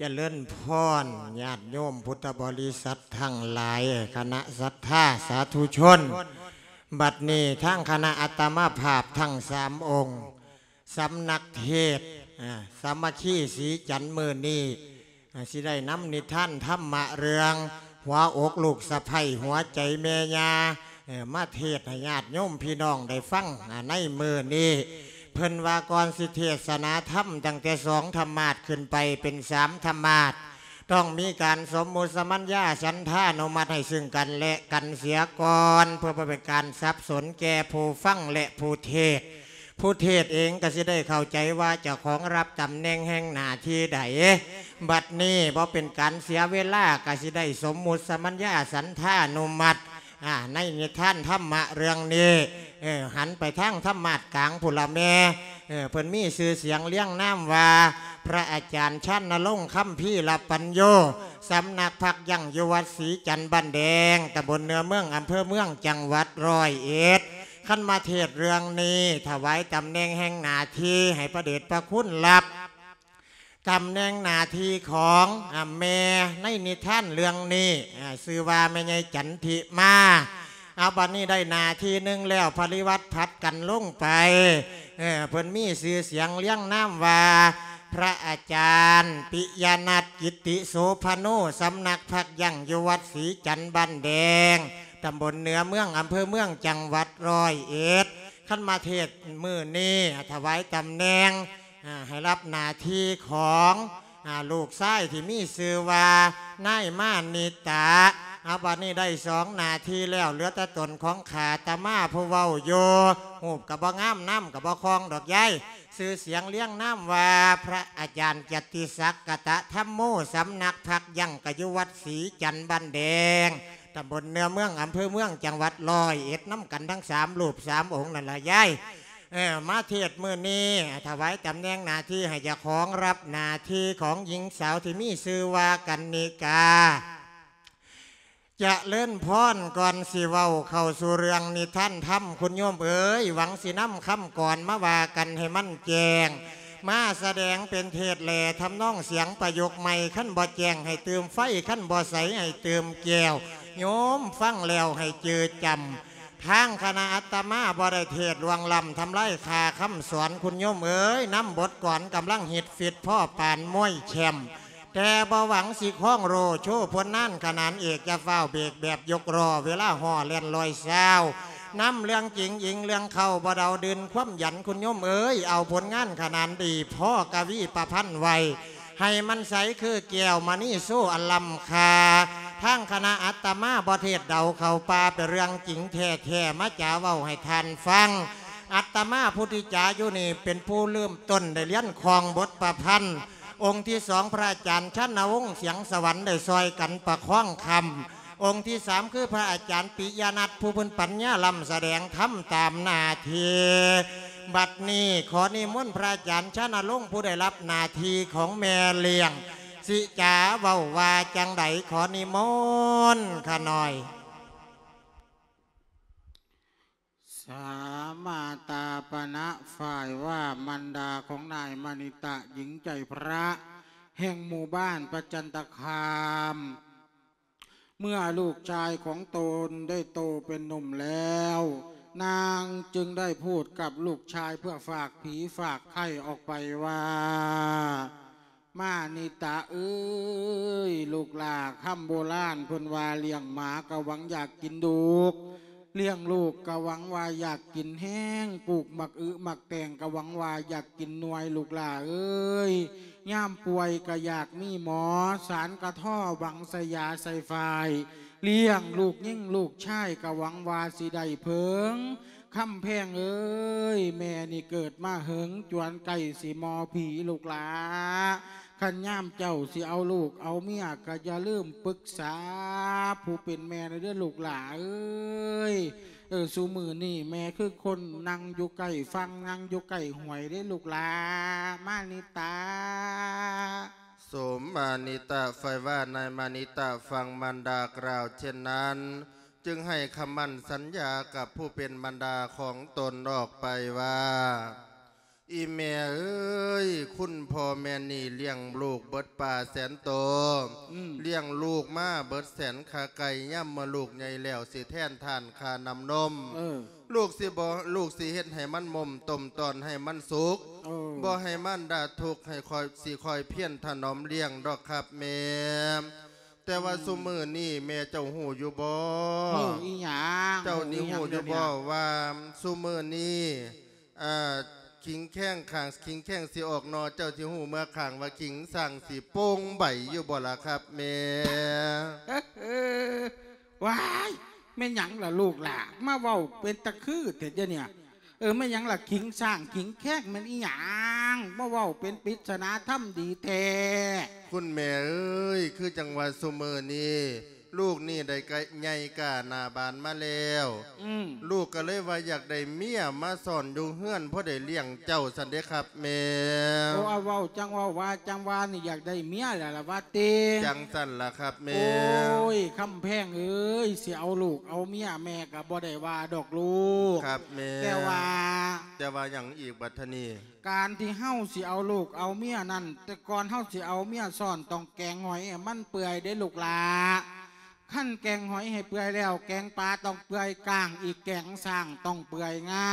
ຈະເລີນພອນ ຍາດໂຍມພຸດທະບໍລິສັດທັງຫຼາຍ, ຄະນະສັດທາສາທຸຊົນ, ບັດນີ້ທາງຄະນະອາດຕະມາພາບທັງສາມອົງ, ສຳນັກເທດ ອາ ສາມັກຄີສີຈັນມື້ນີ້ ອາ ຊິໄດ້ນຳນິທານທຳມະເລື່ອງ ຫົວອົກລູກສະໃພ້ ຫົວໃຈແມ່ຍ່າ ເອີ ມາເທດໃຫ້ຍາດໂຍມພີ່ນ້ອງໄດ້ຟັງ ອາ ໃນມື້ນີ້. ເພິ່ນວ່າກ່ອນຊິເທດສະໜາທຳ ຕັ້ງແຕ່ສອງທຳມາດຂຶ້ນໄປເປັນສາມທຳມາດ, ຕ້ອງມີການສົມມຸດສະມັນຍາສັນທານຸມັດໃຫ້ຊຶ່ງກັນແລະກັນເສຍກ່ອນ ເພື່ອບໍ່ເປັນການສັບສົນແກ່ຜູ້ຟັງ ແລະ ຜູ້ເທດ. ຜູ້ເທດເອງກໍຊິໄດ້ເຂົ້າໃຈວ່າເຈົ້າຂອງຮັບຕຳແໜ່ງແຫ່ງໜ້າທີ່ໃດ. ບັດນີ້ບໍ່ເປັນການເສຍເວລາ ກໍຊິໄດ້ສົມມຸດສະມັນຍາສັນທານຸມັດ ອາ ໃນນິທານທຳມະເລື່ອງນີ້. ເອີ ຫັນໄປທາງທຳມາດກາງພຸ້ນລະແມ່. ເອີ ເພິ່ນມີຊື່ສຽງລຽງນາມວ່າ ພະອາຈານຊານນະລົງ ຄຳພີລະປັນໂຍ, ສຳນັກພັກຢັ້ງຢູ່ວັດສີຈັນບ້ານແດງ, ຕຳບົນເໜືອເມືອງ, ອຳເພີເມືອງ, ຈັງຫວັດຮ້ອຍເອັດ. ຄັນມາເທດເລື່ອງນີ້ ຖວາຍຕຳແໜ່ງແຫ່ງໜ້າທີ່ໃຫ້ພະເດດພະຄຸນ ຮັບຕຳແໜ່ງໜ້າທີ່ຂອງ ອາ ແມ່ໃນນິທານເລື່ອງນີ້ ອາ ຊື່ວ່າແມ່ໃຫຍ່ຈັນທິມາ. ເອົາ ບັດນີ້ໄດ້ໜ້າທີ່ໜຶ່ງແລ້ວ ປະລິວັດຜັດກັນລົງໄປ. ເອີ ເພິ່ນມີຊື່ສຽງລຽງນາມວ່າ ພະອາຈານປິຍະນັດ ກິດຕິໂສພະໂນ, ສຳນັກພັກຢັ້ງຢູ່ວັດສີຈັນບ້ານແດງ, ຕຳບົນເໜືອເມືອງ, ອຳເພີເມືອງ, ຈັງຫວັດຮ້ອຍເອັດ. ຄັນມາເທດມື້ນີ້ ຖວາຍຕຳແໜ່ງ ອາ ໃຫ້ຮັບໜ້າທີ່ຂອງ ອາ ລູກຊາຍທີ່ມີຊື່ວ່າ ນາຍມານິຕະ. ເອົາ ບັດນີ້ໄດ້ສອງໜ້າທີ່ແລ້ວ ເຫຼືອແຕ່ຕົນຂອງຂ້າອາດຕະມາຜູ້ເວົ້າຢູ່. ຮູບກໍບໍ່ງາມ ນາມກໍບໍ່ຄ່ອງດອກຍາຍ. ຊື່ສຽງລຽງນາມວ່າ ພະອາຈານກິດຕິສັກ ກະຕະທຳໂມ, ສຳນັກພັກຢັ້ງກໍຢູ່ວັດສີຈັນບ້ານແດງ, ຕຳບົນເໜືອເມືອງ, ອຳເພີເມືອງ, ຈັງຫວັດຮ້ອຍເອັດ, ນຳກັນທັງສາມຮູບສາມອົງນັ້ນລະຍາຍ. ເອີ ມາເທດມື້ນີ້ ຖວາຍຕຳແໜ່ງໜ້າທີ່ໃຫ້ເຈົ້າຂອງຮັບໜ້າທີ່ຂອງຍິງສາວທີ່ມີຊື່ວ່າກັນນິກາ. ຈະເລີນພອນ. ກ່ອນຊິເວົ້າເຂົ້າສູ່ເລື່ອງນິທານທຳ ຄຸນໂຍມເອີຍ, ຫວັງຊິນຳຄຳກອນມາວ່າກັນໃຫ້ມັນແຈ້ງ, ມາສະແດງເປັນເທດແຫຼະ ທຳນອງສຽງປະໂຫຍກໃໝ່, ຄັນບໍ່ແຈ້ງໃຫ້ຕື່ມໄຟ, ຄັນບໍ່ໃສໃຫ້ຕື່ມແກ້ວ, ໂຍມຟັງແລ້ວໃຫ້ຈື່ຈຳ. ທາງຄະນະອາດຕະມາບໍ່ໄດ້ເທດລ່ວງລ້ຳທຳລາຍຄ່າຄຳສອນ ຄຸນໂຍມເອີຍ, ນຳບົດກອນກຳລັງຮິດຟິດພໍປານມວຍແຊ້ມ, ແຕ່ບໍ່ຫວັງຊິຄອງໂລ່ໂຊຜົນນານຂະໜານເອກ, ຢ່າຟ້າວເບກແບບຍົກລໍ້ເວລາຫໍ່ແລ່ນລອຍຊາວ, ນຳເລື່ອງຈິງອີງເລື່ອງເຄົ້າ ບໍ່ເດົາດື່ນຄວາມຢັນ ຄຸນໂຍມເອີຍ, ເອົາຜົນງານຂະໜານດີ ພໍກະວີປະພັນໄວ້ ໃຫ້ມັນໃສຄືແກ້ວມະນີໂຊອັນລ້ຳຄ່າ. ທາງຄະນະອາດຕະມາບໍ່ເທດເດົາເຂົ້າປ່າ ເປັນເລື່ອງຈິງແທ້ໆ ມາຈາເວົ້າໃຫ້ທ່ານຟັງ. ອາດຕະມາຜູ້ທີ່ຈາຢູ່ນີ້ ເປັນຜູ້ເລີ່ມຕົ້ນໄດ້ລຽນຄ່ອງບົດປະພັນ. ອົງທີສອງ ພະອາຈານຊານນະວົງ ສຽງສະຫວັນ ໄດ້ຊ່ອຍກັນປະຄອງຄຳ. ອົງທີສາມ ຄືພະອາຈານປິຍະນັດ ຜູ້ເພິ່ນປັນຍາລ້ຳສະແດງທຳຕາມໜ້າທີ່. ບັດນີ້ຂໍນິມົນພະອາຈານຊານນະລົງ ຜູ້ໄດ້ຮັບໜ້າທີ່ຂອງແມ່ລ້ຽງ ຊິຈາເວົ້າວ່າຈັ່ງໃດ ຂໍນິມົນຂ້ານ້ອຍ. ສາມາຕາປະນະ ຝ່າຍວ່າມານດາຂອງນາຍມະນິຕະ ຍິງໃຈພະ ແຫ່ງໝູ່ບ້ານປະຈັນຕະຄາມ. ເມື່ອລູກຊາຍຂອງຕົນໄດ້ໂຕເປັນໜຸ່ມແລ້ວ, ນາງຈຶ່ງໄດ້ພູດກັບລູກຊາຍເພື່ອຝາກຜີຝາກໄຂ້ອອກໄປວ່າ, ມານິຕະເອີຍ ລູກຫຼ້າ, ຄຳໂບລານເພິ່ນວ່າ ລ້ຽງໝາກະຫວັງຢາກກິນດູກ, ລ້ຽງລູກກະຫວັງວ່າຢາກກິນແຮງ, ປູກໝາກອຶໝາກແຕງກະຫວັງວ່າຢາກກິນໜ່ວຍ, ລູກຫຼ້າເອີຍ. ຍາມປ່ວຍກະຢາກມີໝໍ, ສານກະທໍ່ຫວັງໃສ່ຢາໃສ່ຝ້າຍ, ລ້ຽງລູກຍິງລູກຊາຍກະຫວັງວ່າຊິໄດ້ເພິ່ງ. ຄຳແພງເອີຍ ແມ່ນີ້ເກີດມາເຫິງ, ຈວນໃກ້ຊິມໍຜີ ລູກຫຼ້າ. ຄັນຍາມເຈົ້າຊິເອົາລູກເອົາເມຍ ກະຢ່າລືມປຶກສາຜູ້ເປັນແມ່ແດ່ເດີ ລູກຫຼ້າເອີຍ. ເອີ ຊຸມື້ນີ້ແມ່ຄືຄົນນັ່ງຢູ່ໃກ້ຝັ່ງ ນັ່ງຢູ່ໃກ້ຫ້ວຍເດ້ ລູກຫຼ້າ ມານິຕະ. ສົມມານິຕະໃຝ່ວ່ານາຍມານິຕະຟັງມານດາກ່າວເຊັ່ນນັ້ນ, ຈຶ່ງໃຫ້ຄຳໝັ້ນສັນຍາກັບຜູ້ເປັນມານດາຂອງຕົນອອກໄປວ່າ, ອີແມ່ເອີຍ ຄຸນພໍ່ແມ່ນີ້ລ້ຽງລູກເບິດປ່າແສນໂຕ ອືມ ລ້ຽງລູກມາເບິດແສນຂາໄກ່ ຍາມເມື່ອລູກໃຫຍ່ແລ້ວ ຊິແທນທານຄ່ານ້ຳນົມ ເອີ ລູກຊິບໍ່ ລູກຊິເຮັດໃຫ້ມັນໝົມ ຕົ້ມຕອນໃຫ້ມັນສຸກ ເອີ ບໍ່ໃຫ້ມານດາທຸກ ໃຫ້ຂ້ອຍ ຊິຄອຍພຽນຖະໜອມລ້ຽງດອກຄັບແມ່. ແຕ່ວ່າ ອືມ ຊຸມື້ນີ້ແມ່ເຈົ້າຮູ້ຢູ່ບໍ່? ຮູ້ອີຫຍັງ? ເຈົ້ານີ້ຮູ້ຢູ່ບໍ່ວ່າຊຸມື້ນີ້ ເອີ ຂີງແຂ້ງຂ້າງ ຂີງແຂ້ງຊິອອກໜໍ່ ເຈົ້າຊິຮູ້ເມື່ອຂ້າງວ່າຂີງສ້າງຊິໂປ່ງໃບຢູ່ບໍ່ລະຄັບແມ່? ວ້າຍ ແມ່ນຫຍັງລະລູກຫຼ້າ ມາເວົ້າເປັນຕາຄືແທ້ດຽວນີ້? ເອີ ແມ່ນຫຍັງລະ ຂີງສ້າງຂີງແຂ້ງແມ່ນອີຫຍັງ? ມາເວົ້າເປັນປິດສະໜາທຳດີແທ້. ຄຸນແມ່ເອີຍ ຄືຈັ່ງວ່າຊຸມື້ນີ້ ລູກນີ້ໄດ້ກະໃຫຍ່ກ້າໜ້າບານມາແລ້ວ ອືມ ລູກກະເລີຍວ່າຢາກໄດ້ເມຍມາຊ້ອນຢູ່ເຮືອນ ພໍໄດ້ລ້ຽງເຈົ້າຊັ້ນເດ້ຄັບແມ່. ໂອ້ ເວົ້າຈັ່ງເວົ້າວ່າຈັ່ງວ່ານີ້ ຢາກໄດ້ເມຍແລ້ວລະວ່າຕິ? ຈັ່ງຊັ້ນລະຄັບແມ່. ໂອ້ຍ ຄຳແພງເອີຍ ຊິເອົາລູກເອົາເມຍ ແມ່ ກະບໍ່ໄດ້ວ່າດອກລູກ ຄັບແມ່ ແຕ່ວ່າ ແຕ່ວ່າຫຍັງອີກບັດທະນີ້? ການທີ່ເຮົາຊິເອົາລູກເອົາເມຍນັ້ນ ແຕ່ກ່ອນເຮົາຊິເອົາເມຍຊ້ອນ ຕ້ອງແກງຫອຍໃຫ້ມັນເປື່ອຍເດ້ລູກຫຼ້າ. ຄັນແກງຫອຍໃຫ້ເປື່ອຍແລ້ວ ແກງປາຕ້ອງເປື່ອຍກ້າງອີກ ແກງຊ້າງຕ້ອງເປື່ອຍງາ.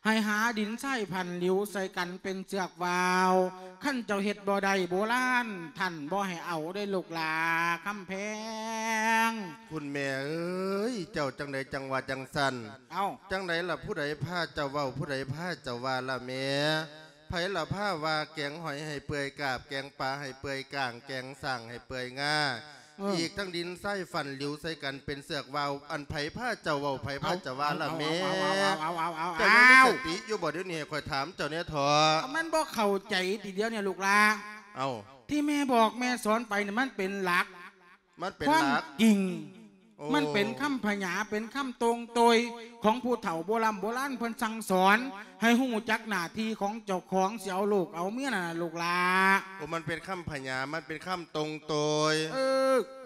ໃຫ້ຫາດິນຊາຍພັນຫຼິວໃສ່ກັນເປັນເຊືອກຫວ້າວ. ຄັນເຈົ້າເຮັດບໍ່ໄດ້ ໂບລານທ່ານບໍ່ໃຫ້ເອົາເດ້ລູກຫຼ້າຄຳແພງ. ຄຸນແມ່ເອີຍ ເຈົ້າຈັ່ງໃດຈັ່ງວ່າຈັ່ງຊັ້ນ? ເອົ້າ ຈັ່ງໃດລະ ຜູ້ໃດພາເຈົ້າເວົ້າ ຜູ້ໃດພາເຈົ້າວ່າລະແມ່? ໃຜລະພາວ່າແກງຫອຍໃຫ້ເປື່ອຍກາບ ແກງປາໃຫ້ເປື່ອຍກ້າງ ແກງຊ້າງໃຫ້ເປື່ອຍງາ ເອີ ອີກທັງດິນຊາຍຟັນຫຼິວໃສ່ກັນເປັນເຊືອກຫວ້າວ ອັນໃຜພາເຈົ້າເວົ້າ ໃຜພາເຈົ້າວ່າລະແມ່? ເອົາ ເຈົ້າຍັງມີສະຕິຢູ່ບໍ່? ດຽວນີ້ໃຫ້ຂ້ອຍຖາມເຈົ້າແດ່ເຖາະ. ມັນບໍ່ເຂົ້າໃຈຕິດຽວນີ້ລູກຫຼ້າ. ເອົ້າ ທີ່ແມ່ບອກແມ່ສອນໄປນີ້ ມັນເປັນຫຼັກ ມັນເປັນຫຼັກ ຄວາມຈິງ. ໂອ້ ມັນເປັນຄຳພະຫຍາ ເປັນຄຳຕົງໂຕຍຂອງຜູ້ເຖົ້າໂບລຳໂບລານເພິ່ນສັ່ງສອນ ໃຫ້ຮູ້ຈັກໜ້າທີ່ຂອງເຈົ້າຂອງ ຊິເອົາລູກເອົາເມຍນັ້ນລະລູກຫຼ້າ. ໂອ້ ມັນເປັນຄຳພະຫຍາ ມັນເປັນຄຳຕົງໂຕຍ. ເອີ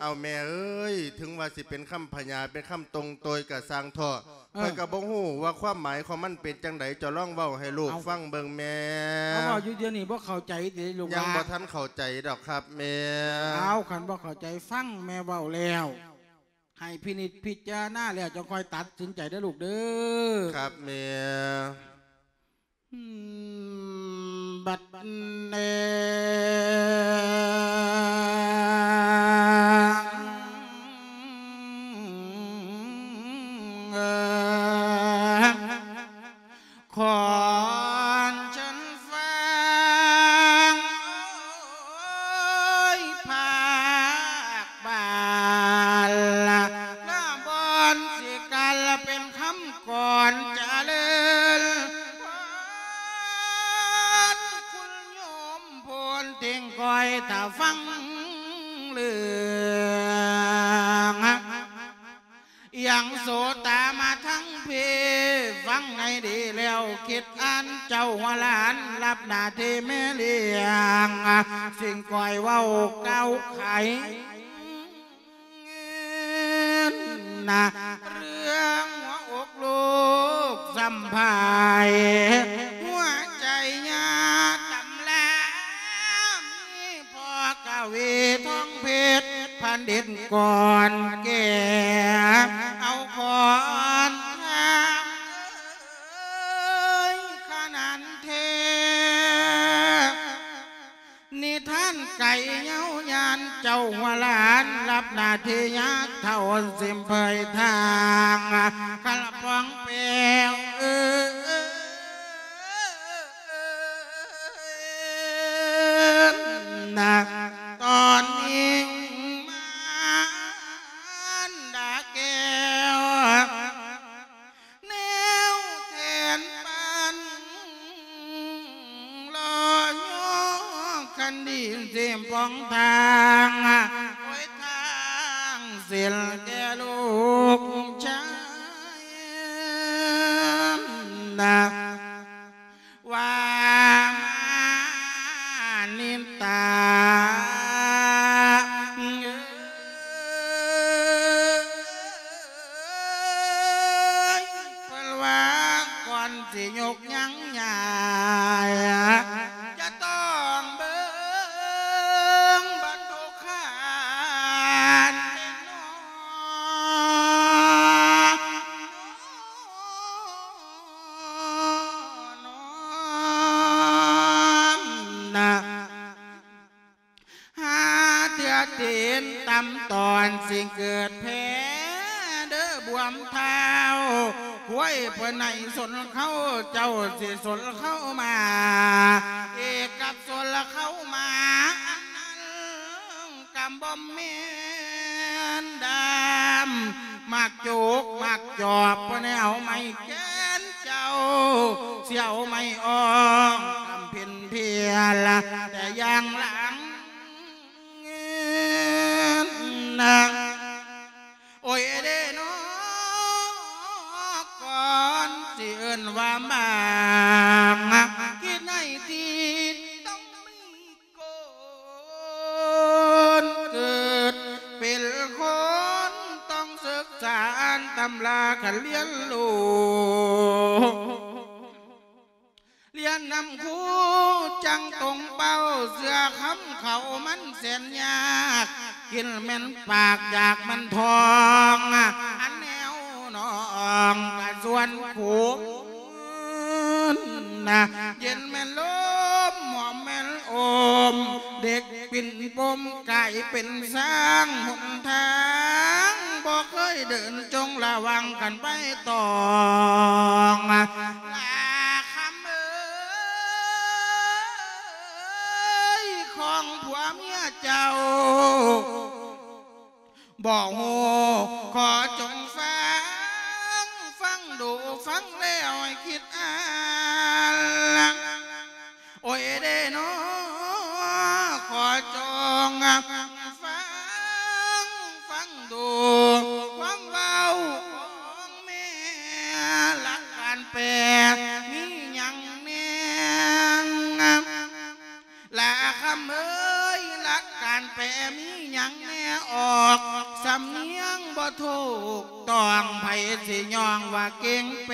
ເອົາແມ່ເອີຍ ເຖິງວ່າຊິເປັນຄຳພະຫຍາ ເປັນຄຳຕົງໂຕຍກະຊ່າງເຖາະ ເອີ ຂ້ອຍກະບໍ່ຮູ້ວ່າຄວາມໝາຍຂອງມັນເປັນຈັ່ງໃດ ເຈົ້າລອງເວົ້າໃຫ້ລູກ ເອົ້າ ຟັງເບິ່ງແມ່. ເອົາ ເວົ້າຢູ່ດຽວນີ້ບໍ່ເຂົ້າໃຈຕິລູກຫຼ້າ? ຍັງບໍ່ທັນເຂົ້າໃຈດອກຄັບແມ່. ເອົາ ຄັນບໍ່ເຂົ້າໃຈ ຟັງແມ່ເວົ້າແລ້ວ ໃຫ້ພິນິດພິຈາລະນາແລ້ວ ຈັ່ງຄ່ອຍຕັດສິນໃຈເດີລູກເດີ. ຄັບແມ່. ອືມ ບັດນີ້ ເອີ ຂອນເຊີນຟັງ ໂອ້ຍ ພາກບ້ານລະບ່ອນຊິກັນລະເປັນຄຳ ກ່ອນຈະເລີນພອນ ຄຸນໂຍມໂພນເຕັງກອຍ ຖ້າຟັງເລື່ອງ ຍັງໂສຕາມາທັງພີ ຟັງໃຫ້ດີແລ້ວຄິດອ່ານ ເຈົ້າຫົວຫຼານ ຮັບໜ້າທີ່ແມ່ລ້ຽງ ສິ່ງກອຍເວົ້າກ່າວໄຂ ນະ ເລື່ອງຫົວອົກລູກສຳພາຍ ຫົວໃຈຍາຕຳລາ ມີພໍ່ກະວີທອງເພັດ ພັນດິດກ່ອນແກ່ ເອົາຂອນທາງເອີຍ ຂະໜານແທ້ ນິທານໄກຍາວຍານ ເຈົ້າຫົວຫຼານ ຮັບໜ້າທີ່ຍາກເຖົ້າ ຊິມເຜີຍທາງ ຄັນລະປອງແປວເອີຍ ນະ ຕອນນີ້ມານດາແກ້ວ ແນວແທນປານ ລໍຍໍຄັນດີເສມປອງທາງ ໂອ້ຍ ທາງເສັ້ນແກ່ລູກຊາຍ ນະ ວ່າມານິນຕາ ເອີຍ ເພິ່ນວ່າກ່ອນຊິຍົກຍັງຍາ ເຕັນຕຳຕອນຊິເກີດແພ້ເດີບວມທ້າວ ຄວາຍເພິ່ນໃຫ້ຊົນເຂົ້າ ເຈົ້າຊິຊົນເຂົ້າມາ ເອກກັບຊົນເຂົ້າມາ ອັນນັ້ນກະບໍ່ແມ່ນດາມ ໝາກໂຈກໝາກຈອບ ບໍ່ໄດ້ເອົາໄມ້ແກ່ນເຈົ້າ ຊິເອົາໄມ້ອອກກຳເພັນເພຍລະ ແຕ່ຢ່າງຫຼັງ ນາງ ໂອຍເດ້ເນາະ ກ່ອນຊິເອີ້ນວ່າບາງ ຄິດໃນທີ່ຕ້ອງມີກົນ ເກີດເປັນຄົນຕ້ອງສຶກສາອ່ານຕຳລາ ຄັນຮຽນຮູ້ ຮຽນນຳຄູຈັ່ງຕົງເປົ້າ ເຊື່ອຄຳເຂົາມັນແສນຍາກ ກິນແມ່ນປາກຢາກມັນທ້ອງ ອັນແນວນ້ອງກະຊວນຄູນນະ ເຢັນແມ່ນລົມ ຫອມແມ່ນໂອມ ເດັກປິ່ນປົມກາຍເປັນຊ້າງ ຫົນທາງບໍ່ເຄີຍເດີນ ຈົ່ງລະວັງກັນໄວ້ຕອງ ລາຄຳເອີຍ ຂອງຜົວເມຍເຈົ້າ ບໍ່ຮູ້ ຂໍຈົ່ງຟັງ ຟັງດູ ຟັງແລ້ວໃຫ້ຄິດອ່ານ ໂອຍເດ້ເນາະ ຂໍຈົ່ງຟັງ ຟັງດູ ຄວາມເວົ້າຂອງແມ່ ຫຼັກການແປມີຫຍັງແດ່ ລາຄຳເອີຍ ຫຼັກການແປມີຫຍັງແດ່ ອອກສຳນຽງບໍ່ຖືກຕ້ອງ ໃຜຊິຍ້ອງວ່າເກັ່ງແປ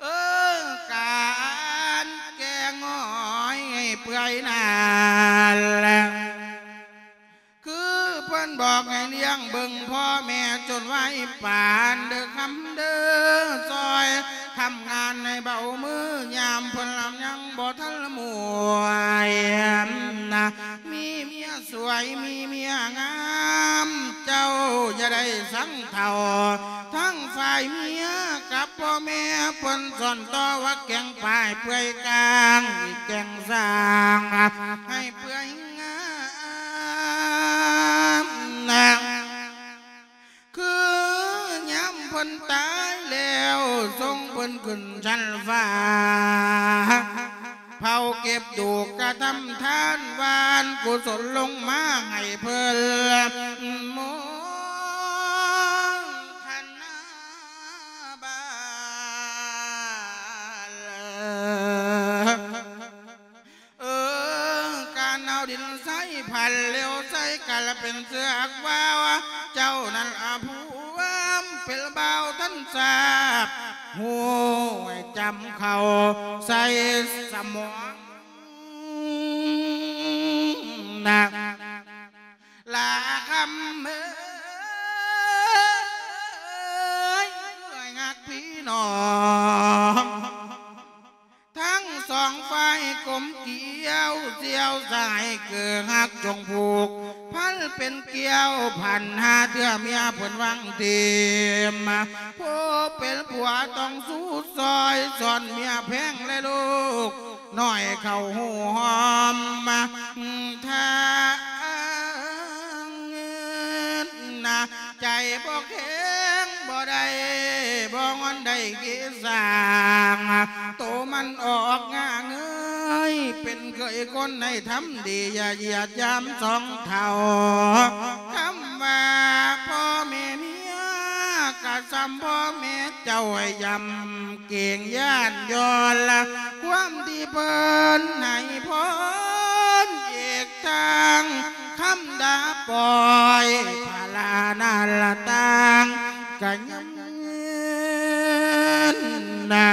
ເອີ ການແກະຫງອຍໃຫ້ເປື່ອຍນັ້ນແຫຼະ ຄືເພິ່ນບອກໃຫ້ລ້ຽງເບິ່ງພໍ່ແມ່ຈົນໄວປານເດີຄຳເດີ ຊ່ອຍທຳງານໃຫ້ເບົາມື ຍາມເພິ່ນລຳຍັງບໍ່ທັນລະໝວຍ ມີເມຍສວຍ ມີເມຍງາມ ເຈົ້າຢ່າໄດ້ສັງເຖົ້າ ທັງຝ່າຍເມຍກັບພໍ່ແມ່ ເພິ່ນສອນຕໍ່ວ່າແກງປາຍເປື່ອຍກາງ ແກງສ້າງໃຫ້ເປື່ອຍ ງາມນາງ ຄືຍາມເພິ່ນຕາຍແລ້ວ ສົ່ງເພິ່ນຂຶ້ນຊັ້ນຟ້າ ເຜົາເກັບດູກກະທຳທານ ຫວ່ານກຸສົນລົງມາໃຫ້ເພິ່ນ ໂມທະນາບານ ເອີ ການເອົາດິນໃສ່ພັນ ເລວໃສ່ກັນລະເປັນເຊືອກວ່າວ ເຈົ້ານັ້ນອະພວມເປັນບ່າວທັນຊາບ ຮູ້ໃຫ້ຈຳເຂົ້າໃສ່ສະໝອງນະ ລາຄຳເອີຍ ເອື້ອຍຮັກພີ່ນ້ອງ ທັງສອງຝ່າຍກົມກຽວ ສ່ຽວສາຍເກີຮັກຈົ່ງຜູກພັນເປັນກ້ຽວພັນ ຫາເທື່ອເມຍເພິ່ນວັງທີມ ຜູ້ເປັນຜົວຕ້ອງສູ້ຊ່ອຍ ສອນເມຍແພງແລະລູກ ໜ້ອຍເຂົ້າຫູຫອມທາງເງິນນະ ໃຈບໍ່ແຂງບໍ່ໄດ້ ບໍ່ງອນໄດ້ເກສາງ ໂຕມັນອອກງາເງີຍ ເປັນເຄີຍຄົນໃຫ້ທຳດີ ຢ່າຢຽດຢາມສອງເຖົ້າ ຄຳວ່າພໍ່ແມ່ເມຍ ກະສ່ຳພໍ່ແມ່ເຈົ້າໃຫ້ຢຳ ເກງຢ້ານຍ້ອນລະ ຄວາມທີ່ເພິ່ນໃຫ້ພອນ ເອກທາງຄຳດາປ່ອຍ ພາລານາລະຕ່າງກະຍຳເງິນນະ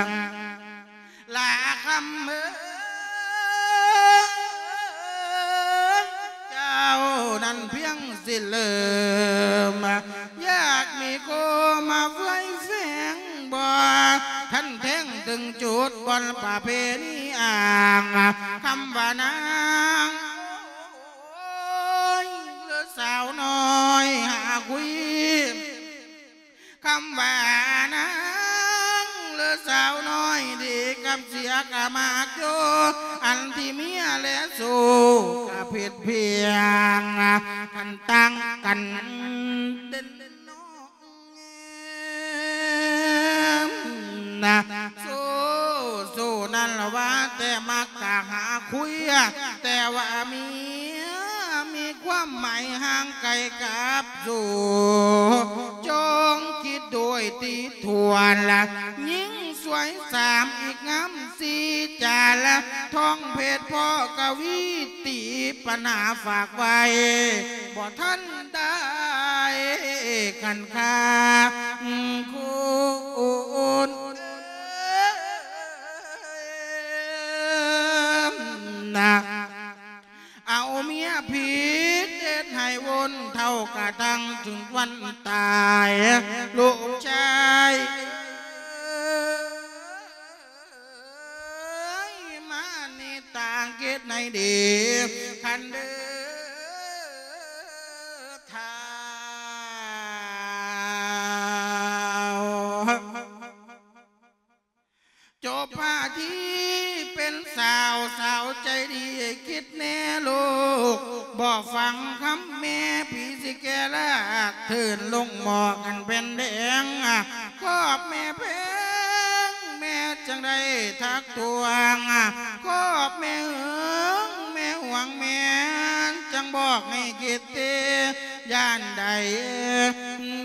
ລາຄຳເອີຍ ເຈົ້ານັ້ນພຽງຊິເລີ່ມ ຢາກມີຄູ່ມາເຟືອຍແຝງບໍ່ ຄັນແທງເຖິງຈຸດບ່ອນ ປະເພນີອ້າງ ຄຳວ່ານາງ ໂອ້ຍ ຫຼືສາວນ້ອຍຫາຄຸຍ ຄຳວ່ານາງ ຫຼືສາວນ້ອຍດີກັບເສຍກະມັກຢູ່ ອັນທີ່ເມຍແລະຊູກະຜິດພຽງ ຄັນຕ່າງກັນເດັ່ນ ນະ ໂຊ ໂຊນັ້ນລະວ່າແຕ່ມັກກະຫາຄຸຍ ແຕ່ວ່າເມຍມີຄວາມໝາຍຫ່າງໄກກັບໂຊ ຈົ່ງຄິດດ້ວຍຕິທວນລະ ຍິງສວຍສາມອີກງາມສີ່ຈານລະ ທອງເພັດພໍ່ກະວີ ຕີປັນຫາຝາກໄວ້ ບໍ່ທັນໄດ້ຄັນຄາ ຄູນນະ ເອົາເມຍຜິດເຮັດໃຫ້ວົນເຖົ້າກະທັງເຖິງວັນຕາຍ ລູກຊາຍ ເອີຍ ມານິຕາ ຄິດໃຫ້ດີ ຄັນເດີທ້າວ ຈົບພາທີເປັນສາວ ສາວໃຈດີ ຄິດແນ່ລູກ ບໍ່ຟັງຄຳແມ່ ຜີຊິແກ່ລາກ ເທີນລົງໝໍ້ກັນເປັນແດງ ຂອບແມ່ແພງ ແມ່ຈັ່ງໄດ້ທັກທ້ວງ ຂອບແມ່ເຫິງ ແມ່ຫວງ ແມ່ຈັ່ງບອກໃຫ້ຄິດເຕ ຢ້ານໃດ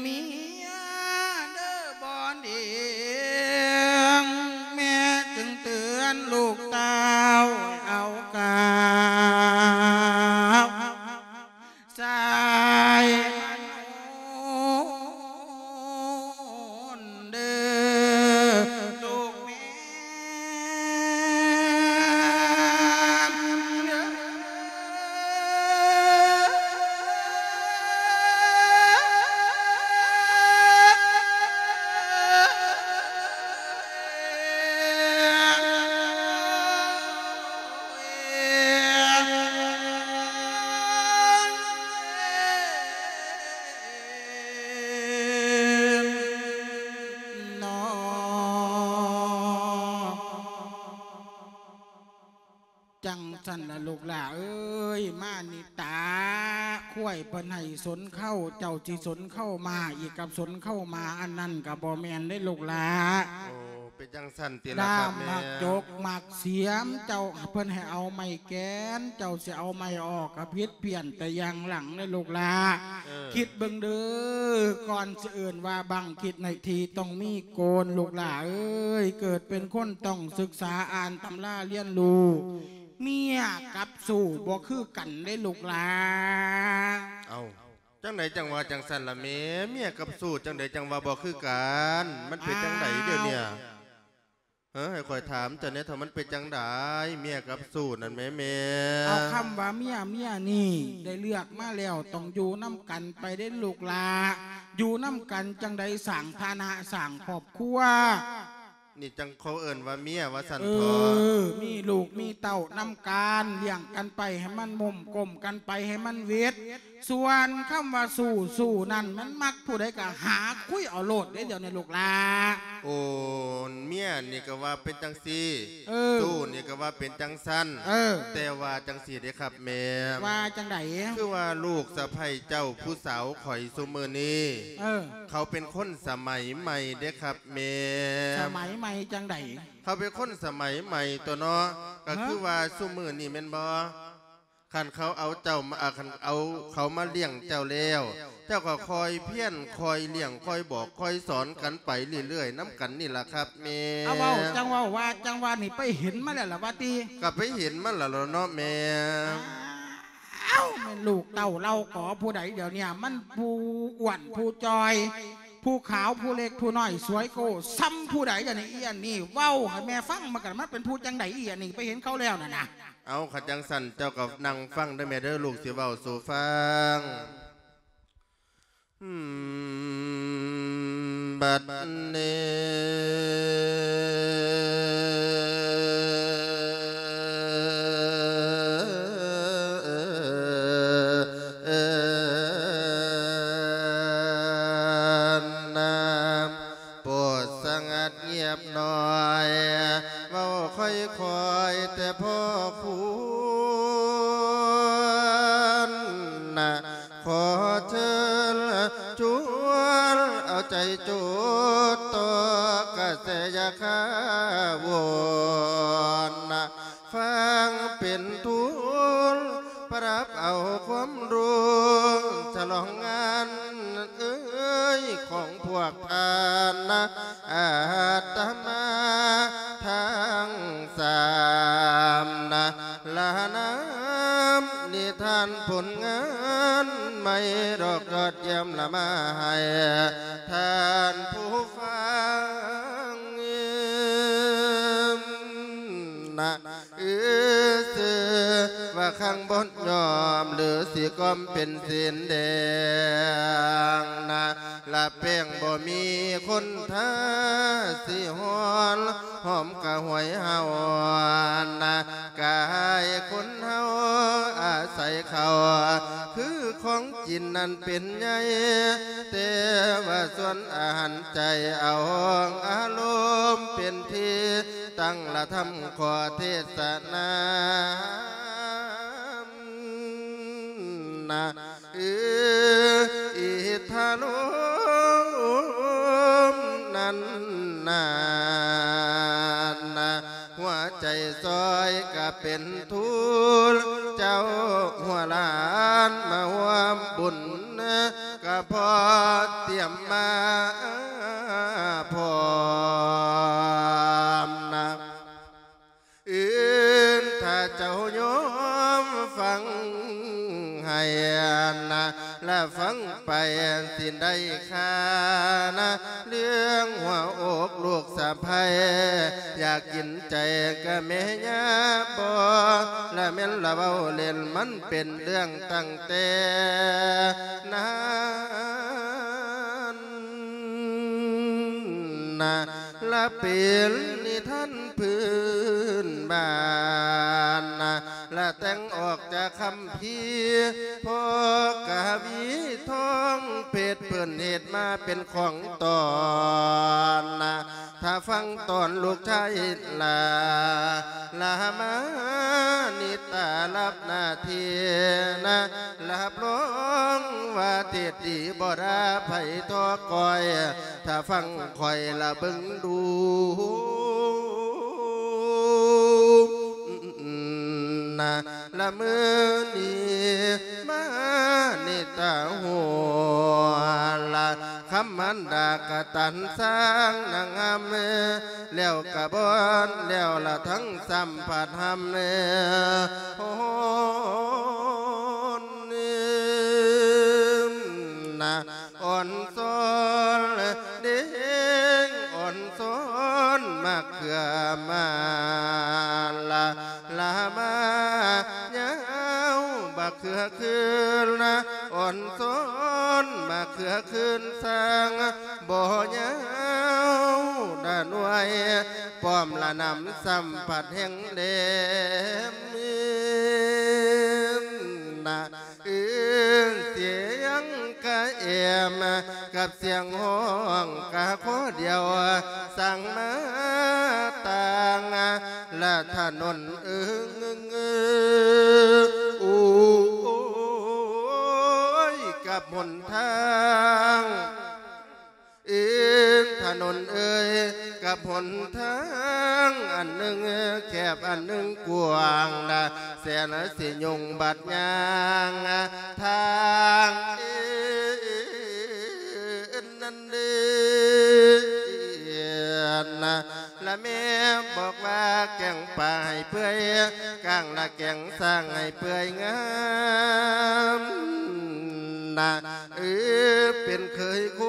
ເມຍເດີບໍ່ດີ ແມ່ຈຶ່ງເຕືອນລູກເຕົ້າເອົາກາວ ສາຍເດີລູກແມ່. ເນາະ ຈັ່ງຊັ້ນລະລູກຫຼ້າເອີຍ ມານິຕາ ຄວາຍເພິ່ນໃຫ້ສົນເຄົ້າ ເຈົ້າຊິສົນເຄົ້າມາອີກກັບສົນເຄົ້າມາ ອັນນັ້ນກະບໍ່ແມ່ນເດ້ລູກຫຼ້າ. ໂອ້ ເປັນຈັ່ງຊັ້ນຕິລະຄັບແມ່? ນ້ຳໝາກຈົກໝາກສຽມ ເຈົ້າ ເພິ່ນໃຫ້ເອົາໄມ້ແກນ ເຈົ້າຊິເອົາໄມ້ອອກກະຜິດ ປ່ຽນແຕ່ຢ່າງຫຼັງເດີລູກຫຼ້າ. ເອີ ຄິດເບິ່ງເດີ ກ່ອນຊິເອີ້ນວ່າບັງ ຄິດໃນທີ່ຕ້ອງມີໂກນ ລູກຫຼ້າເອີຍ ເກີດເປັນຄົນຕ້ອງສຶກສາອ່ານຕຳລາຮຽນຮູ້ ເມຍກັບຊູ້ບໍ່ຄືກັນເດ້ລູກຫຼ້າ. ເອົ້າ ຈັ່ງໃດຈັ່ງວ່າຈັ່ງຊັ້ນລະແມ່? ເມຍກັບຊູ້ຈັ່ງໃດຈັ່ງວ່າບໍ່ຄືກັນ? ມັນເປັນຈັ່ງໃດດຽວນີ້? ເອີ ໃຫ້ຂ້ອຍຖາມເຈົ້າແດ່ເຖາະ ມັນເປັນຈັ່ງໃດ ເມຍກັບຊູ້ນັ້ນແໝ່ແມ່? ເອົາຄຳວ່າເມຍ ເມຍນີ້ໄດ້ເລືອກມາແລ້ວ ຕ້ອງຢູ່ນຳກັນໄປເດ້ລູກຫຼ້າ. ຢູ່ນຳກັນຈັ່ງໃດສ້າງຖານະສ້າງຄອບຄົວ ນີ້ຈັ່ງເຂົາເອີ້ນວ່າເມຍວ່າຊັ້ນເຖາະ. ເອີ ມີລູກມີເຕົ້ານຳກັນ ລ້ຽງກັນໄປໃຫ້ມັນໝົ້ມ ກົມກັນໄປໃຫ້ມັນຫວິດ. ສ່ວນຄຳວ່າຊູ້ ຊູ້ນັ້ນ ມັນມັກຜູ້ໃດກະຫາຄຸຍເອົາໂລດເດ້ ດຽວນີ້ລູກຫຼ້າ. ໂອ້ ເມຍນີ້ກະວ່າເປັນຈັ່ງຊີ້ ເອີ ຊູ້ນີ້ກະວ່າເປັນຈັ່ງຊັ້ນ. ເອີ ແຕ່ວ່າຈັ່ງຊີ້ເດ້ຄັບແມ່. ວ່າຈັ່ງໃດ? ຄືວ່າລູກສະໃພ້ເຈົ້າຜູ້ສາວຂ້ອຍຊຸມື້ນີ້ ເອີ ເຂົາເປັນຄົນສະໄໝໃໝ່ເດ້ຄັບແມ່. ສະໄໝໃໝ່ຈັ່ງໃດ? ເຂົາເປັນຄົນສະໄໝໃໝ່ຕົວະເນາະ. ກະຄືວ່າຊຸມື້ນີ້ແມ່ນບໍ່? ຄັນເຂົາເອົາເຈົ້າມາ ຄັນເອົາເຂົາມາລ້ຽງເຈົ້າແລ້ວ ເຈົ້າກໍຄອຍພຽນ ຄອຍລ້ຽງ ຄອຍບອກ ຄອຍສອນກັນໄປເລື້ອຍໆນຳກັນນີ້ລະຄັບແມ່. ເອົາ ເວົ້າ ຈັ່ງເວົ້າວ່າ ຈັ່ງວ່ານີ້ໄປເຫັນມາແລ້ວລະວ່າຕິ? ກໍໄປເຫັນມາແລ້ວລະເນາະແມ່. ອ້າວ ແມ່ນລູກເຕົ້າເຫຼົ່າກໍຜູ້ໃດດຽວນີ້ ມັນຜູ້ອ້ວນ ຜູ້ຈ່ອຍ ຜູ້ຂາວ ຜູ້ເລັກ ຜູ້ນ້ອຍ ສວຍໂກ້ ສ່ຳຜູ້ໃດດຽວນີ້? ອີອັນນີ້ເວົ້າໃຫ້ແມ່ຟັງ ມັນກໍ ມັນເປັນຜູ້ຈັ່ງໃດ ອີອັນນີ້ ໄປເຫັນເຂົາແລ້ວນັ້ນນະ. ເອົາ ຄັນຈັ່ງຊັ້ນເຈົ້າກໍນັ່ງຟັງເດີແມ່ເດີ ລູກຊິເວົ້າສູ່ຟັງ. ບັດນີ້ เว้าค่อยๆ แต่พอควรนะ ขอเชิญชวนเอาใจจดต่อกระแสอย่าข้าวนนะ ฟังเป็นทุน ปรับเอาความรู้ฉลองงานเอ้ยของพวกท่านนะ อาตมาทั้งสามนะ ละนามนิทานผลงานใหม่ดอกยอดเยี่ยมละมาให้ท่านผู้ฟังนะ อือ ซื่อว่าคังบ่ยอม หรือสิกอมเป็นสีแดงนะ ละแป้งบ่มีคนทา สิฮ้อน หอมกะหวยเฮานะ กายคนเฮาอาศัยเขา คือของกินนั้นเป็นใหญ่ แต่ว่าส่วนอาหารใจเอาอารมณ์เป็นที่ ตั้งละธรรมขอเทศนานะ เออ อิทธาลมนั้นนานะ หัวใจซอยกะเป็นทุน เจ้าหัวหลานมาร่วมบุญ กะพอเตรียมมาพร้อมนะ อื่นถ้าเจ้ายอมฟังให้นะ และฟังไปสิได้ค่านะ เรื่องหัวอกลูกสะใภ้ อยากกินใจกะแม่ย่าบ่ และแม่นละเว้าเล่น มันเป็นเรื่องตั้งแต่นั้น นะ ละเป็นนิทานพื้นบ้านนะ ละแต่งออกจากคัมภีร์ พ่อกวีทองเพชรเพิ่นเฮ็ดมาเป็นของตอนนะ ถ้าฟังตอนลูกชายลา ลามานิตารับหน้าที่นะ รับรองว่าเทศดีบ่ด่าไผทอก้อย ถ้าฟังข้อยละเบิ่งดูนะ ละมื้อนี้มานิตาหัวละ คำมันดากะตันสร้างนางงาม แล้วกะบอนแล้วละทั้งสัมผัสหำ โหนนะ อ่อนซ้อนเด้ง อ่อนซ้อนมะเขือมาละ ลามายาวบักเขือคืนนะ อ่อนซ้อนมะเขือคืนสร้างบ่ยาวดาหน่วย ป้อมละนำสัมผัสแห่งแดมนะ เอิ้นเสียงกะแอม กับเสียงฮ้องกะข้อเดียว สั่งมาต่างละถนนเอิง โอ้ย กับหนทาง เอิ้นถนนเอ่ย กับหนทางอันหนึ่งแคบอันหนึ่งกว้างนะ แสนสิยงบัดย่างทางเอิ้นนั้นเด้อนะ ละแม่บอกว่าแกงปลาให้เปื่อย ก้างละแกงสร้างให้เปื่อยงามนะ เออ เป็นเขยค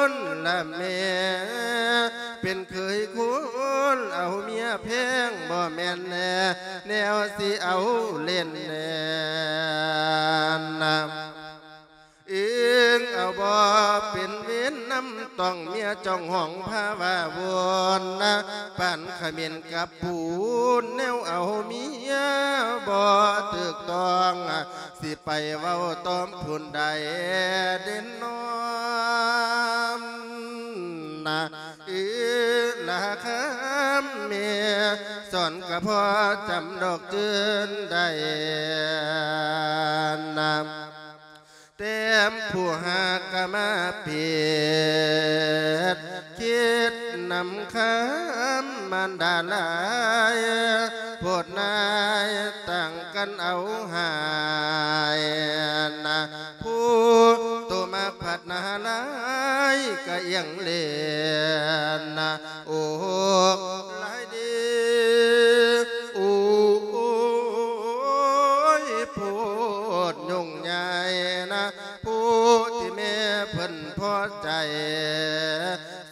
นละแม่ เป็นเขยคนเอาเมียแพงบ่แม่นแน่ แนวสิเอาเล่นแน่นะ เอิงเอาบ่เป็นเวรนำต้องเมียจ้องห้องพาว่าวนนะ ปานเขมรกับปูน แนวเอาเมียบ่ถูกต้อง สิไปเว้าตอมผู้ใดเด่นนอมนะ เอิง ຄຳແມ່ສອນກະພໍຈຳດອກຈື່ນໄດ້ນະ ແຕ່ຜູ້ຫາກກະມາປິດ ຄິດນຳຄຳມານດາຫຼາຍ ໂພດນາຍຕ່າງກັນເອົາຫາຍນະ ຜູ້ໂຕມາກພັດໜ້າລາຍກະອຽງເລນນະ ໂອກຫຼາຍເດ ໂອ້ຍ ໂພດຫຍຸ້ງໃຫຍ່ນະ ຜູ້ທີ່ແມ່ເພິ່ນພໍໃຈ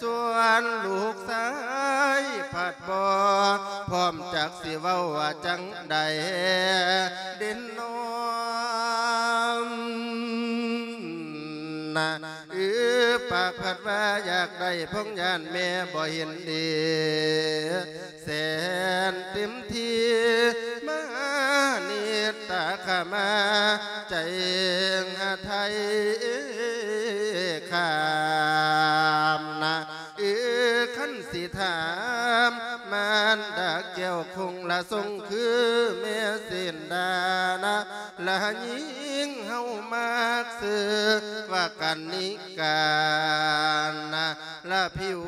ສ່ວນລູກຊາຍພັດບໍ່ພ້ອມ ຈັກຊິເວົ້າວ່າຈັ່ງໃດ ເດັ່ນນອນນະ ເອີ ປາກພັດວ່າຢາກໄດ້ ພົງຢ້ານແມ່ບໍ່ເຫັນດີ ແສນເຕັມທີ່ ມານິດຕາຂະມາ ໃຈຫາໄທຂ້າມນະ ເອີ ຄັນຊິຖາມ ມານດາແກ້ວຄົງລະຊົງ ຄືແມ່ເຊນດານະ ລະຍິງເຮົາມັກຊື່ວ່າກັນນິການະ ລະຜິວ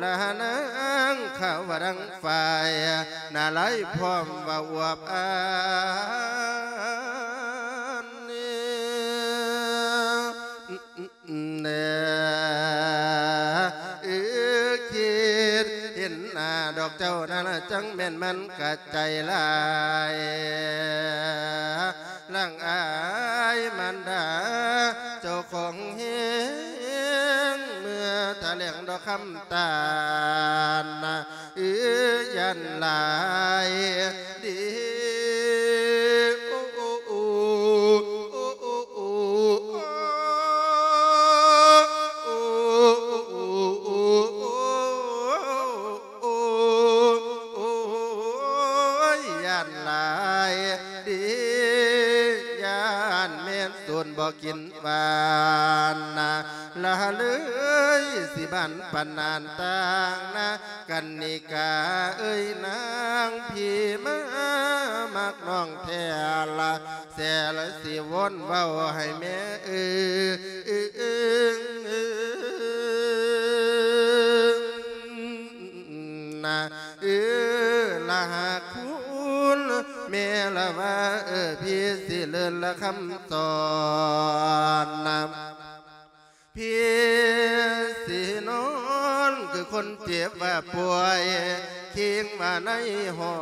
ລະນາງຂາວວ່າດັ່ງຝ້າຍ ນາລາຍພ້ອມວ່າອວບອານ ແນ່ ເອີ ຄິດເຫັນໜ້າດອກເຈົ້ານັ້ນລະ ຈັ່ງແມ່ນມັນກະໃຈຫຼາຍ ຫຼັງອາຍມານດາເຈົ້າຂອງແຮງ ເມື່ອຖະແຫຼງດອກຄຳຕານນະ ເອີ ຢ້ານຫຼາຍເດ ໂອ້ ໂອ້ ໂອ້ ໂອ້ ໂອ້ ໂອ້ ໂອ້ ໂອ້ ໂອ້ ໂອ້ຍ ຢ້ານຫຼາຍເດ ຢ້ານແມ່ນໂຈນບໍ່ກິນຫວານນະ ລະເລີຍຊິບານປານນານຕ່າງນະ ກັນນິກາເອີຍນາງ ພີ່ມາມັກນ້ອງແທ້ລະ ແສລະຊິວົນເວົ້າໃຫ້ແມ່ເອີນະ ເອີລະຫາກຄຸນແມ່ລະວ່າ ເອີ ພີ່ຊິເລີນລະຄຳສອນນະ ພີ່ຊິນອນຄືຄົນເຈັບວ່າປ່ວຍ ຄີງວ່າໃນຫອ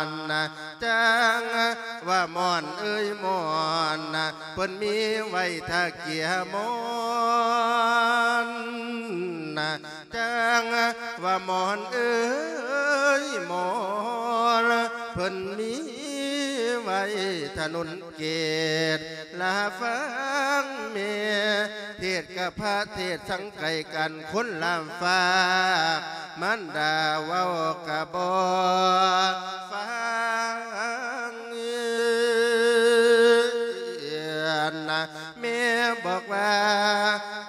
ນນະ ຈັ່ງວ່າໝອນເອີຍໝອນນະ ເພິ່ນມີໄວ້ຖ້າເກຍໝອນນະ ຈັ່ງວ່າໝອນເອີຍໝອນ ເພິ່ນມີໄວ້ຖະໜົນເກດ ລະຟັງແມ່ເທດກັບພະເທດ ສັງໄກກັນຄົນລະຟາກ ມານດາເວົ້າກະບໍ່ຟັງນະ ແມ່ບອກວ່າ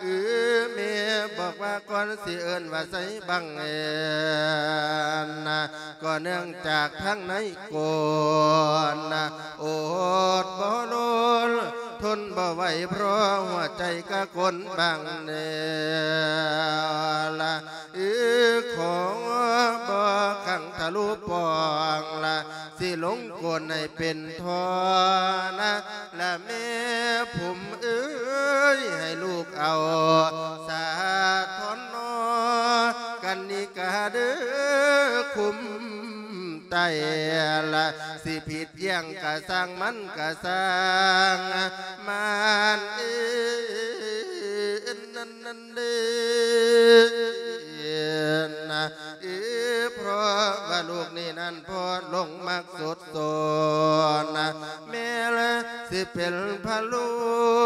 ເອີ ແມ່ບອກວ່າ ກ່ອນຊິເອີ້ນວ່າໃສ່ບັງເອີນນະ ກໍເນື່ອງຈາກທາງໃນໂກນນະ ອົດບໍ່ລົ້ນ ທົນບໍ່ໄຫວ ເພາະຫົວໃຈກະກົນບັງເນີລະ ເອີ ຂໍບໍ່ຂັງທະລຸປ່ອງລະ ຊິລົງໂກນໃຫ້ເປັນທໍ່ນະ ລະແມ່ຜົມເອີຍ ໃຫ້ລູກເອົາສາທອນນໍ ກັນນິກາເດີ ຄຸມໄຕລະ ຊິຜິດຫຍັງກະຊ່າງ ມັນກະຊ່າງ ມານເອີນນັ້ນ ນັ້ນເດ້ນະ ເອີ ເພາະວ່າລູກນີ້ນັ້ນພໍ້ຫຼົງມັກສຸດໂສນນະ ແມ່ລະຊິເປັນພະລູ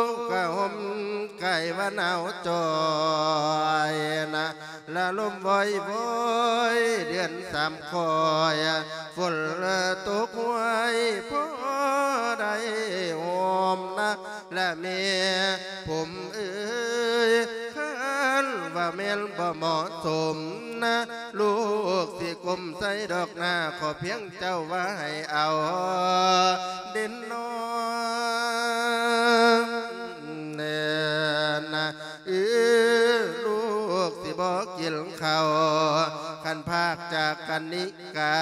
ກກະຫົ່ມໄກ່ວ່າໜາວຈ່ອຍນະ ລະລົມວອຍວອຍເດືອນສາມຄອຍ ຝົນຕົກຫ້ວຍພໍໄດ້ຫົ່ມນະ ລະແມ່ຜົມເອີຍ ຄັນວ່າ ແມ່ນບໍ່ເໝາະສົມນະ ລູກຊິກົ້ມໃສ່ດອກນາ ຂໍພຽງເຈົ້າວ່າໃຫ້ເອົາເດັ່ນນອນແນ່ນະ ເອີ ລູກຊິບໍ່ກິນເຂົ້າ ຄັນພາກຈາກກັນນີ້ ກະ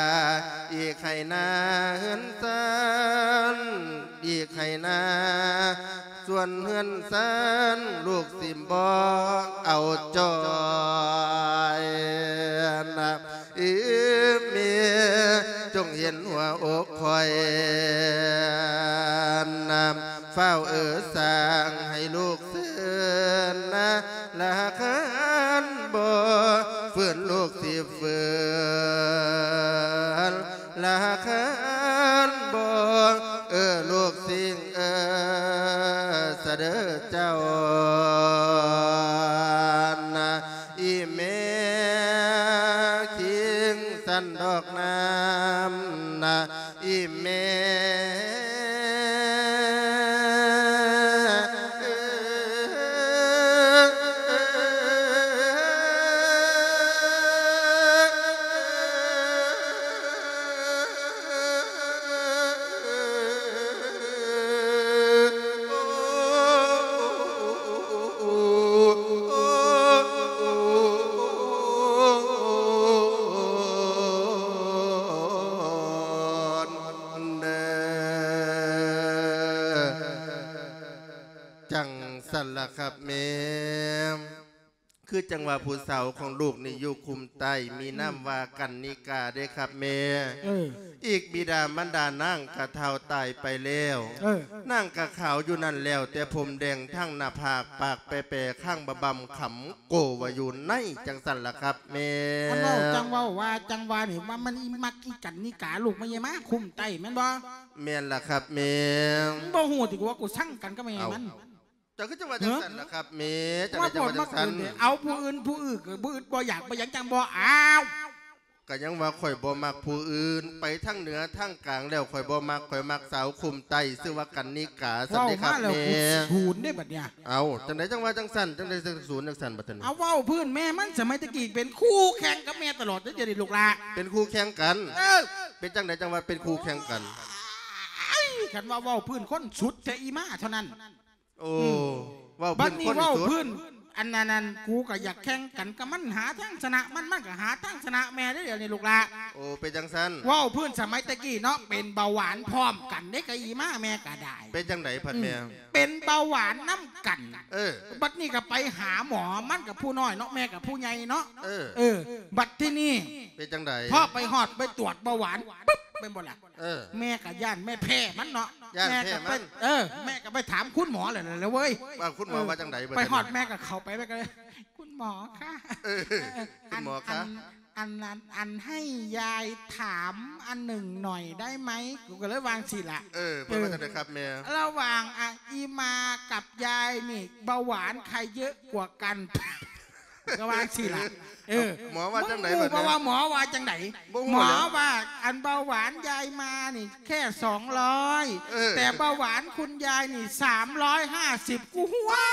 ອີກໃຫ້ນາເຮືອນຊານ ອີກໃຫ້ນາ ສ່ວນເຮືອນຊານລູກຊິບໍ່ເອົາຈ່ອຍນະ ອີແມ່ ຈົ່ງເຫັນຫົວອົກຂ້ອຍນະ ຟ້າວເອີສາງໃຫ້ລູກເຊີນນະ ລະຄັນບໍ່ຟື້ນລູກຊິ ເຝືນລະຄັນບໍ່ ເອີ ລູກຊິງເອີ ສະເດີເຈົ້ານະ ອີແມ່ຄິງສັນດອກນ້ຳນະ ອີແມ່. ຈັ່ງຊັ້ນລະຄັບແມ່ ຄືຈັ່ງວ່າຜູ້ສາວຂອງລູກນີ້ຢູ່ຄຸ້ມໃຕ້ ມີນາມວ່າກັນນິກາເດ້ຄັບແມ່. ເອີ ອີກບິດາມານດານາງກະເຖົ້າຕາຍໄປແລ້ວ ເອີ ນາງກະຂາວຢູ່ນັ້ນແລ້ວ ແຕ່ຜົມແດງທັງໜ້າຜາກ ປາກແປໆ ຄາງບະບຳ ຂຳໂກວາຢູ່ໃນ ຈັ່ງຊັ້ນລະຄັບແມ່. ອັນເວົ້າຈັ່ງເວົ້າວ່າຈັ່ງວ່ານີ້ ວ່າມັນອີມັກອີກັນນິກາ ລູກມັນຢ່າມາຄຸ້ມໃຕ້ແມ່ນບໍ່? ແມ່ນລະຄັບແມ່. ມຶງບໍ່ຮູ້ຕິວ່າກູຊັງກັນກັບແມ່ມັນ? ເຈົ້າຄືຈັ່ງວ່າຈັ່ງຊັ້ນລະຄັບແມ່? ຈັ່ງໃດຈັ່ງວ່າຈັ່ງຊັ້ນ? ເອົາຜູ້ອື່ນ ຜູ້ອື່ນກໍບໍ່ອຶດບໍ່ຢາກບໍ່ຫຍັງ ຈັ່ງບໍ່ເອົາ. ກະຍັງວ່າຂ້ອຍບໍ່ມັກຜູ້ອື່ນ ໄປທາງເໜືອທາງກາງແລ້ວ ຂ້ອຍບໍ່ມັກ ຂ້ອຍມັກສາວຄຸ້ມໃຕ້ ຊື່ວ່າກັນນິກາ ຊັ້ນເດ້ຄັບແມ່. ເວົ້າມາແລ້ວກູສູນເດ້ບັດເນີ້ຍ. ເອົ້າ ຈັ່ງໃດຈັ່ງວ່າຈັ່ງຊັ້ນ? ຈັ່ງໃດຈັ່ງສູນຈັ່ງຊັ້ນບັດນີ້? ເອົາ ເວົ້າພື້ນແມ່ມັນສະໄໝແຕ່ກີ້ເປັນຄູ່ແຂ່ງກັບແມ່ຕະຫຼອດເດ້ ດຽວນີ້ລູກຫຼ້າ ເປັນຄູ່ແຂ່ງກັນ. ເອີ ເປັນຈັ່ງໃດຈັ່ງວ່າເປັນຄູ່ແຂ່ງກັນ? ຄັນວ່າເວົ້າພື້ນຄົນສຸດແຕ່ອີໝ້າເທົ່ານັ້ນ. ໂອ້ ອືມ ເວົ້າພື້ນ ບັດນີ້ເວົ້າພື້ນ ອັນນັ້ນ ອັນນັ້ນ ກູກໍຢາກແຂ່ງກັນກັບມັນ ຫາທາງຊະນະມັນ ມັນກໍຫາທາງຊະນະແມ່ເດ້ ດຽວນີ້ລູກຫຼ້າ. ໂອ້ ເປັນຈັ່ງຊັ້ນ? ເວົ້າພື້ນສະໄໝແຕ່ກີ້ເນາະ ເປັນເບົາຫວານພ້ອມກັນເດ້ ກັບອີໝ້າແມ່ກໍໄດ້. ເປັນຈັ່ງໃດພັດແມ່? ອືມ ເປັນເບົາຫວານນຳກັນ. ເອີ ບັດນີ້ກໍໄປຫາໝໍ ມັນກໍຜູ້ນ້ອຍເນາະ ແມ່ກໍຜູ້ໃຫຍ່ເນາະ. ເອີ ເອີ ບັດທີນີ້ ເປັນຈັ່ງໃດ? ພໍໄປຮອດໄປຕວດເບົາຫວານປຶບ ແມ່ນບໍ່ລະ? ເອີ ແມ່ກໍຢ້ານແມ່ແພ້ມັນເນາະ ຢ້ານແພ້ມັນ. ເອີ ແມ່ກໍໄປຖາມຄຸນໝໍແລ້ວລະເວີຍ ວ່າຄຸນໝໍວ່າຈັ່ງໃດ? ເອີ ບັດນີ້ໄປຮອດແມ່ກໍເຂົ້າໄປ ແມ່ກໍເລີຍ ຄຸນໝໍຄະ ເອີ ເອີ ຄຸນໝໍຄະ ອັນ ອັນ ອັນ ອັນໃຫ້ຍາຍຖາມອັນໜຶ່ງໜ້ອຍໄດ້ໄໝ? ກູກໍເລີຍວ່າຈັ່ງຊີ້ລະ. ເອີ ເພິ່ນວ່າຈັ່ງໃດຄັບແມ່? ລະຫວ່າງ ອະ ອີ່ມາກັບຍາຍນີ້ ເບົາຫວານໃຜເຍອະກວ່າກັນ? ກໍວ່າຈັ່ງຊີ້ລະ. ເອີ ໝໍວ່າຈັ່ງໃດ? ບໍ່ຮູ້ວ່າໝໍວ່າຈັ່ງໃດ. ໝໍວ່າ ອັນເບົາຫວານຍາຍມານີ້ແຄ່ສອງຮ້ອຍ ເອີ ແຕ່ເບົາຫວານຄຸນຍາຍນີ້ສາມຮ້ອຍຫ້າສິບ. ກູ ໂອ້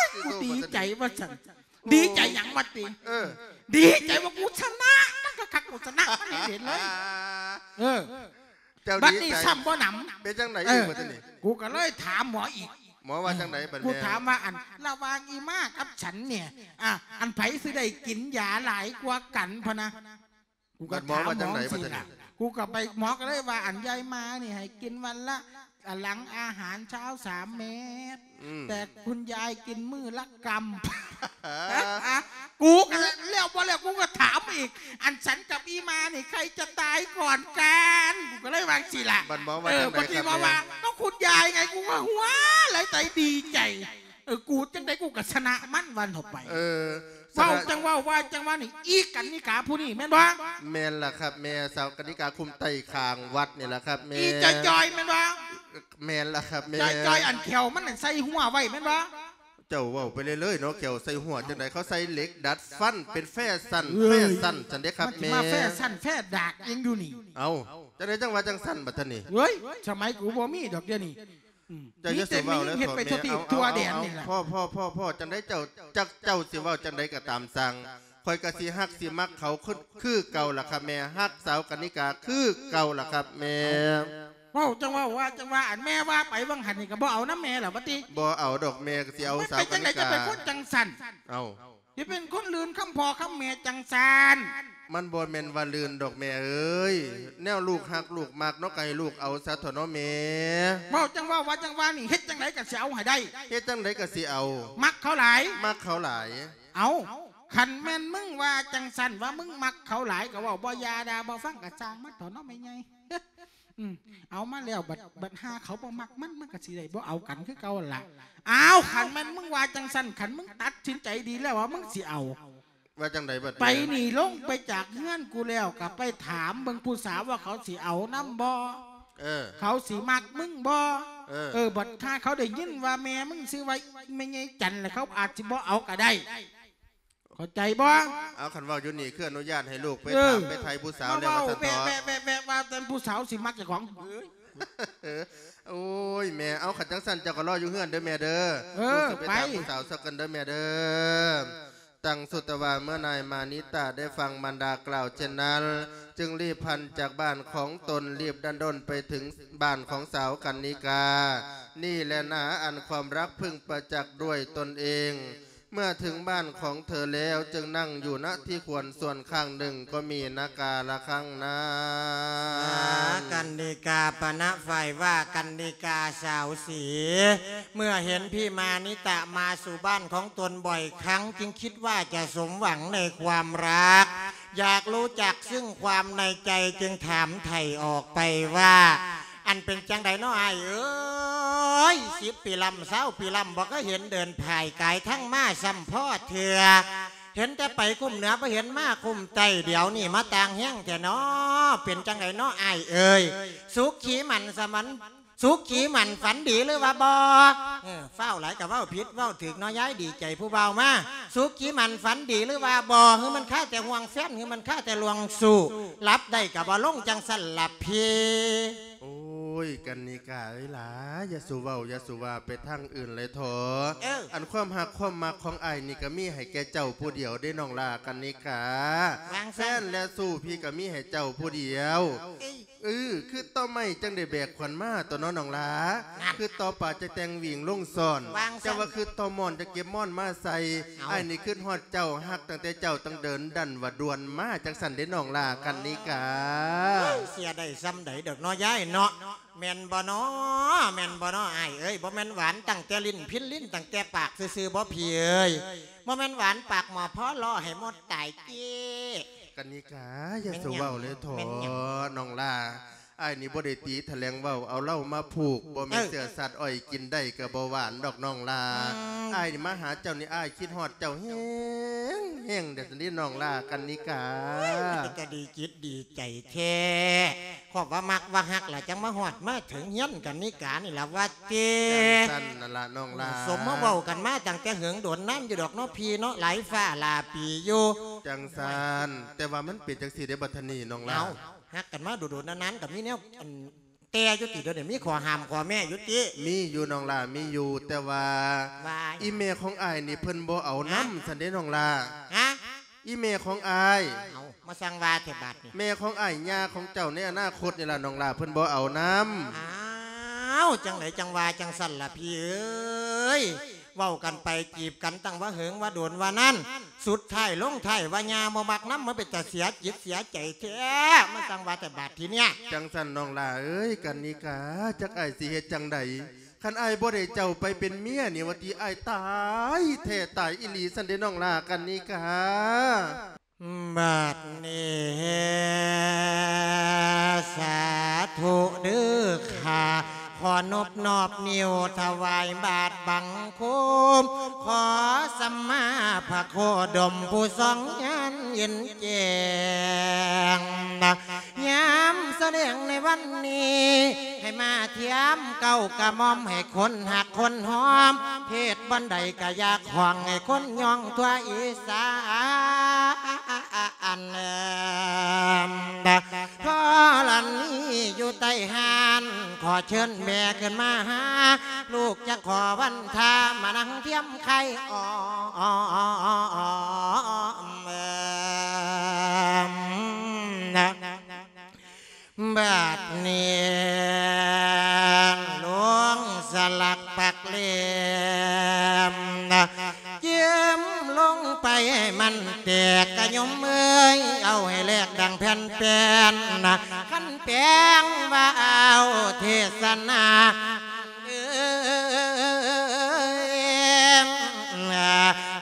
ຍ ກູດີໃຈວ່າຊັ້ນ. ໂອ້ ດີໃຈຫຍັງວະຕິ? ເອີ ດີໃຈວ່າກູຊະນະມັນຄັກໆ ກູຊະນະມັນເຫັນເລີຍ. ເອີ ເຈົ້າ ບັດນີ້ຊ້ຳບໍ່ໜຳ. ເປັນຈັ່ງໃດອີກບັດນີ້? ເອີ ກູກໍເລີຍຖາມໝໍອີກ. ໝໍວ່າຈັ່ງໃດບັດນີ້? ກູຖາມວ່າ ອັນ ລະຫວ່າງອີ່ມາກັບສັນນີ້ ອະ ອັນໃຜຊິໄດ້ກິນຢາຫຼາຍກວ່າກັນ ພະນະ. ກູກໍຖາມໝໍຈັ່ງຊີ້ລະ. ກູກໍໄປ ໝໍກໍເລີຍວ່າ ອັນຍາຍມານີ້ໃຫ້ກິນວັນລະ ອະ ຫຼັງອາຫານເຊົ້າສາມເມັດ ອືມ ແຕ່ຄຸນຍາຍກິນມື້ລະກຳ. ກູກໍແລ້ວບໍ່ແລ້ວ ກູກໍຖາມອີກ ອັນສັນກັບອີ່ມານີ້ໃຜຈະຕາຍກ່ອນກັນ? ກູກໍເລີຍວ່າຈັ່ງຊີ້ລະ. ບັດໝໍວ່າ ເອີ ຈັ່ງໃດ? ບັດນີ້ໝໍວ່າ ກໍຄຸນຍາຍໄງ. ກູກໍຫົວໄຫຼໃຈດີໃຈ. ເອີ ກູຈັ່ງໃດກູກໍຊະນະມັນວ່າເຖາະໄປ. ເອີ ເວົ້າຈັ່ງເວົ້າ ວ່າຈັ່ງວ່ານີ້ ອີກັນນິກາຜູ້ນີ້ແມ່ນບໍ່? ແມ່ນລະຄັບແມ່ ສາວກັນນິກາຄຸ້ມໃຕ້ຂ້າງວັດນີ້ລະຄັບແມ່. ອີຈ່ອຍໆແມ່ນບໍ່? ແມ່ນລະຄັບແມ່. ຈ່ອຍໆ ອັນແຂ້ວມັນໃສ່ຮົ້ວໄວ້ແມ່ນບໍ່? ເຈົ້າເວົ້າໄປເລື້ອຍໆເນາະ ແຂ້ວໃສ່ຮົ້ວຈັ່ງໃດ? ເຂົາໃສ່ເຫຼັກດັດຟັນ ເປັນແຟຊັນ ເອີຍ ແຟຊັນຊັ້ນເດ້ຄັບແມ່. ມັນຊິມາແຟຊັນແຟດາກອີ່ຫຍັງຢູ່ນີ້? ເອົ້າ ຈັ່ງໃດຈັ່ງວ່າຈັ່ງຊັ້ນບັດນີ້? ເອີຍ ສະໄໝກູບໍ່ມີດອກດຽວນີ້. ອືມ ເຈົ້າຢ່າສູ່ເວົ້າແລ້ວ ມີແຕ່ແມ່ຍິງເຮັດໄປທົ່ວທີບທົ່ວແດນນີ້ລະ ພໍ ພໍ ພໍ ພໍ ຈັ່ງໃດເຈົ້າ ຈັກເຈົ້າຊິເວົ້າຈັ່ງໃດກໍຕາມຊ່າງ ຂ້ອຍກໍຊິຮັກຊິມັກເຂົາຄື ຄືເກົ່າລະຄັບແມ່ ຮັກສາວກັນນິກາຄືເກົ່າລະຄັບແມ່. ເວົ້າຈັ່ງເວົ້າ ວ່າຈັ່ງວ່າ ອັນແມ່ວ່າໄປຫວ່າງຫັ້ນນີ້ກໍບໍ່ເອົານຳແມ່ລະວ່າຕິ? ບໍ່ເອົາດອກແມ່ ກໍຊິເອົາສາວກັນນິກາ. ມັນເປັນຈັ່ງໃດຈັ່ງເປັນຄົນຈັ່ງຊັ້ນ? ເອົ້າ ຊິເປັນຄົນລື່ນຄຳພໍ່ຄຳແມ່ຈັ່ງຊັ້ນ? ມັນບໍ່ແມ່ນວ່າລື່ນດອກແມ່ເອີຍ ແນວລູກຮັກລູກມັກເນາະ ກໍໃຫ້ລູກເອົາຊະເຖາະເນາະແມ່. ເວົ້າຈັ່ງເວົ້າ ວ່າຈັ່ງວ່ານີ້ ເຮັດຈັ່ງໃດກໍຊິເອົາໃຫ້ໄດ້. ເຮັດຈັ່ງໃດກໍຊິເອົາ. ມັກເຂົາຫຼາຍ. ມັກເຂົາຫຼາຍ. ເອົ້າ ຄັນແມ່ນມຶງວ່າຈັ່ງຊັ້ນ ວ່າມຶງມັກເຂົາຫຼາຍ ກໍເວົ້າບໍ່ຢ່າດ່າບໍ່ຟັງ ກໍຊ່າງມັນເຖາະເນາະແມ່ໃຫຍ່. ອືມ ເອົາມາແລ້ວ ບັດ ບັດຫາເຂົາບໍ່ມັກມັນ ມັນກໍຊິໄດ້ບໍ່ເອົາກັນຄືເກົ່າຫັ້ນລະ. ອ້າວ ຄັນແມ່ນມຶງວ່າຈັ່ງຊັ້ນ ຄັນມຶງຕັດສິນໃຈດີແລ້ວວ່າມຶງຊິເອົາ ວ່າຈັ່ງໃດບັດນີ້? ໄປນີ້ ລົງໄປຈາກເຮືອນກູແລ້ວ ກໍໄປຖາມເບິ່ງຜູ້ສາວວ່າເຂົາຊິເອົານຳບໍ່? ເອີ ເຂົາຊິມັກມຶງບໍ່? ເອີ ເອີ ບັດຖ້າເຂົາໄດ້ຍິນວ່າແມ່ມຶງຊື່ວ່າແມ່ໃຫຍ່ຈັນ ແລ້ວເຂົາອາດຊິບໍ່ເອົາກໍໄດ້. ເຂົ້າໃຈບໍ່? ເອົາ ຄັນເວົ້າຢູ່ນີ້ ຄືອະນຸຍາດໃຫ້ລູກໄປ ເອີ ຖາມໄປໄຖ່ຜູ້ສາວແລ້ວວ່າຊັ້ນເຖາະ. ແວະ ແວະ ແວະ ວ່າແຕ່ຜູ້ສາວຊິມັກເຈົ້າຂອງ. ໂອ້ຍແມ່ ເອົາ ຄັນຈັ່ງຊັ້ນເຈົ້າກໍລໍຢູ່ເຮືອນເດີແມ່ເດີ. ເອີ ລູກຊິໄປ ໄປຖາມຜູ້ສາວຊະກ່ອນເດີແມ່ເດີ. ຕັ້ງສຸດແຕ່ວ່າເມື່ອນາຍມານິຕະໄດ້ຟັງມານດາກ່າວເຊັ່ນນັ້ນ ຈຶ່ງລີບພັນຈາກບ້ານຂອງຕົນ ລີບດັນດ້ນໄປເຖິງບ້ານຂອງສາວກັນນິກາ. ນີ້ແຫຼະນາ ອັນຄວາມຮັກເພິ່ງປະຈັກດ້ວຍຕົນເອງ. ເມື່ອເຖິງບ້ານຂອງເທີແລ້ວ ຈຶ່ງນັ່ງຢູ່ ນະ ທີ່ຄວນສ່ວນຂ້າງໜຶ່ງ ກໍມີນາກາລະຄັງນານ. ກັນນິກາ ປະນະ ຝ່າຍວ່າກັນນິກາສາວສີ ເມື່ອເຫັນພີ່ມານິຕະມາສູ່ບ້ານຂອງຕົນບ່ອຍຄັ້ງ ຈຶ່ງຄິດວ່າຈະສົມຫວັງໃນຄວາມຮັກ ຢາກຮູ້ຈັກຊຶ່ງຄວາມໃນໃຈ ຈຶ່ງຖາມໄຖ່ອອກໄປວ່າ ອັນເປັນຈັ່ງໃດເນາະອ້າຍເອີຍ ສິບປີລ້ຳ ຊາວປີລ້ຳ ບໍ່ເຄີຍເຫັນເດີນພາຍກາຍທັງມາຊ້ຳພໍ້ເທື່ອ ເຫັນແຕ່ໄປຄຸ້ມເໜືອ ບໍ່ເຫັນມາຄຸ້ມໃຕ້ ດຽວນີ້ມາຕ່າງແຮງແທ້ເນາະ ເປັນຈັ່ງໃດເນາະອ້າຍເອີຍ ສຸກຂີໝັນສະໝັນ ສຸກຂີໝັນຝັນດີຫຼືວ່າບໍ່? ເອີ ຟ້າວຫຼາຍກໍເວົ້າຜິດເວົ້າຖືກເນາະ ຍາຍດີໃຈຜູ້ບ່າວມາ ສຸກຂີໝັນຝັນດີຫຼືວ່າບໍ່? ຫຼືມັນຄາແຕ່ຫ່ວງແຟນ ຫຼືມັນຄາແຕ່ລວງຊູ້ ຫຼັບໄດ້ກໍບໍ່ລົງ ຈັ່ງຊັ້ນລະພີ່. ໂອ້ຍ ກັນນິກາເອີຍຫຼາ ຢ່າສູ່ເວົ້າ ຢ່າສູ່ວ່າໄປທາງອື່ນເລີຍເຖາະ. ເອີ ອັນຄວາມຮັກຄວາມມັກຂອງອ້າຍນີ້ ກໍມີໃຫ້ແກ່ເຈົ້າຜູ້ດຽວເດ້ນ້ອງຫຼ້າກັນນິກາ ວ່າງຊັ້ນ ແຟນແລະຊູ້ພີ່ກໍມີໃຫ້ເຈົ້າຜູ້ດຽວ. ເອີ ຄຶດຕໍ່ໄມ້ຈັ່ງໄດ້ແບກຂວັນມາຕົວະເນາະນ້ອງຫຼ້າ ຄຶດຕໍ່ປາຈະແຕ່ງຫວີງລົງຊ້ອນ ວ່າງຊັ້ນ ເຈົ້າວ່າຄຶດຕໍ່ໝອນຈະເກັບໝອນມາໃສ່. ເອົ້າ ອ້າຍນີ້ຄຶດຮອດເຈົ້າ ຮັກຕັ້ງແຕ່ເຈົ້າ ຕັ້ງເດີນດັນວ່າດ່ວນມາ ຈັ່ງຊັ້ນເດ້ນ້ອງຫຼ້າກັນນິກາ. ເອີຍ ເສຍໄດ້ສ່ຳໃດດອກເນາະຍາຍເນາະ ແມ່ນບໍ່ເນາະ ແມ່ນບໍ່ເນາະອ້າຍເອີຍ? ບໍ່ແມ່ນຫວານຕັ້ງແຕ່ຫຼິ້ນພິນຫຼິ້ນ ຕັ້ງແຕ່ປາກຊື່ໆ ບໍ່ພີ່ເອີຍ? ບໍ່ແມ່ນຫວານປາກໝໍ້ພໍລໍໃຫ້ໝົດຕາຍເຈ້. ກັນນິກາ ຢ່າສູ່ເວົ້າເລີຍເຖາະ ນ້ອງຫຼ້າ ອ້າຍນີ້ບໍ່ໄດ້ຕີຖະແຫຼງເວົ້າ ເອົາເຫຼົ້າມາຜູກ ບໍ່ແມ່ນເຊື້ອສັດອ້ອຍກິນໄດ້ກໍບໍ່ຫວານດອກນ້ອງຫຼ້າ. ອ້າຍນີ້ມາຫາເຈົ້ານີ້ ອ້າຍຄິດຮອດເຈົ້າແຮງໆ ເດ້ຊັ້ນເດນ້ອງຫຼ້າກັນນິກາ. ເປັນຕາດີຈິດດີໃຈແທ້ ຄອບວ່າມັກວ່າຮັກລະ ຈັ່ງມາຮອດມາເຖິງເຮືອນກັນນິການີ້ລະວ່າຕິ. ຈັ່ງຊັ້ນນັ້ນລະນ້ອງຫຼ້າ ສົມມາເວົ້າກັນມາຕັ້ງແຕ່ເຫິງດົນນານຢູ່ດອກເນາະພີ່ເນາະ ຫຼາຍຟ້າຫຼາຍປີຢູ່. ຈັ່ງຊັ້ນ ແຕ່ວ່າມັນເປັນຈັ່ງຊີ້ເດ້ບັດທະນີ້ນ້ອງຫຼ້າ ເອົ້າ ຮັກກັນມາດົນໆ ນານໆ ກໍມີແນວ ອັນ ແຕ່ຢູ່ຕິ ດຽວນີ້ມີຂໍ້ຫ້າມຂໍ້ແມ້ຢູ່ຕິ? ມີຢູ່ນ້ອງຫຼ້າ ມີຢູ່ ແຕ່ວ່າ ວ່າ ອີ່ແມ່ຂອງອ້າຍນີ້ເພິ່ນບໍ່ເອົານຳ ຮະ? ຊັ້ນເດ້ນ້ອງຫຼ້າ. ຮະ? ອີ່ແມ່ຂອງອ້າຍ. ເອົ້າ ມາສັ່ງວ່າແທ້ບາດນີ້. ແມ່ຂອງອ້າຍ ຍ່າຂອງເຈົ້າໃນອະນາຄົດນີ້ລະນ້ອງຫຼ້າ ເພິ່ນບໍ່ເອົານຳ. ອ້າວ ຈັ່ງໃດຈັ່ງວ່າຈັ່ງຊັ້ນລະພີ່ເອີຍ? ເວົ້າກັນໄປຈີບກັນຕັ້ງວ່າເຫິງວ່າດົນວ່ານານ ສຸດທ້າຍລົງທ້າຍວ່າຍ່າບໍ່ມັກນຳ ມັນເປັນຕາເສຍຈິດເສຍໃຈແທ້ ມາສັ່ງວ່າແຕ່ບາດທີເນີ້ຍ. ຈັ່ງຊັ້ນນ້ອງຫຼ້າເອີຍ ກັນນິກາ ຈັກອ້າຍຊິເຮັດຈັ່ງໃດ? ຄັນອ້າຍບໍ່ໄດ້ເຈົ້າໄປເປັນເມຍນີ້ວ່າຕິ ອ້າຍຕາຍແທ້ຕາຍອີ່ຫຼີຊັ້ນເດ້ນ້ອງຫຼ້າ ກັນນິກາ. ບາດນີ້ ສາທຸເດີຂ້າ ຂໍນົບນອບນິ້ວຖວາຍບາດບັງຄົມ ຂໍສຳມາພະໂຄດົມຜູ້ຊອງຍານເຫັນແຈ້ງ ຍາມສະແດງໃນວັນນີ້ ໃຫ້ມາທຽມເກົ້າກະໝ່ອມ ໃຫ້ຄົນຮັກຄົນຫອມ ເທດບ່ອນໃດກະຢາກຮ້ອງ ໃຫ້ຄົນຍ້ອງທົ່ວອີສານ. ທໍລະນີຢູ່ໃຕ້ຮ້ານ ຂໍ ເຊີນແມ່ຂຶ້ນມາຫາ ລູກຈະຂໍວັນທາມານັ່ງທຽມໄຂ່ ອອມ ບາດນີ້ ລົງສະຫຼັກປັກເຫຼັ້ມ ຈື່ມລົງໄປໃຫ້ມັນແຕກ ກະໂຍມເອີຍ ເອົາໃຫ້ແຫຼກດັ່ງແຜ່ນແປ້ນ ຄັນແປງວ່າເອົາເທດສະໜາ ເອີ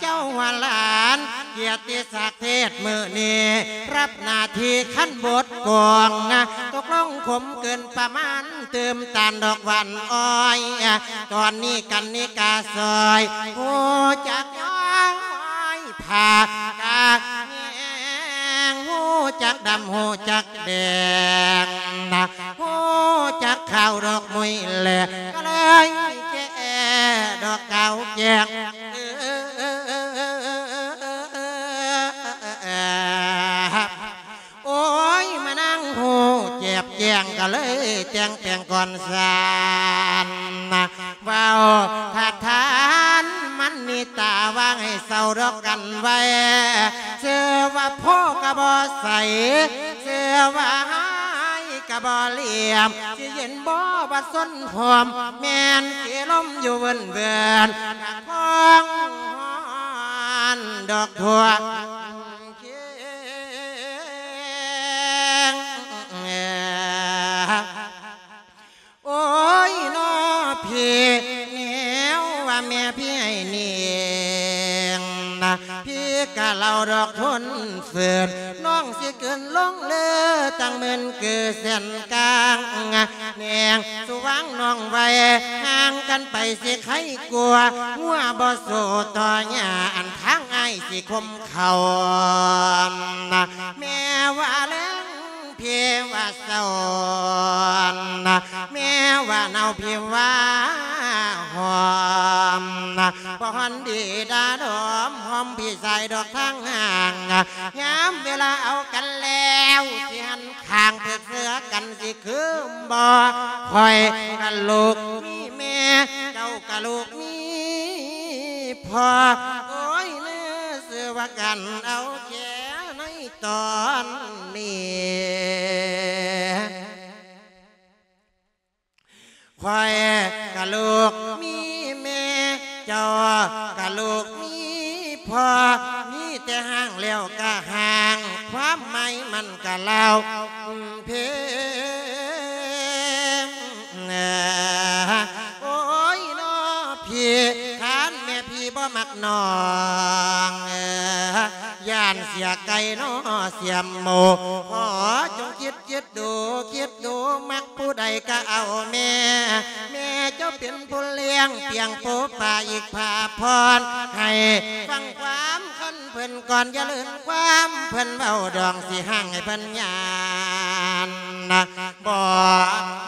ເຈົ້າວ່າຫຼານກຽດຕິສັກເທດມື້ນີ້ ຮັບໜ້າທີ່ຄັນບົດກອງ ຕົກລົງຂົມເກີນປະມານ ຕື່ມຕານດອກຫວານອ້ອຍ ຕອນນີ້ກັນນິກາຊອຍ ຮູ້ຈັກຍ້ອຍຜ້າກະແຍງ ຮູ້ຈັກດຳ ຮູ້ຈັກແດງ ຮູ້ຈັກຂາວດອກມຸ້ຍແລ ກະເລີຍແກ່ດອກຂາວແຈ້ງ ໂອ້ຍ ມານັ່ງຮູ້ແຈບແຈ້ງ ກະເລີຍແຕ່ງແປງກ່ອນສານ ເວົ້າຖາກຖານມັນນິຕາ ວ່າໃຫ້ເຊົາດອກກັນໄວ້ ເຊື່ອວ່າໂພກະບໍ່ໃສ ເຊື່ອວ່າຮ້າຍກະບໍ່ຫຼຽມ ຊິເຢັນບໍ່ບັດສົນຫອມ ແມ່ນຊິລົມຢູ່ເວີນໆ ກະຄອງຮ້ອນດອກທົ່ວ ໂອ້ຍ ນໍ ພີ່ ແນວວ່າແມ່ພີ່ໃຫ້ນິງ ພີ່ກະເລົ່າດອກທົນ ເຝືນ ນ້ອງຊິເກີນລົງເລີ ຕັ້ງໝື່ນຄືແສນກາງ ແນງ ສຸວາງນ້ອງໄວ້ ຫ່າງກັນໄປຊິໄຄກວ່າ ງົວບໍ່ສູ້ຕໍ່ຫຍ້າ ອັນທາງອ້າຍຊິຄົມເຂົ້າ ແມ່ວ່າແລງ ພີ່ວ່າເຊົ້າ ແມ່ວ່າໜາວ ພີ່ວ່າຮ້ອນ ບໍ່ຮ້ອນດີດາດອມ ຫອມພີ່ຊາຍດອກທາງຫ່າງ ຍາມເວລາເອົາກັນແລ້ວ ຊິຫັນຂ້າງເພິກເສືອກັນ ຊິຄືບໍ່ຂ້ອຍກະລູກມີແມ່ ເຈົ້າກະລູກມີພໍ່ ໂອ້ຍ ເນີ ຊື່ວ່າກັນເອົາແຄ່ໃນຕອນນີ້ ຂ້ອຍກະລູກມີແມ່ ເຈົ້າກະລູກມີພໍ່ ມີແຕ່ຮ່າງແລ້ວກະຮ່າງ ຄວາມໝາຍມັນກະລາວເພງ ໂອ້ຍ ນໍ ພີ່ ຄັນແມ່ ພີ່ບໍ່ມັກນ້ອງ ຢ້ານເສຍໄກ່ ນໍ ເສຍໝູ ຂໍຈົ່ງຄິດ ຄິດດູ ຄິດດູ ມັກຜູ້ໃດກະເອົາແມ່ ແມ່ເຈົ້າເປັນຜູ້ລ້ຽງ ປຽງປູປາອີກພາພອນ ໃຫ້ຟັງຄວາມຄັນເພິ່ນກ່ອນ ຢ່າເລີນຄວາມເພິ່ນເວົ້າ ດອງຊິຫ້າງໃຫ້ເພິ່ນຍານ ບໍ່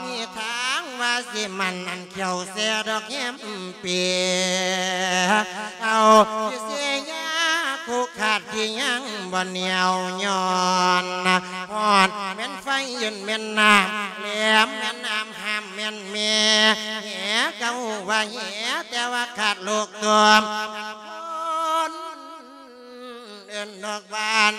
ມີທາງວ່າຊິໝັ້ນ ອັນແຂ້ວແຊດອກແຮມ ເປ ເອົາທີ່ເສຍຢາ ຄຸກຄາດທີ່ຍັງບໍ່ໜຽວຍ້ອນ ຮ້ອນແມ່ນໄຟ ເຢັນແມ່ນນ້ຳ ແຫຼມແມ່ນນ້ຳ ຫ້າມແມ່ນແມ່ ແຫກະຮູ້ວ່າແຫ ແຕ່ວ່າຂາດລູກຕົວມ ເອີ້ນດອກຫວານ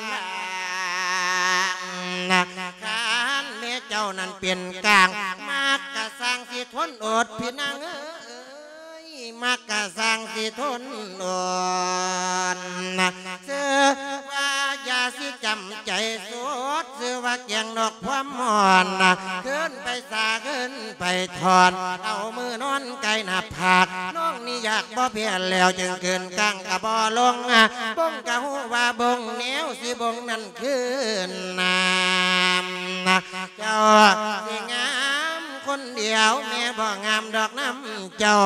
ຄັນແມ່ເຈົ້ານັ້ນເປັນກາງ ມັກກະຊ່າງຊິທົນອົດ ພີ່ນາງເອີຍ ມັກກະຊ່າງຊິທົນອົດ ຊື່ວ່າຢ່າຊິຈຳໃຈສົດ ຊື່ວ່າແກງດອກຄວາມຮ້ອນ ຄືນໄປສາ ຄືນໄປຖອນ ເອົາມືນອນໃກ້ໜ້າຜາກ ນ້ອງນີ້ຢາກບໍ່ແພ້ແລ້ວ ຈຶ່ງຄືນກາງກະບໍ່ລົງ ບົງກະຮູ້ວ່າບົງ ແນວຊິບົງນັ້ນຄືນນ້ຳ ເຈົ້າຊິງາມຄົນດຽວ ແມ່ບໍ່ງາມດອກນຳເຈົ້າ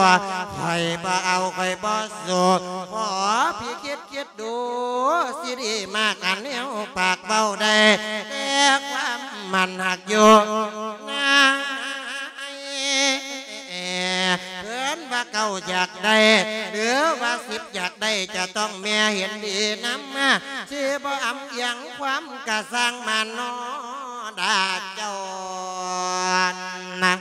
ຂ້ອຍບໍ່ເອົາ ຂ້ອຍບໍ່ສູ້ ຂໍພີ່ຄິດຄິດດູ ຊິດີມາກອັນແນວປາກເວົ້າໄດ້ ແຕ່ຄວາມໝັ້ນຮັກຢູ່ນາຍ ເພິ່ນວ່າເກົ້າຢາກໄດ້ ຫຼືວ່າສິບຢາກໄດ້ ຈະຕ້ອງແມ່ເຫັນດີນຳ ຊິບໍ່ອຳອຽງຄວາມກະຊ່າງມານໍ ດາເຈົ້ານະ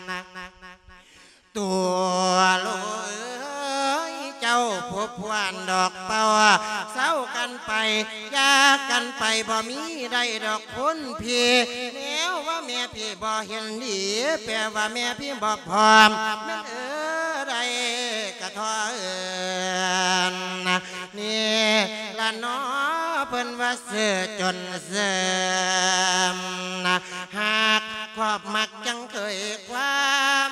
ພີ່ ແນວວ່າແມ່ພີ່ບໍ່ເຫັນດີ ແປວ່າແມ່ພີ່ບໍ່ພ້ອມ ແມ່ນເອີໃດກະຂໍເອີ້ນ ນີ້ລະເນາະ ເພິ່ນວ່າເສື້ອຈົນເສີມ ຫາກຄອບມັກຈັ່ງເຄີຍຄວາມ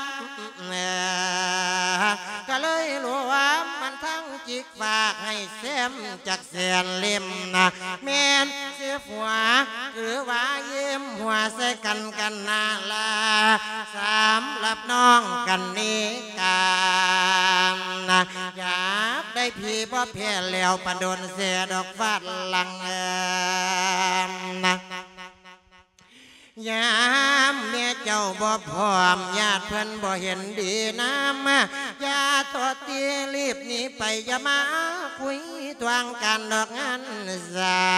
ກະເລີຍລວມມັນທັງຈິກ ຝາກໃຫ້ແຊມຈັກແສນເຫຼັ້ມນະ ແມ່ນຊິຜົວ ຫຼືວ່າຍິ້ມຫົວໃສ່ກັນກັນນາລາ ສຳລັບນ້ອງກັນນິການະ ຢາກໄດ້ພີ່ບໍ່ແພ້ແລ້ວ ປານໂດນແຊດອກຟາດຫຼັງເອີນນະ. ຍາມແມ່ເຈົ້າບໍ່ພ້ອມ ຍາດເພິ່ນບໍ່ເຫັນດີນຳ ຢ່າໂທດຕີ ລີບໜີໄປ ຢ່າມາຄຸຍທວງການດອກງານສ້າ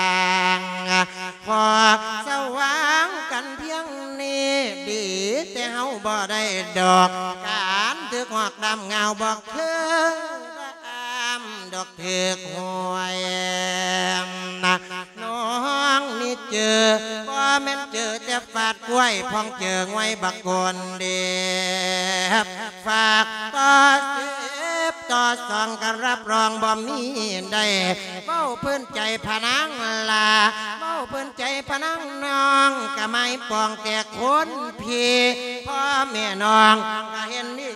ງ ຂໍສະຫວ່າງກັນພຽງນີ້ ດີແຕ່ເຮົາບໍ່ໄດ້ດອກ ການຖືກຫອກດຳງາວ ບໍ່ເຄີຍດຳດອກຖືກຫວຍ ນ້ອງນີ້ເຈີ ບໍ່ແມ່ນເຈີແຕ່ຟາດກ້ວຍ ພ້ອງເຈີງວຍບັກໂກນເດບ ຝາກຕໍ່ສິບຕໍ່ສອງ ກະຮັບຮອງບໍ່ມີໄດ້ ເວົ້າພື້ນໃຈພະນາງລາ ເວົ້າພື້ນໃຈພະນາງນ້ອງ ກະໝາຍປອງແຕ່ຄົນພີ່ ພໍ່ແມ່ນ້ອງກະເຫັນດີ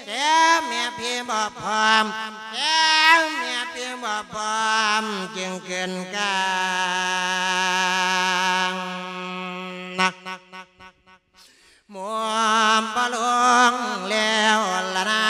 ແຕ່ແມ່ພີ່ບໍ່ພ້ອມ ແຕ່ແມ່ພີ່ບໍ່ພ້ອມ ຈຶ່ງເກີນກາງ ໝໍບໍ່ລົງແລ້ວລະນາ.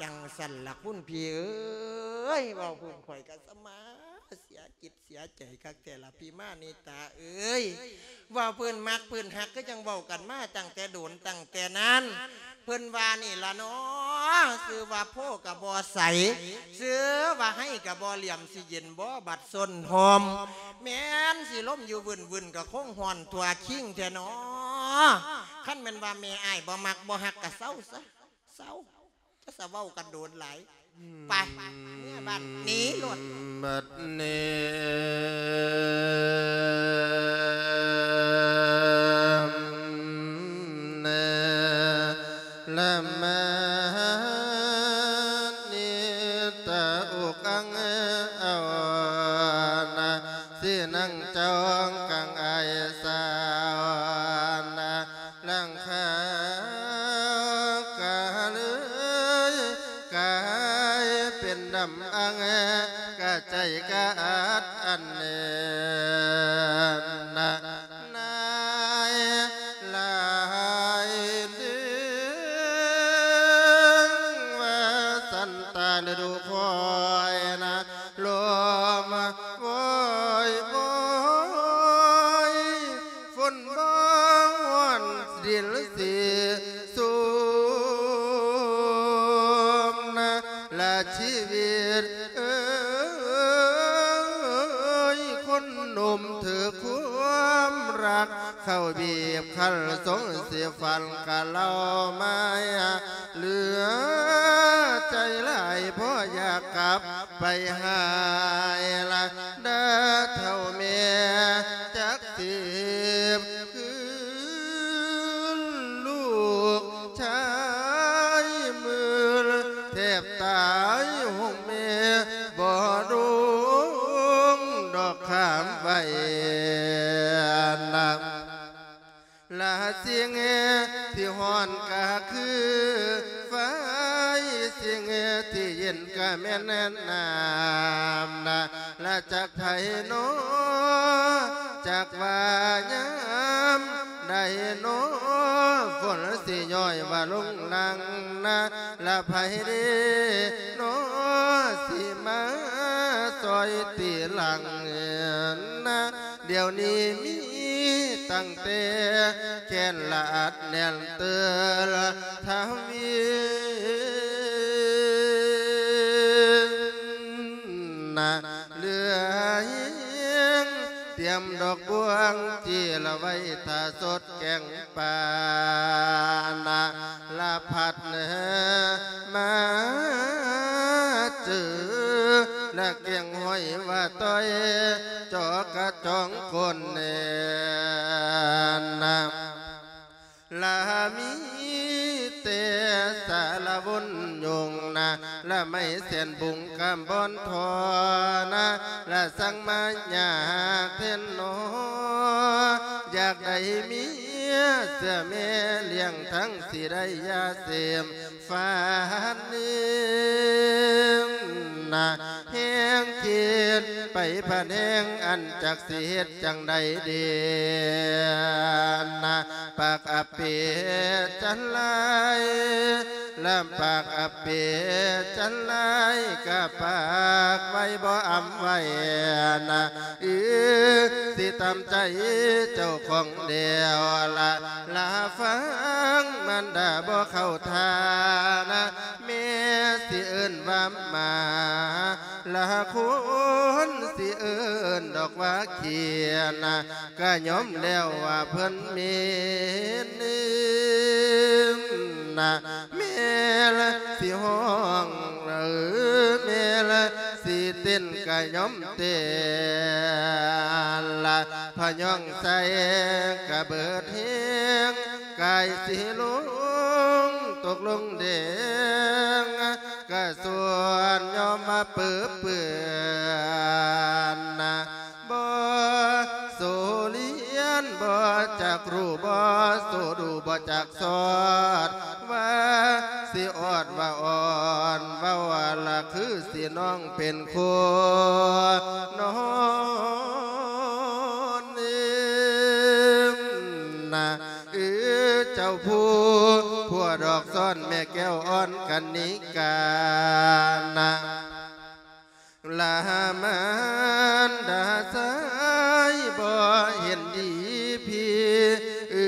ຈັ່ງຊັ້ນລະຄຸນພີ່ເອີຍ ເວົ້າພື້ນຂ້ອຍກະສະມາເສຍຈິດເສຍໃຈຄັກແທ້ລະພີ່ມານິຕາເອີຍ ເວົ້າພື້ນມັກພື້ນຮັກ ຄືຈັ່ງເວົ້າກັນມາຕັ້ງແຕ່ດົນຕັ້ງແຕ່ນານ ເພິ່ນວ່ານີ້ລະເນາະ ຊື່ວ່າໂພກະບໍ່ໃສ ຊື່ວ່າໄຮ່ກະບໍ່ຫຼຽມ ຊິເຢັນບໍ່ບັດສົ້ນຮົ່ມ ແມ່ນຊິລົມຢູ່ວືນໆ ກະຄົງຮ້ອນທົ່ວຄິງແທ້ເນາະ ຄັນແມ່ນວ່າແມ່ອ້າຍບໍ່ມັກບໍ່ຮັກກະເຊົາຊະ ເຊົາ ຈະສະເວົ້າກັນໂດນຫຼາຍ ໄປ ເມືອບັດນີ້ໂລດ ບັດນີ້ແລະມານີ້ຕາອົກອັງເອົານະ ຊິນັ່ງຈ້ອງກັງອາຍສາວນະ ຫຼັງຄາກະເລີຍກາຍເປັນດຳອັງ ກະໃຈກະອັດອັນເນີນນະ ນາຍຫຼາຍເດີ ວ່າສັນຕາລະດູຄອຍນະ ລົມວອຍວອຍ ຝົນບໍ່ຮ້ອນດິນສີຊຸ່ມນະ ລະຊີວິດເອີຍ ຄົນໜຸ່ມຖືກຄວາມລັກ ເຂົ້າບີບຄັນສົງຊິຝັນກະເລົ່າມາຍາ ເຫຼືອໃຈຫຼາຍ ບໍ່ຢາກກັບໄປຫາຍລະ ດາເຖົ້າແມ່ຈັກສິບຄືນ ລູກຊາຍມືນແທບຕາຍ ຫົງແມ່ບໍ່ລົງດອກ ຂ້າມໄວ້ນະ ລະສິ່ງທີ່ຮ້ອນກະຄືໄຟ ສິ່ງທີ່ເຢັນກະແມ່ນນ້ຳນະ ລະຈັກໃຜນໍ ຈັກວ່າຍາມ ໃດເນາະ ຝົນຊິຍ້ອຍວ່າລົງຫຼັງນະ ລະໃຜເດເນາະ ຊິມາຊ່ອຍຕີຫຼັງນະ ດຽວນີ້ມີຕັ້ງແຕ່ແຂນລະອັດແໜ້ນເຕີລະທະວີນະ ເຫຼືອແຮງຕຽມດອກບວງ ຈີລະໄວ້ຖ້າສົດແກງປານະ ລະພັດມາເຈີ ລະແກງຫອຍວ່າຕ້ອຍ ຈອກກະຈອງຄົນແນ່ນະ ລະມີແຕ່ສາລະວົນຍົງນະ ລະໄມ້ແສນບຸງກຳບອນທອນະ ລະສັ່ງມາຍາກແທ້ນອ ຢາກໄດ້ເມຍເສືອແມ່ລ້ຽງ ທັງຊິໄດ້ຢາເສມ ຝັນນະ ແຮງຄິດໄປພັດແຮງ ອັນຈັກຊິເຮັດຈັ່ງໃດເດນະ ປາກອາເປຈັນລາຍ ລະປາກອາເປຈັນລາຍ ກະປາກໄວ້ບໍ່ອຳໄວ້ນະ ອື ຊິຕາມໃຈເຈົ້າຂອງແລ້ວລະ ລະຟັງມານດາບໍ່ເຂົ້າທ່ານະ ແມ່ຊິເອີ້ນວ່າໝາ ລະຄົນຊິເອີ້ນດອກວ່າຂີ້ນະ ກະຍອມແລ້ວວ່າເພິ່ນເໝັນນະ ແມ່ລະຊິຮ້ອງ ເອີ ແມ່ລະຊິເຕັ້ນກະຍອມເຕັ້ນລະ ພະຍອງໃສ່ກະເບີດແຮງ ກາຍຊິລົງຕົກລົງແດງ ກະສ່ວນຍອມມາເປິເປື້ອນນະ ບໍ່ໂສລຽນ ບໍ່ຈັກຮູ້ ບໍ່ໂສດູ ບໍ່ຈັກສອດ ວ່າຊິອອດວ່າອ່ອນ ເວົ້າວ່າລະຄືຊິນ້ອງເປັນຄູ່ນອນນະ ເອີ ເຈົ້າຜູ້ຜົວດອກຊ້ອນ ແມ່ແກ້ວອ່ອນກະນິການະ ລະມານດາຊາຍບໍ່ເຫັນດີພີ ເອີ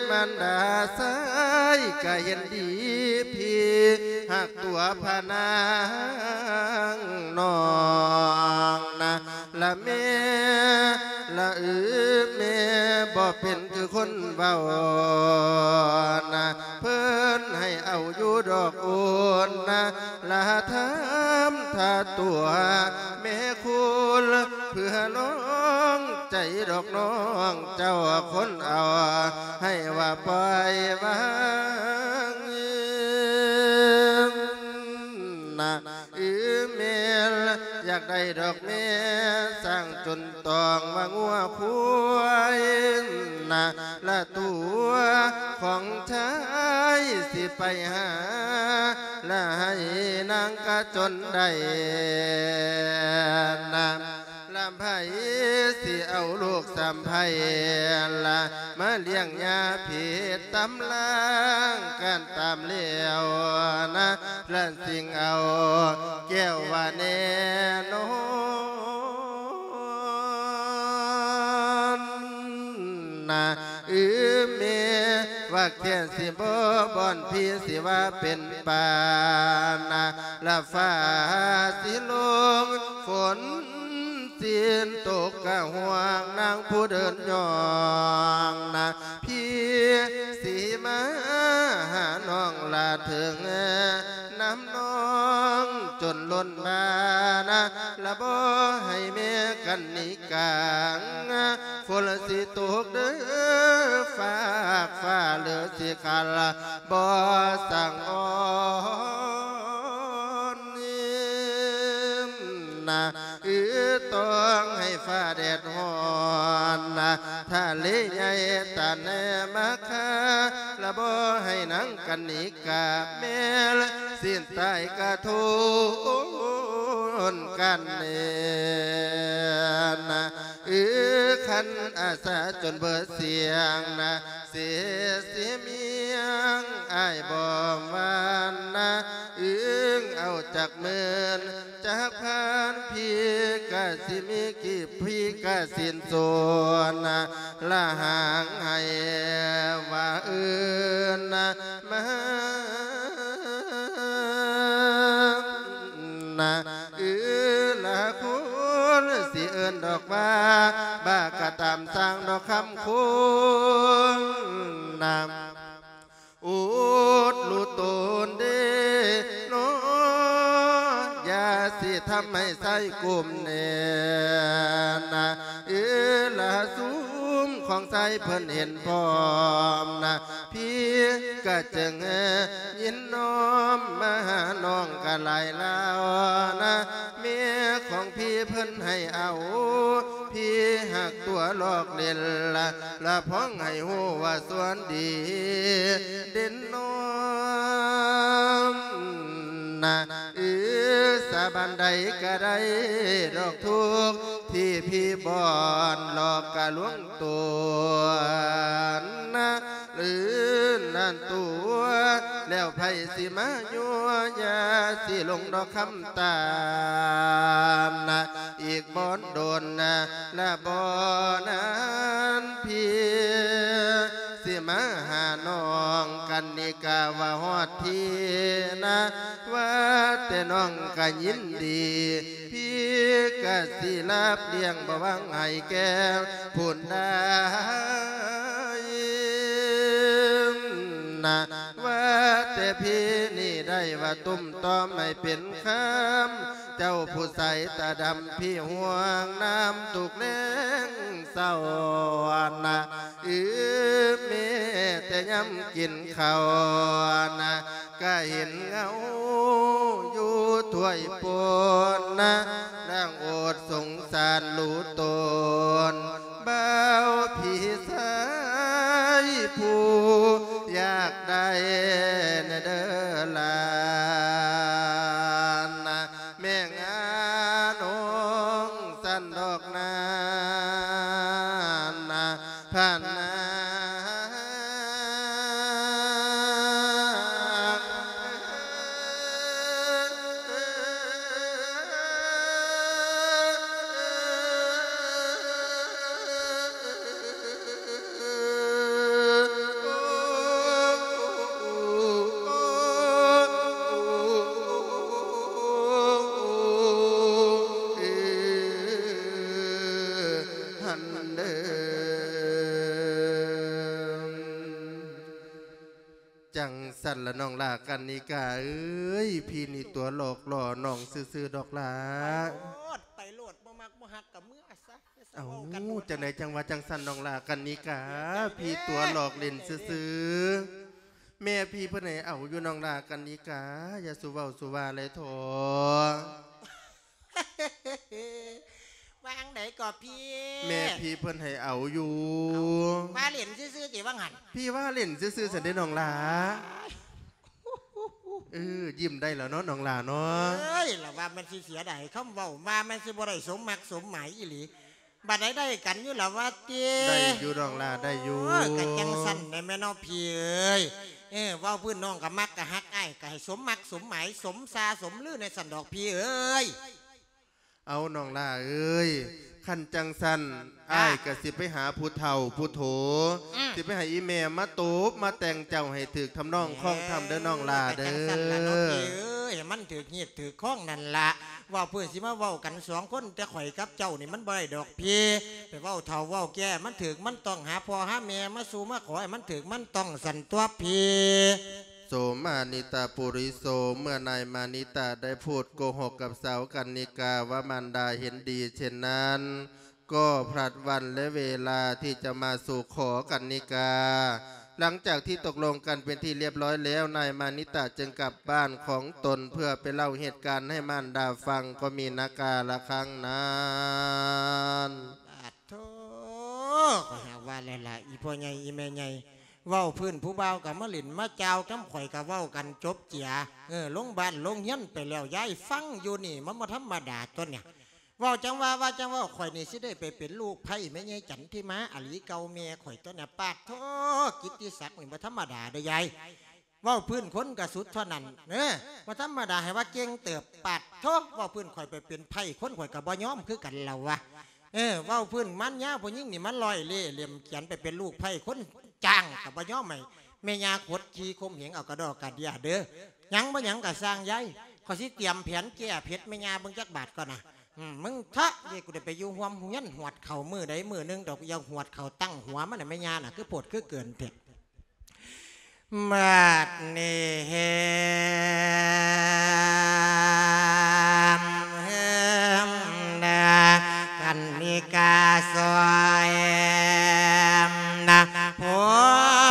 ມານດາຊາຍກະເຫັນດີພີ ຮັກຕົວພະນາງນ້ອງນະ ລະແມ່ ລະເອີ ແມ່ບໍ່ເປັນຄືຄົນເວົ້ານະ ເພິ່ນໃຫ້ເອົາຢູ່ດອກໂອນນະ ລະທຳທ່າຕົວແມ່ຄູນ ເພື່ອລອງໃຈດອກນ້ອງເຈົ້າຄົນເອົາ ໃຫ້ວ່າປ່ອຍວາງນະ ອື ແມ່ນ ຢາກໄດ້ດອກແມ່ ສ້າງຈົນຕ້ອງວ່າງົວຄວາຍນະ ລະຕົວຂອງຊາຍຊິໄປຫາ ລະໃຫ້ນາງກະຈົນໄດ້ນະ ລະໃຜຊິເອົາລູກສາມໃຜລະ ມາລ້ຽງຍາຜິດຕຳລາງກັນຕາມແລ້ວນະ ລະຈຶ່ງເອົາແກ້ວວ່າແນ່ນອນນະ ອື ແມ່ວ່າແຄ່ຊິບໍ່ບ່ອນພີຊິວ່າເປັນປານະ ລະຟ້າຊິລົງຝົນ ຝົນຊິຕົກກະຫ່ວງນາງຜູ້ເດີນຍ່ອງນະ ພີຊິມາຫານ້ອງລະເຖິງນຳນ້ອງຈົນລົ້ນບານະ ລະບໍ່ໃຫ້ແມ່ກັນນິກາງ ຝົນຊິຕົກເດີຟາກຟ້າເຫຼືອຊິຄັນບໍ່ສັງອອນ ນະ ອື ຕ້ອງໃຫ້ຟ້າແດດຮ້ອນນະ ທະເລໃຫຍ່ຕາແນມາຄາ ລະບໍ່ໃຫ້ນາງກັນນິກາແມ່ນ ສິ້ນຕາຍກະທົນກັນເນນະ. ອື ຄັນອາສາຈົນເບີດສຽງນະ ເສຍຊິມຽງອ້າຍບໍ່ຫວັ່ນນະ ອຶງເອົາຈັກໝື່ນຈັກພັນ ພີ່ກະຊິມີກີບ ພີ່ກະສິ້ນສວນນະ ລະຫາງໃຫ້ວ່າອື່ນນະ ມານະ ອື ລະຄົນຊິເອີ້ນດອກວ່າ ບ້າກະຕາມຊ່າງດອກຄຳຄົນນະ ອຸດລຸຕົນເດເນາະ ຢ່າຊິທຳໃຫ້ຊາຍກຸ້ມແໜ້ນນະ ເອີ ລະຊຸມຂອງຊາຍເພິ່ນເຫັນພ້ອມນະ ພີ່ກະຈຶ່ງຍິນນ້ອມມາຫານ້ອງກະຫຼາຍລາວນະ ແມ່ຂອງພີ່ເພິ່ນໃຫ້ເອົາ ພີ່ຮັກຕົວຫຼອກເຫຼັ່ນລະ ລະພ້ອງໃຫ້ຮູ້ວ່າສ່ວນດີເດັ່ນນ້ອມນະ ອື ສາບານໃດກະໄດ້ດອກທຸກ ທີ່ພີ່ບ່ອນຫຼອກກະລວງຕົວນະ ຫຼືນັ້ນຕົວະ ແລ້ວໃຜຊິມາຍົວະ ຢ່າຊິຫຼົງດອກຄຳຕານນະ ອີກບໍ່ດົນນະ ລະບໍ່ນານ ພີ່ຊິມາຫານ້ອງກັນນິກາວ່າຮອດທີ່ນະ ວ່າແຕ່ນ້ອງກະຍິນດີ ພີ່ກະຊິຮັບລ້ຽງບໍ່ຫວັງໃຫ້ແກ່ຜູ້ໃດນະ ວ່າແຕ່ພີ່ນີ້ໄດ້ວ່າຕຸ້ມຕ້ອມໃຫ້ເປັນຄຳ ເຈົ້າຜູ້ສາຍຕາດຳ ພີ່ຫ່ວງນຳທຸກແລງເຊົ້ານະ ອື ແມ້ແຕ່ຍາມກິນເຂົ້ານະ ກະເຫັນເງົາຢູ່ຖ້ວຍປົນນະ ນາງອົດສົງສານຮູ້ຕົນ ບ່າວພີ່ຊາຍຜູ້ຢາກໄດ້ແດ່ເດີຫຼານນະ ແມ່ງານ້ອງຊັ້ນດອກນານນະ ຜ່ານນາງ ຫັ້ນເດີ ຈັ່ງຊັ້ນລະນ້ອງຫຼ້າກັນນິກາເອີຍ ພີ່ນີ້ຕົວະຫຼອກຫຼໍ່ນ້ອງຊື່ໆດອກຫຼ້າ ໄປໂລດ ໄປໂລດ ບໍ່ມັກບໍ່ຮັກກະເມືອຊະ ເອົ້າ ເວົ້າກັນໂລດ ຈັ່ງໃດຈັ່ງວ່າຈັ່ງຊັ້ນນ້ອງຫຼ້າກັນນິກາ ເດີ ພີ່ຕົວະຫຼອກຫຼິ້ນຊື່ໆ ແມ່ພີ່ເພິ່ນໃຫ້ເອົາຢູ່ນ້ອງຫຼ້າກັນນິກາ ຢ່າສູ່ເວົ້າສູ່ວ່າເລີຍເຖາະ. ວ່າຈັ່ງໃດກໍພີ່? ແມ່ພີ່ເພິ່ນໃຫ້ເອົາຢູ່. ເອົ້າ ວ່າຫຼິ້ນຊື່ໆຕິວ່າຫັ້ນ? ພີ່ວ່າຫຼິ້ນຊື່ໆຊັ້ນເດ້ນ້ອງຫຼ້າ. ເອີ ຍິ້ມໄດ້ແລ້ວເນາະນ້ອງຫຼ້າເນາະ. ເອີຍ ລະວ່າມັນຊິເສຍດາຍຄຳເວົ້າ ວ່າມັນຊິບໍ່ໄດ້ສົມມັກສົມໝາຍອີ່ຫຼີ. ບັດໃດໄດ້ກັນຢູ່ລະວ່າຕິ? ໄດ້ຢູ່ນ້ອງຫຼ້າ ໄດ້ຢູ່. ໂອ້ຍ ກະຈັ່ງຊັ້ນແຫຼະແມ່ເນາະພີ່ເອີຍ. ເອີ ເວົ້າພື້ນນ້ອງກະມັກກະຮັກ ອ້າຍກະໃຫ້ສົມມັກສົມໝາຍ ສົມຊາສົມລືໃນຊັ້ນດອກພີ່ເອີຍ. ເອົາ ນ້ອງຫຼ້າເອີຍ ຄັນຈັ່ງຊັ້ນ ເອີ ອ້າຍກະຊິໄປຫາຜູ້ເຖົ້າຜູ້ໂຖ ອືມ ຊິໄປໃຫ້ອີ່ແມ່ມາຕົບມາແຕ່ງເຈົ້າໃຫ້ຖືກທຳນອງຄອງທຳເດີນ້ອງຫຼ້າເດີ. ເອີ ກະຈັ່ງຊັ້ນລະເນາະພີ່ເອີຍ ໃຫ້ມັນຖືກຮີດຖືກຄອງນັ້ນລະ. ເວົ້າເພື່ອຊິມາເວົ້າກັນສອງຄົນ ແຕ່ຂ້ອຍກັບເຈົ້ານີ້ມັນບໍ່ໄດ້ດອກພີ່. ໄປເວົ້າເຖົ້າເວົ້າແກ່ມັນຖືກມັນຕ້ອງ ຫາພໍ່ຫາແມ່ມາສູ່ມາຂໍໃຫ້ມັນຖືກມັນຕ້ອງຊັ້ນຕົວະພີ່. ໂສມານິຕະປຸລິໂສ ເມື່ອນາຍມານິຕະໄດ້ພູດໂກຫົກກັບສາວກັນນິກາວ່າມານດາເຫັນດີເຊັ່ນນັ້ນ ກໍພລັດວັນແລະເວລາທີ່ຈະມາສູ່ຂໍກັນນິກາ. ຫຼັງຈາກທີ່ຕົກລົງກັນເປັນທີ່ລຽບຮ້ອຍແລ້ວ ນາຍມານິຕະຈຶ່ງກັບບ້ານຂອງຕົນເພື່ອໄປເລົ່າເຫດການໃຫ້ມານດາຟັງ ກໍມີນາກາລະຄັ້ງນັ້ນ. ປາດໂທ ຂ້ອຍຫາກວ່າແລ້ວລະ ອີ່ພໍ່ໃຫຍ່ ອີ່ແມ່ໃຫຍ່ ເວົ້າພື້ນຜູ້ບ່າວກະມາຫຼິ້ນມາຈ່າວນຳ ຂ້ອຍກະເວົ້າກັນຈົບເຈຍ. ເອີ ລົງບ້ານລົງເຮືອນໄປແລ້ວ ຍາຍຟັງຢູ່ນີ້ ມັນບໍ່ທຳມະດາຕົວະເນຍ. ເວົ້າຈັ່ງວ່າ ວ່າຈັ່ງເວົ້າ ຂ້ອຍນີ້ຊິໄດ້ໄປເປັນລູກໃພ້ແມ່ໃຫຍ່ຈັນທິມາອາລີເກົ່າແມ່ຂ້ອຍຕົວະນະ. ປາດໂທ້ ກິດຕິສັກນີ້ບໍ່ທຳມະດາເດີ້ຍາຍ. ເວົ້າພື້ນຄົນກະສຸດເທົ່ານັ້ນເນາະ ບໍ່ທຳມະດາ ໃຫ້ວ່າເກັ່ງເຕີບ. ປາດໂທ້ ເວົ້າພື້ນຂ້ອຍໄປເປັນໃພ້ຄົນ ຂ້ອຍກໍບໍ່ຍອມຄືກັນລະວະ. ເອີ ເວົ້າພື້ນມານຍາຜູ້ຍິງນີ້ ມັນລອຍເລ່ເຫຼັ້ມຂຽນໄປເປັນລູກໃພ້ຄົນຈ້າງ ກໍບໍ່ຍອມໃຫ້ແມ່ຍ່າຂົດຂີ່ຂົ່ມເຫງເອົາກະດໍກະເດຍເດີ້. ຫຍັງບໍ່ຫຍັງກໍຊ່າງຍາຍ ຂ້ອຍຊິຕຽມແຜນແກ້ເຜັດແມ່ຍ່າເບິ່ງຈັກບາດກ່ອນນະ. ອືມ ມຶງເຖາະ ເດ ກູໄດ້ໄປຢູ່ຮ່ວມຮຽນ ຫວດເຂົ້າມື້ໃດມື້ໜຶ່ງດອກ ຢ່າຫວດເຂົ້າຕັ້ງຫົວມັນນະ ແມ່ຍ່ານະ ຄືໂພດຄືເກີນແທ້. ບາດນີ້ ເຮີມ ເຮີມ ນາ ກັນນິກາຊ່ອຍ ນາ ຜົ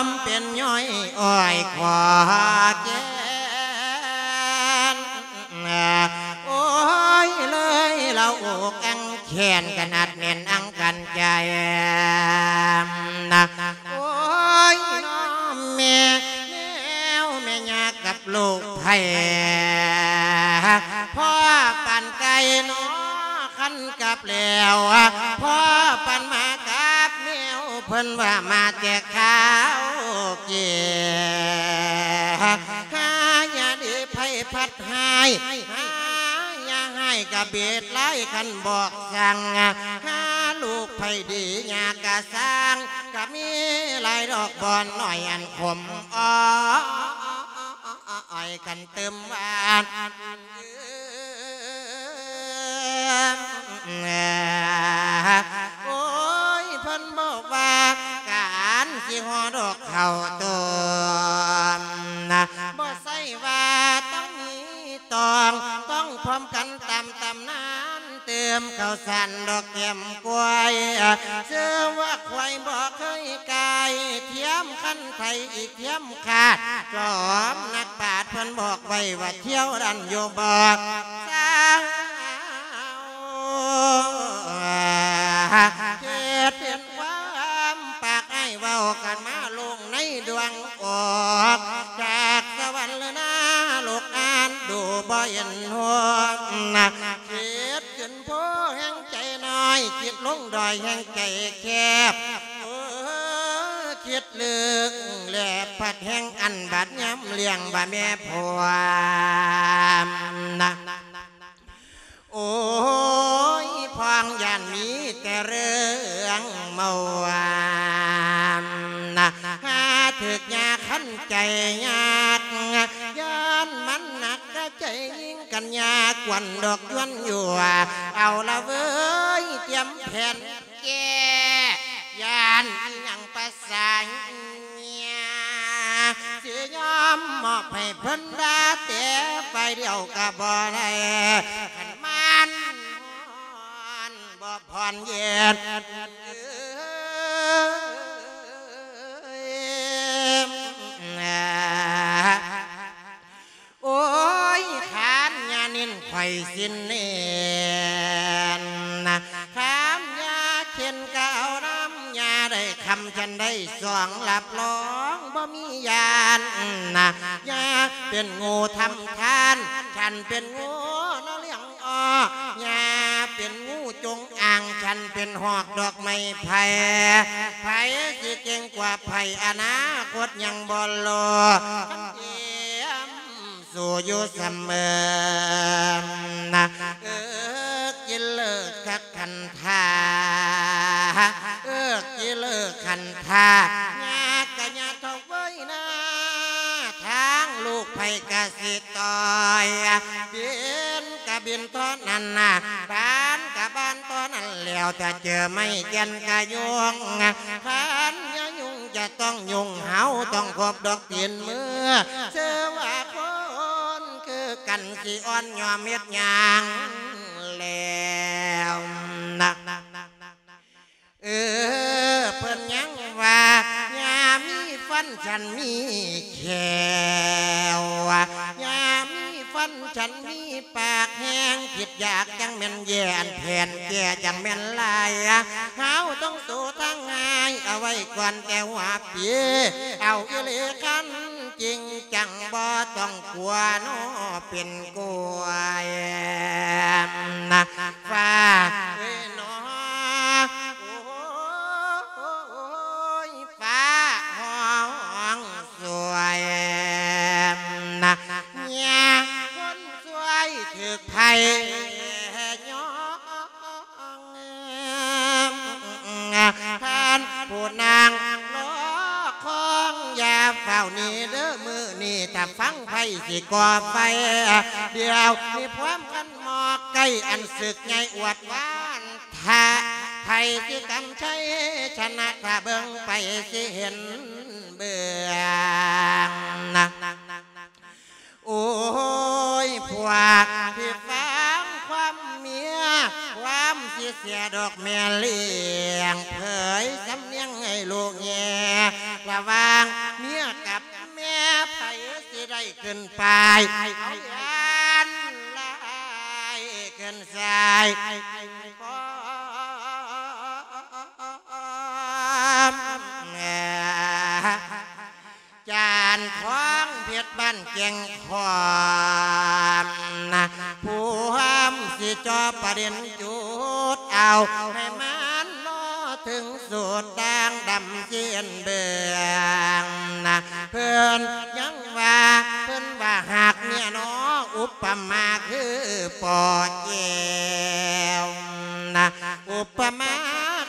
ມເປັນຍ້ອຍອ້ອຍຂໍແກ່ນ ໂອ້ຍ ເລີຍລະອົກອັງແຂນ ກະໜັກແໜ້ນອັງກັນໃຈນະ. ໂອ້ຍ ນ້ອງແມ່ ແນວແມ່ຍາກັບລູກໃພ້ ພໍປານໄກ່ໜໍ ຄັນກັບແລ້ວ ພໍປານໝາກັບແມວ ເພິ່ນວ່າມາແຕ່ຄາວເກຍ ຫາຢ່າດີໃຜພັດຮ້າຍ ຫາຢ່າຮ້າຍກະເບດຫຼາຍ ຄັນບອກສັ່ງ ຫາລູກໃຜດີຍາກະຊ່າງ ກະມີຫຼາຍດອກບ່ອນໜ້ອຍອັນຂົມອ້ອຍ ຄັນຕື່ມຫວານ. ໂອ້ຍ ເພິ່ນບອກວ່າການຊິຫໍ່ດອກເຂົ້າຕົ້ມ ບໍ່ໃຊ່ວ່າຕ້ອງມີຕອງ ຕ້ອງພ້ອມກັນຕາມຕຳນານ ເຕີມເຂົ້າສານດອກແກ້ມຄວາຍ ເຊື່ອວ່າຄວາຍບໍ່ເຄີຍກາຍ ທຽມຄັນໄທອີກທຽມ ຂາດຈອມນັກປາດ ເພິ່ນບອກໄວ້ວ່າ ທ່ຽວດັນຢູ່ບໍ່ສາວ ເຮັດເປັນຄວາມປາກອ້າຍ ເວົ້າກັນມາລົງໃນດວງອອກ ຈາກສະຫວັນເລີນາ ລູກອ່ານດູບໍ່ເຫັນຫົວ ຄິດຂຶ້ນພູແຮ່ງໃຈນ້ອຍ ຄິດລົງດອຍແຮ່ງໃຈແຄບ ເອີ ຄິດ ເລີກແລະພັດແຮງອັນບາດຍາມລ້ຽງວ່າແມ່ພວມນະ ໂອ້ຍ ພວງຢ້ານມີແຕ່ເລື່ອງເມົາ ນະ ຫາຖືກຍາຄັນໃຈຍາກ ຢ້ານມັນໜັກກະໃຈຍິງກັນຍາກ ກວນດອກຍວນຢູ່ ເອົາລະເວີຍ ຕຽມແຜນ ແກ້ ຢ້ານອີ່ຫຍັງປະສາເຫຍ ຊິຍອມມອບໃຫ້ເພິ່ນດາແຕ່ຝ່າຍດຽວກະບໍ່ໄດ້ ຄັນມັນຮ້ອນບໍ່ຜ່ອນເຢັນ ໂອ້ຍ ຂານຍານິນຂ້ອຍສິ້ນເໜັ້ນ ຂານຍາເຂັນກະເອົານຳ ຍາໄດ້ຄຳ ຄັນໄດ້ສອງ ຮັບຮອງບໍ່ມີຢ້ານນະ ຍາເປັນງູທຳທານ ຄັນເປັນງູນະລ້ຽງ ອ້ອ ຍາເປັນງູຈົງອ່າງ ຄັນເປັນຮອກດອກໄມ້ໄຜ່ ໃຜຊິເກັ່ງກວ່າໃຜ ອະນາຄົດຍັງບໍ່ຮູ້ ຄັນຕຽມສູ້ຢູ່ສະເໝີນະ ເອິກກິເລີກຄັກຄັນທາ ເອິກກິເລີກຄັນທາ ຍາກະຍາເທົ່າເວີຍນາ ທາງລູກໃຜກະຊິ ຕ້ອຍ ບິນກະບິນເທົ່ານັ້ນນະ ບານກະບານເທົ່ານັ້ນແລ້ວ ຖ້າເຈີໄມ້ແກ່ນກະໂຍງ ຄັນຢ່າຫຍຸ້ງຈະຕ້ອງຫຍຸ້ງ ເຮົາຕ້ອງຄົບດອກຕີນມື ເຊື່ອວ່າຄົນຄືກັນ ຊິອ່ອນຍອມເຮັດຫຍັງແລ້ວນະ. ເອີ ເພິ່ນຍັງວ່າ ຢ່າມີຟັນ ສັນມີແຂ້ວ ຢ່າມີຟັນ ສັນມີປາກແຮງ ຄິດຢາກຈັ່ງແມ່ນແຍ່ ອັນແຜນແກ້ຈັ່ງແມ່ນຫຼາຍ ເຮົາຕ້ອງສູ້ທາງງ່າຍ ເອົາໄວ້ກ່ອນແຕ່ຫົວປີ ເອົາອີ່ຫຼີຄັນ ຈິງຈັງ ບໍ່ຕ້ອງກົວເນາະ ເປັນກ້ວຍນະ ຟ້າເອີຍເນາະ ໂອ້ຍ ຟ້າຮ້ອງຊ່ວຍນະ ເມຍຄົນຊ່ວຍຖືກໄພຍ້ອງ ທ່ານຜູ້ນາງລໍຄອງ ຢ່າຟ້າວໜີເດີ ມື້ນີ້ຖ້າຟັງໃຜຊິກໍ່ໄຟ ດຽວມີພວາມຄັນໝໍກໄກ່ ອັນສຶກໃຫຍ່ອວດຫວານ ຖ້າໃຜຊິກຳໄຊຊະນະ ຖ້າເບິ່ງໄປຊິເຫັນເບື້ອງນະ. ໂອ້ຍ ພວກທີ່ຟັງຄວາມເມຍ ຄວາມຊິເສຍດອກແມ່ລ້ຽງ ເຜີຍສຳນຽງໃຫ້ລູກແຍ່ ລະຫວ່າງເມຍກັບແມ່ ໃຜຊິໄດ້ຂຶ້ນປ້າຍ ເອົາຢ້ານລາຍຂຶ້ນຊາຍ ຈານທອງເພັດບ້ານແກ່ງຄອນນະ ພວມຊິເຈາະປະເດັນຈຸດເອົາ ໃຫ້ມັນເນາະເຖິງສຸດ ດ່າງດຳເຊັ່ນເບືອງນະ ເພິ່ນຍັງວ່າ ເພິ່ນວ່າຫາກເມຍເນາະ ອຸປະມາຄືປໍແກ້ວນະ ອຸປະມາ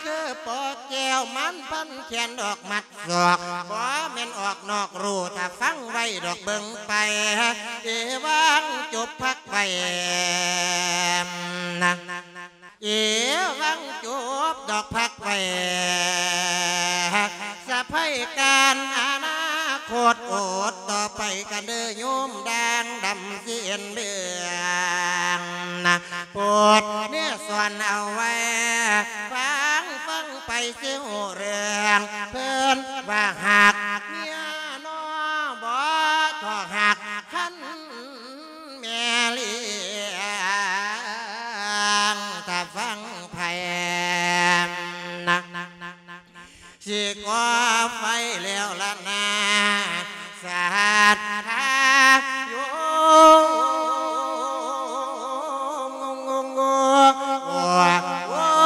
ຄືປໍແກ້ວ ມັນພັນແຂນດອກມັດ ສອກ ບໍ່ແມ່ນອອກນອກຮູ ຖ້າຟັງໄວ້ດອກເບິ່ງໄປ ເອວັງຈົບພັກໄວ້ນະ ເອວັງຈົບດອກພັກໄວ້ ສະໄພການອະນາຄົດ ໂອດຕໍ່ໄປກັນເດີໂຍມ ດ່າງດຳເຊັ່ນເບືອງນະ ໂປດເນສອນເອົາໄວ້ ຟັງ ຟັງໄປຊິຮູ້ເລື່ອງ ເພິ່ນວ່າຫາກເມຍເນາະ ບໍ່ທໍ່ຫາກຄັນແມ່ລ້ຽງ ຖ້າຟັງໃຜນະ ຊິກໍ່ໄຟແລ້ວລະນາ ສັດທາໂຍມ ໂອ້ຍ ໂອ້ຍ ໂອ້ຍ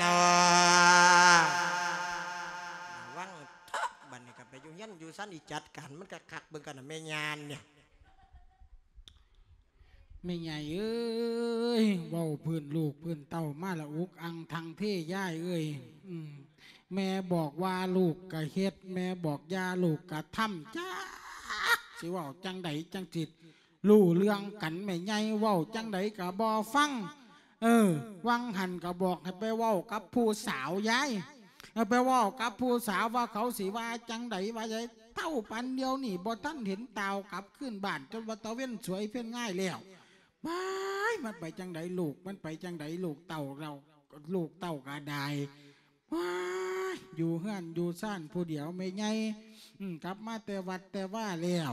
ເນາະ ລະວັງເຖາະ ບັດນີ້ກໍໄປຢູ່ເຮືອນຢູ່ຊານ ອີ່ຈັດການມັນຄັກໆ ເບິ່ງກັນນະ ແມ່ຍານນີ້. ແມ່ໃຫຍ່ເອີຍ ເວົ້າພື້ນລູກພື້ນເຕົ້າມາລະອຸກອັ່ງທັງເທຍາຍເອີຍ. ອືມ ແມ່ບອກວ່າລູກກະເຮັດ ແມ່ບອກຢ່າລູກກະທຳ ຈັກຊິເວົ້າຈັ່ງໃດຈັ່ງຊິ ຮູ້ເລື່ອງກັນ ແມ່ໃຫຍ່ເວົ້າຈັ່ງໃດກະບໍ່ຟັງ. ເອີ ຫວ່າງຫັ້ນກະບອກໃຫ້ໄປເວົ້າກັບຜູ້ສາວຍາຍ ເອີ ໄປເວົ້າກັບຜູ້ສາວວ່າເຂົາຊິວ່າຈັ່ງໃດວ່າໃດ ເທົ່າປານດຽວນີ້ບໍ່ທັນເຫັນຕ່າວກັບຄືນບ້ານ ຈົນວ່າຕາເວັນສວຍເພັນງາຍແລ້ວ. ວ້າຍ ມັນໄປຈັ່ງໃດລູກ ມັນໄປຈັ່ງໃດລູກເຕົ້າເຮົາ ລູກເຕົ້າກະໄດ້ ວ້າຍ ຢູ່ເຮືອນຢູ່ຊານຜູ້ດຽວແມ່ໃຫຍ່ ອືມ ກັບມາແຕ່ວັດແຕ່ວາແລ້ວ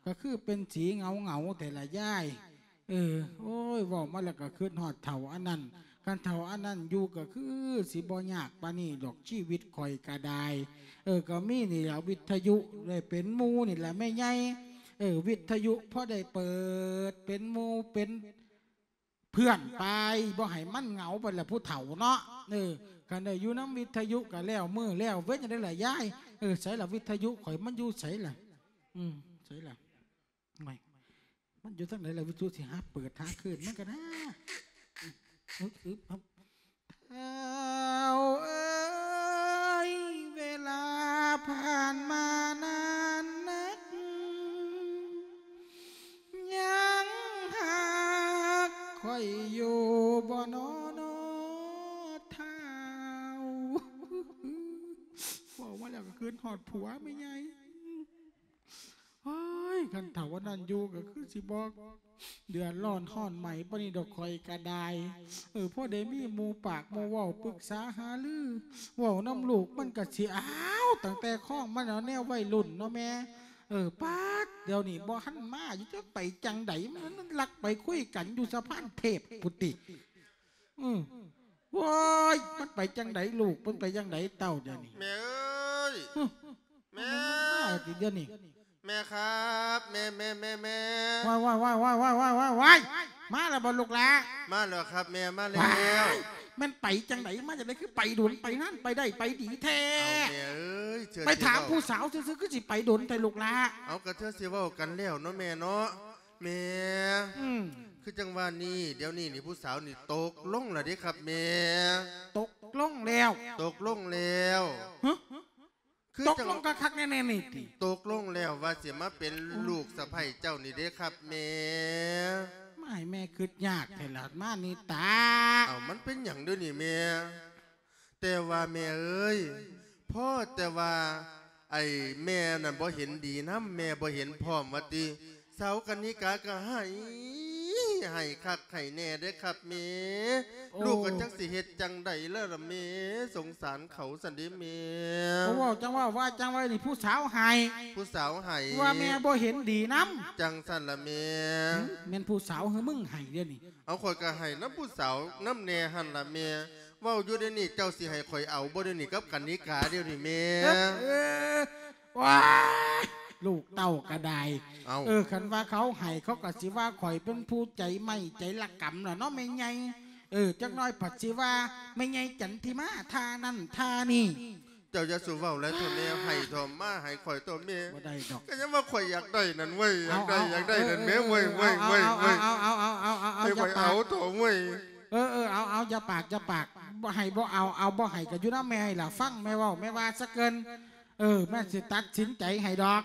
ກະຄືເປັນສີເຫງົາໆແທ້ລະຍາຍ. ເອີ ໂອ້ຍ ເວົ້າມາແລ້ວກະຄຶດຮອດເຖົ້າອັນນັ້ນ ຄັນເຖົ້າອັນນັ້ນຢູ່ກະຄືຊິບໍ່ຍາກປານນີ້ດອກ ຊີວິດຂ້ອຍກະໄດ້. ເອີ ກະມີນີ້ລະ ວິດທະຍຸໄດ້ເປັນໝູ່ນີ້ລະແມ່ໃຫຍ່. ເອີ ວິດທະຍຸພໍໄດ້ເປີດເປັນໝູ່ເປັນ ເພື່ອນໄປ ບໍ່ໃຫ້ມັນເຫງົາໄປລະຜູ້ເຖົ້າເນາະ. ເອີ ຄັນໄດ້ຢູ່ນຳວິທະຍຸກະແລ້ວມື້ແລ້ວເວັນ ຈັ່ງໃດລະຍາຍ? ເອີ ໃສລະວິທະຍຸຂ້ອຍ ມັນຢູ່ໃສລະ? ອືມ ໃສລະ? ໂອ້ຍ ມັນຢູ່ທາງໃດລະ? ວິທະຍຸຊິຫາເປີດຫາຄືນມັນກະນາ. ອຶບ ອຶບ ອຶບ ທ້າວເອີຍ ເວລາຜ່ານມານານນັກ ຍັງຮັກຂ້ອຍຢູ່ບໍ່ນໍ ທ້າວ? ເວົ້າມາແລ້ວກໍຄຶດຮອດຜົວແມ່ໃຫຍ່. ໂອ້ຍ ຄັນເຖົ້າອັນນັ້ນຢູ່ກໍຄືຊິບໍ່ເດືອດຮ້ອນຮ້ອນໄໝປານນີ້ດອກ ຂ້ອຍກະໄດ້. ເອີ ພໍໄດ້ມີໝູ່ປາກໝູ່ເວົ້າ ປຶກສາຫາລື ເວົ້ານຳລູກມັນກະຊິ ອ້າວ ວ ຕັ້ງແຕ່ຄອງມາແລ້ວ ແນວໄວລຸ້ນເນາະແມ່. ເອີ ປາດ ດຽວນີ້ບໍ່ທັນມາຢູ່ ຈັກໄປຈັ່ງໃດ ມັນລັກໄປຄຸຍກັນຢູ່ສະພານເທບພຸ້ນຕິ. ອື ໂອ້ຍ ມັນໄປຈັ່ງໃດລູກ ມັນໄປຈັ່ງໃດເຕົ້າດຽວນີ້? ແມ່ເອີຍ ຮຶ ແມ່ ມາຕິດຽວນີ້. ແມ່ຄັບ ແມ່ ແມ່ ແມ່ ແມ່ ວ້າຍ ວ້າຍ ມາແລ້ວບໍ່ລູກຫຼ້າ? ມາແລ້ວຄັບແມ່ ມາແລ້ວ. ວ້າຍ ແມ່ນໄປຈັ່ງໃດ ມາຈັ່ງໃດ ຄືໄປດົນໄປນານ ໄປໄດ້ໄປດີແທ້? ເອົາແມ່ເອີຍ ເທື່ອ ໄປຖາມຜູ້ສາວຊື່ໆ ຄືຊິໄປດົນແທ້ລູກຫຼ້າ? ເອົາ ກະເທື່ອຊິເວົ້າກັນແລ້ວເນາະແມ່ເນາະ. ແມ່ ອືມ ຄືຈັ່ງວ່ານີ້ ດຽວນີ້ນີ້ຜູ້ສາວນີ້ຕົກລົງແລ້ວເດ້ຄັບແມ່. ຕົກລົງແລ້ວ? ຕົກລົງແລ້ວ. ຮະ ຄື ຕົກລົງຄັກໆແນ່ໆນີ້ຕິ? ຕົກລົງແລ້ວວ່າຊິມາເປັນ ອືມ ລູກສະໃພ້ເຈົ້ານີ້ເດ້ຄັບແມ່. ມາໃຫ້ແມ່ຄຶດຍາກແທ້ລະ ມານິຕາ. ເອົ້າ ມັນເປັນຫຍັງເດີນີ້ແມ່? ແຕ່ວ່າແມ່ເອີຍ ພໍແຕ່ວ່າ ໄອ້ແມ່ນັ້ນບໍ່ເຫັນດີນຳ ແມ່ບໍ່ເຫັນພ້ອມວ່າຕິ ສາວກະນິກາກະໄຫ້ ໄຫ້ຄັກໄຫ້ແນ່ເດ້ຄັບແມ່. ໂອ້ ລູກກະຈັກຊິເຮັດຈັ່ງໃດແລ້ວລະແມ່ ສົງສານເຂົາຊັ້ນເດ້ແມ່. ໂອ້ ເວົ້າຈັ່ງເວົ້າ ວ່າຈັ່ງວ່ານີ້ ຜູ້ສາວໄຫ້ ຜູ້ສາວໄຫ້ ວ່າແມ່ບໍ່ເຫັນດີນຳ ຈັ່ງຊັ້ນລະແມ່. ຫຶ ແມ່ນຜູ້ສາວ ຫື ມຶງໄຫ້ດຽວນີ້? ເອົາ ຂ້ອຍກະໄຫ້ນຳຜູ້ສາວນຳແນ່ຫັ້ນລະແມ່. ເວົ້າຢູ່ດຽວນີ້ ເຈົ້າຊິໃຫ້ຂ້ອຍເອົາບໍ່ດຽວນີ້ ກັບກະນິກາດຽວນີ້ແມ່? ເອີ ເອີ ວ້າຍ ລູກເຕົ້າກະໄດ້. ເອົ້າ ເອີ ຄັນວ່າເຂົາໃຫ້ ເຂົາກະຊິວ່າຂ້ອຍເປັນຜູ້ໃຈໄມ້ໃຈລະກຳລະເນາະແມ່ໃຫຍ່. ເອີ ຈັກໜ້ອຍພັດຊິວ່າແມ່ໃຫຍ່ຈັນທິມາທ່ານັ້ນທ່ານີ້. ເຈົ້າຢ່າສູ່ເວົ້າຫຼາຍເຖາະແມ່ ເອີ ໃຫ້ເຖາະ ມາໃຫ້ຂ້ອຍເຖາະແມ່. ບໍ່ໄດ້ດອກ ກະຍັງວ່າຂ້ອຍຢາກໄດ້ນັ້ນເວີຍ ຢາກໄດ້ ເອົາ ຢາກໄດ້ນັ້ນແມ່ເວີຍ ເອີ ເວີຍ ເອີ ເວີຍ ເອົາ ເອົາ ເອົາ ເອົາ ເອົາ ເອົາ ເອົາ ຢ່າປາກ ເອົາ ເອົາ ເອົາ ຢ່າປາກ ບໍ່ໃຫ້ບໍ່ເອົາ ເອົາ ບໍ່ໃຫ້ກະຢູ່ນຳແມ່ໃຫ້ລະ ຟັງແມ່ເວົ້າ ແມ່ວ່າສະເກີນ. ເອີ ແມ່ຊິຕັດສິນໃຈໃຫ້ດອກ.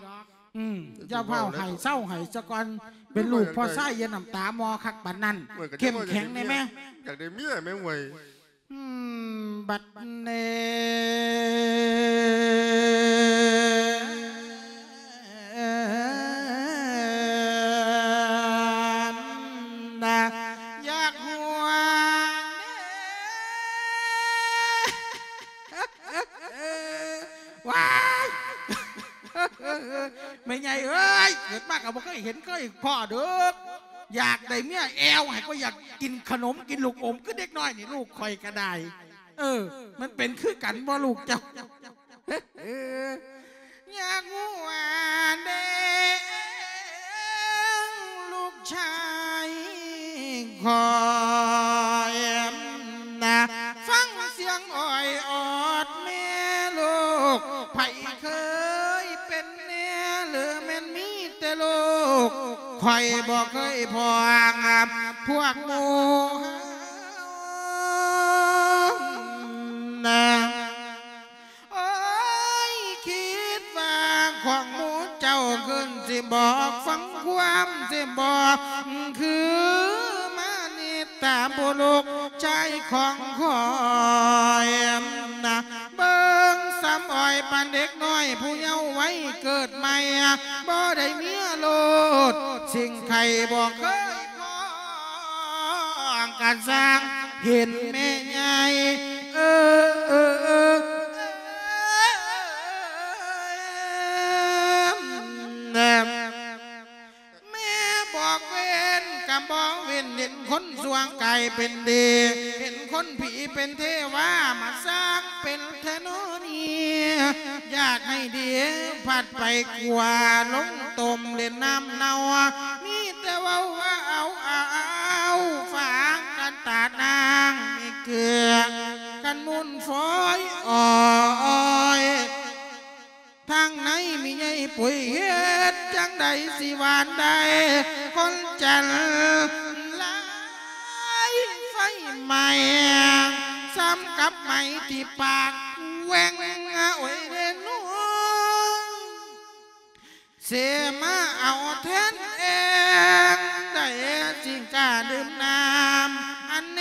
ອືມ ຢ່າຟ້າວໃຫ້ ເຊົາໃຫ້ສາກ່ອນ ເປັນລູກພໍ່ຊາຍ ຢ່ານ້ຳຕາມໍຄັກປານນັ້ນ ເຂັ້ມແຂງແນ່ແມ່. ຢາກໄດ້ເມຍແມ່ເວີຍ. ອືມ ບັດນີ້ ນະ ຢາກຫົວ ວ້າຍ ແມ່ໃຫຍ່ເອີຍ ເກີດມາກະບໍ່ເຄີຍເຫັນເຄີຍພໍ້ເດີ. ຢາກໄດ້ເມຍແອວໃຫ້ ກະຢາກກິນຂະໜົມກິນລູກອົມ ຄືເດັກນ້ອຍນີ້ ລູກຂ້ອຍກະໄດ້. ເອີ ມັນເປັນຄືກັນບໍ່ລູກເຈົ້າ? ຢາກຮູ້ວ່າເດ ລູກຊາຍຂ້ອຍນະ ຟັງສຽງອ້ອຍອອດແມ່ລູກ ໃຜເຄີຍເປັນແນ່ ຫຼືແມ່ນມີແຕ່ລູກ ຂ້ອຍບໍ່ເຄີຍພ້ອງພວກໝູ່ນະ. ໂອ້ຍ ຄິດວ່າຂອງໝູ່ເຈົ້າຂຶ້ນຊິບອກ ຟັງຄວາມຊິບອກ ຄືມານິດຕາບຸລຸກຊາຍຂອງຂ້ອຍນະ ເບິ່ງສ່ຳອ້ອຍປານເດັກນ້ອຍຜູ້ເຍົາໄວເກີດໃໝ່ ບໍ່ໄດ້ເມຍໂລດ ສິ່ງໃຜບໍ່ເຄີຍ ກະຊ່າງເຫັນແມ່ໃຫຍ່ ເອີ ເອີ ເອີ ແມ່ບອກເວັນກະບໍ່ເວັນ ເຫັນຄົນຊົ່ວກາຍເປັນດີ ເຫັນຄົນຜີເປັນເທວາ ມາສ້າງເປັນແທ້ນໍນີ້ ຢາກໃຫ້ດີພັດໄປກວ່າ ລົງຕົ້ມເຫຼັ້ນນ້ຳເນົ່າ ມີແຕ່ເວົ້າວ່າເອົາ ເອົາ ເອົາ ຝາກກັນຕາດນາງເກືອ ຄັນມູນຝອຍອອຍ ທາງໃນມີໃຍປຸຍ ເຮັດຈັ່ງໃດຊິຫວານໄດ້ ຄົນຈັນລາຍໄຟໄໝ້ ສ່ຳກັບໄໝ້ທີ່ປາກແຫວ່ງ ໂອ້ຍເດນອຍ ເສມາເອົາແທນເອງ ໄດ້ຈຶ່ງກ້າດື່ມນ້ຳ ອັນແໜ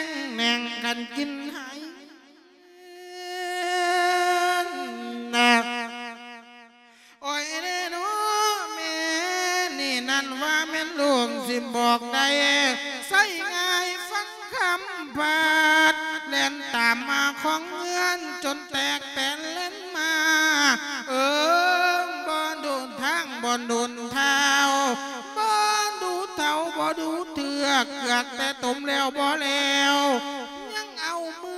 ງແໜງກັນກິນໃຫ້ນະ. ໂອ້ຍເດເນາະ ແມ່ນີ້ນັ້ນວ່າແມ່ນລູກຊິບອກໄດ້ ໃສ່ງ່າຍຟັງຄຳພາດ ແລ່ນຕາມມາຂອງເຮືອນ ຈົນແຕກແຕນແລ່ນມາ ກ່ອນດົນທ້າວ ບໍ່ດູເຖົ້າບໍ່ດູເທື່ອກ ເກືອກແຕ່ຕົມແລ້ວບໍ່ແລ້ວ ຍັງເອົາມື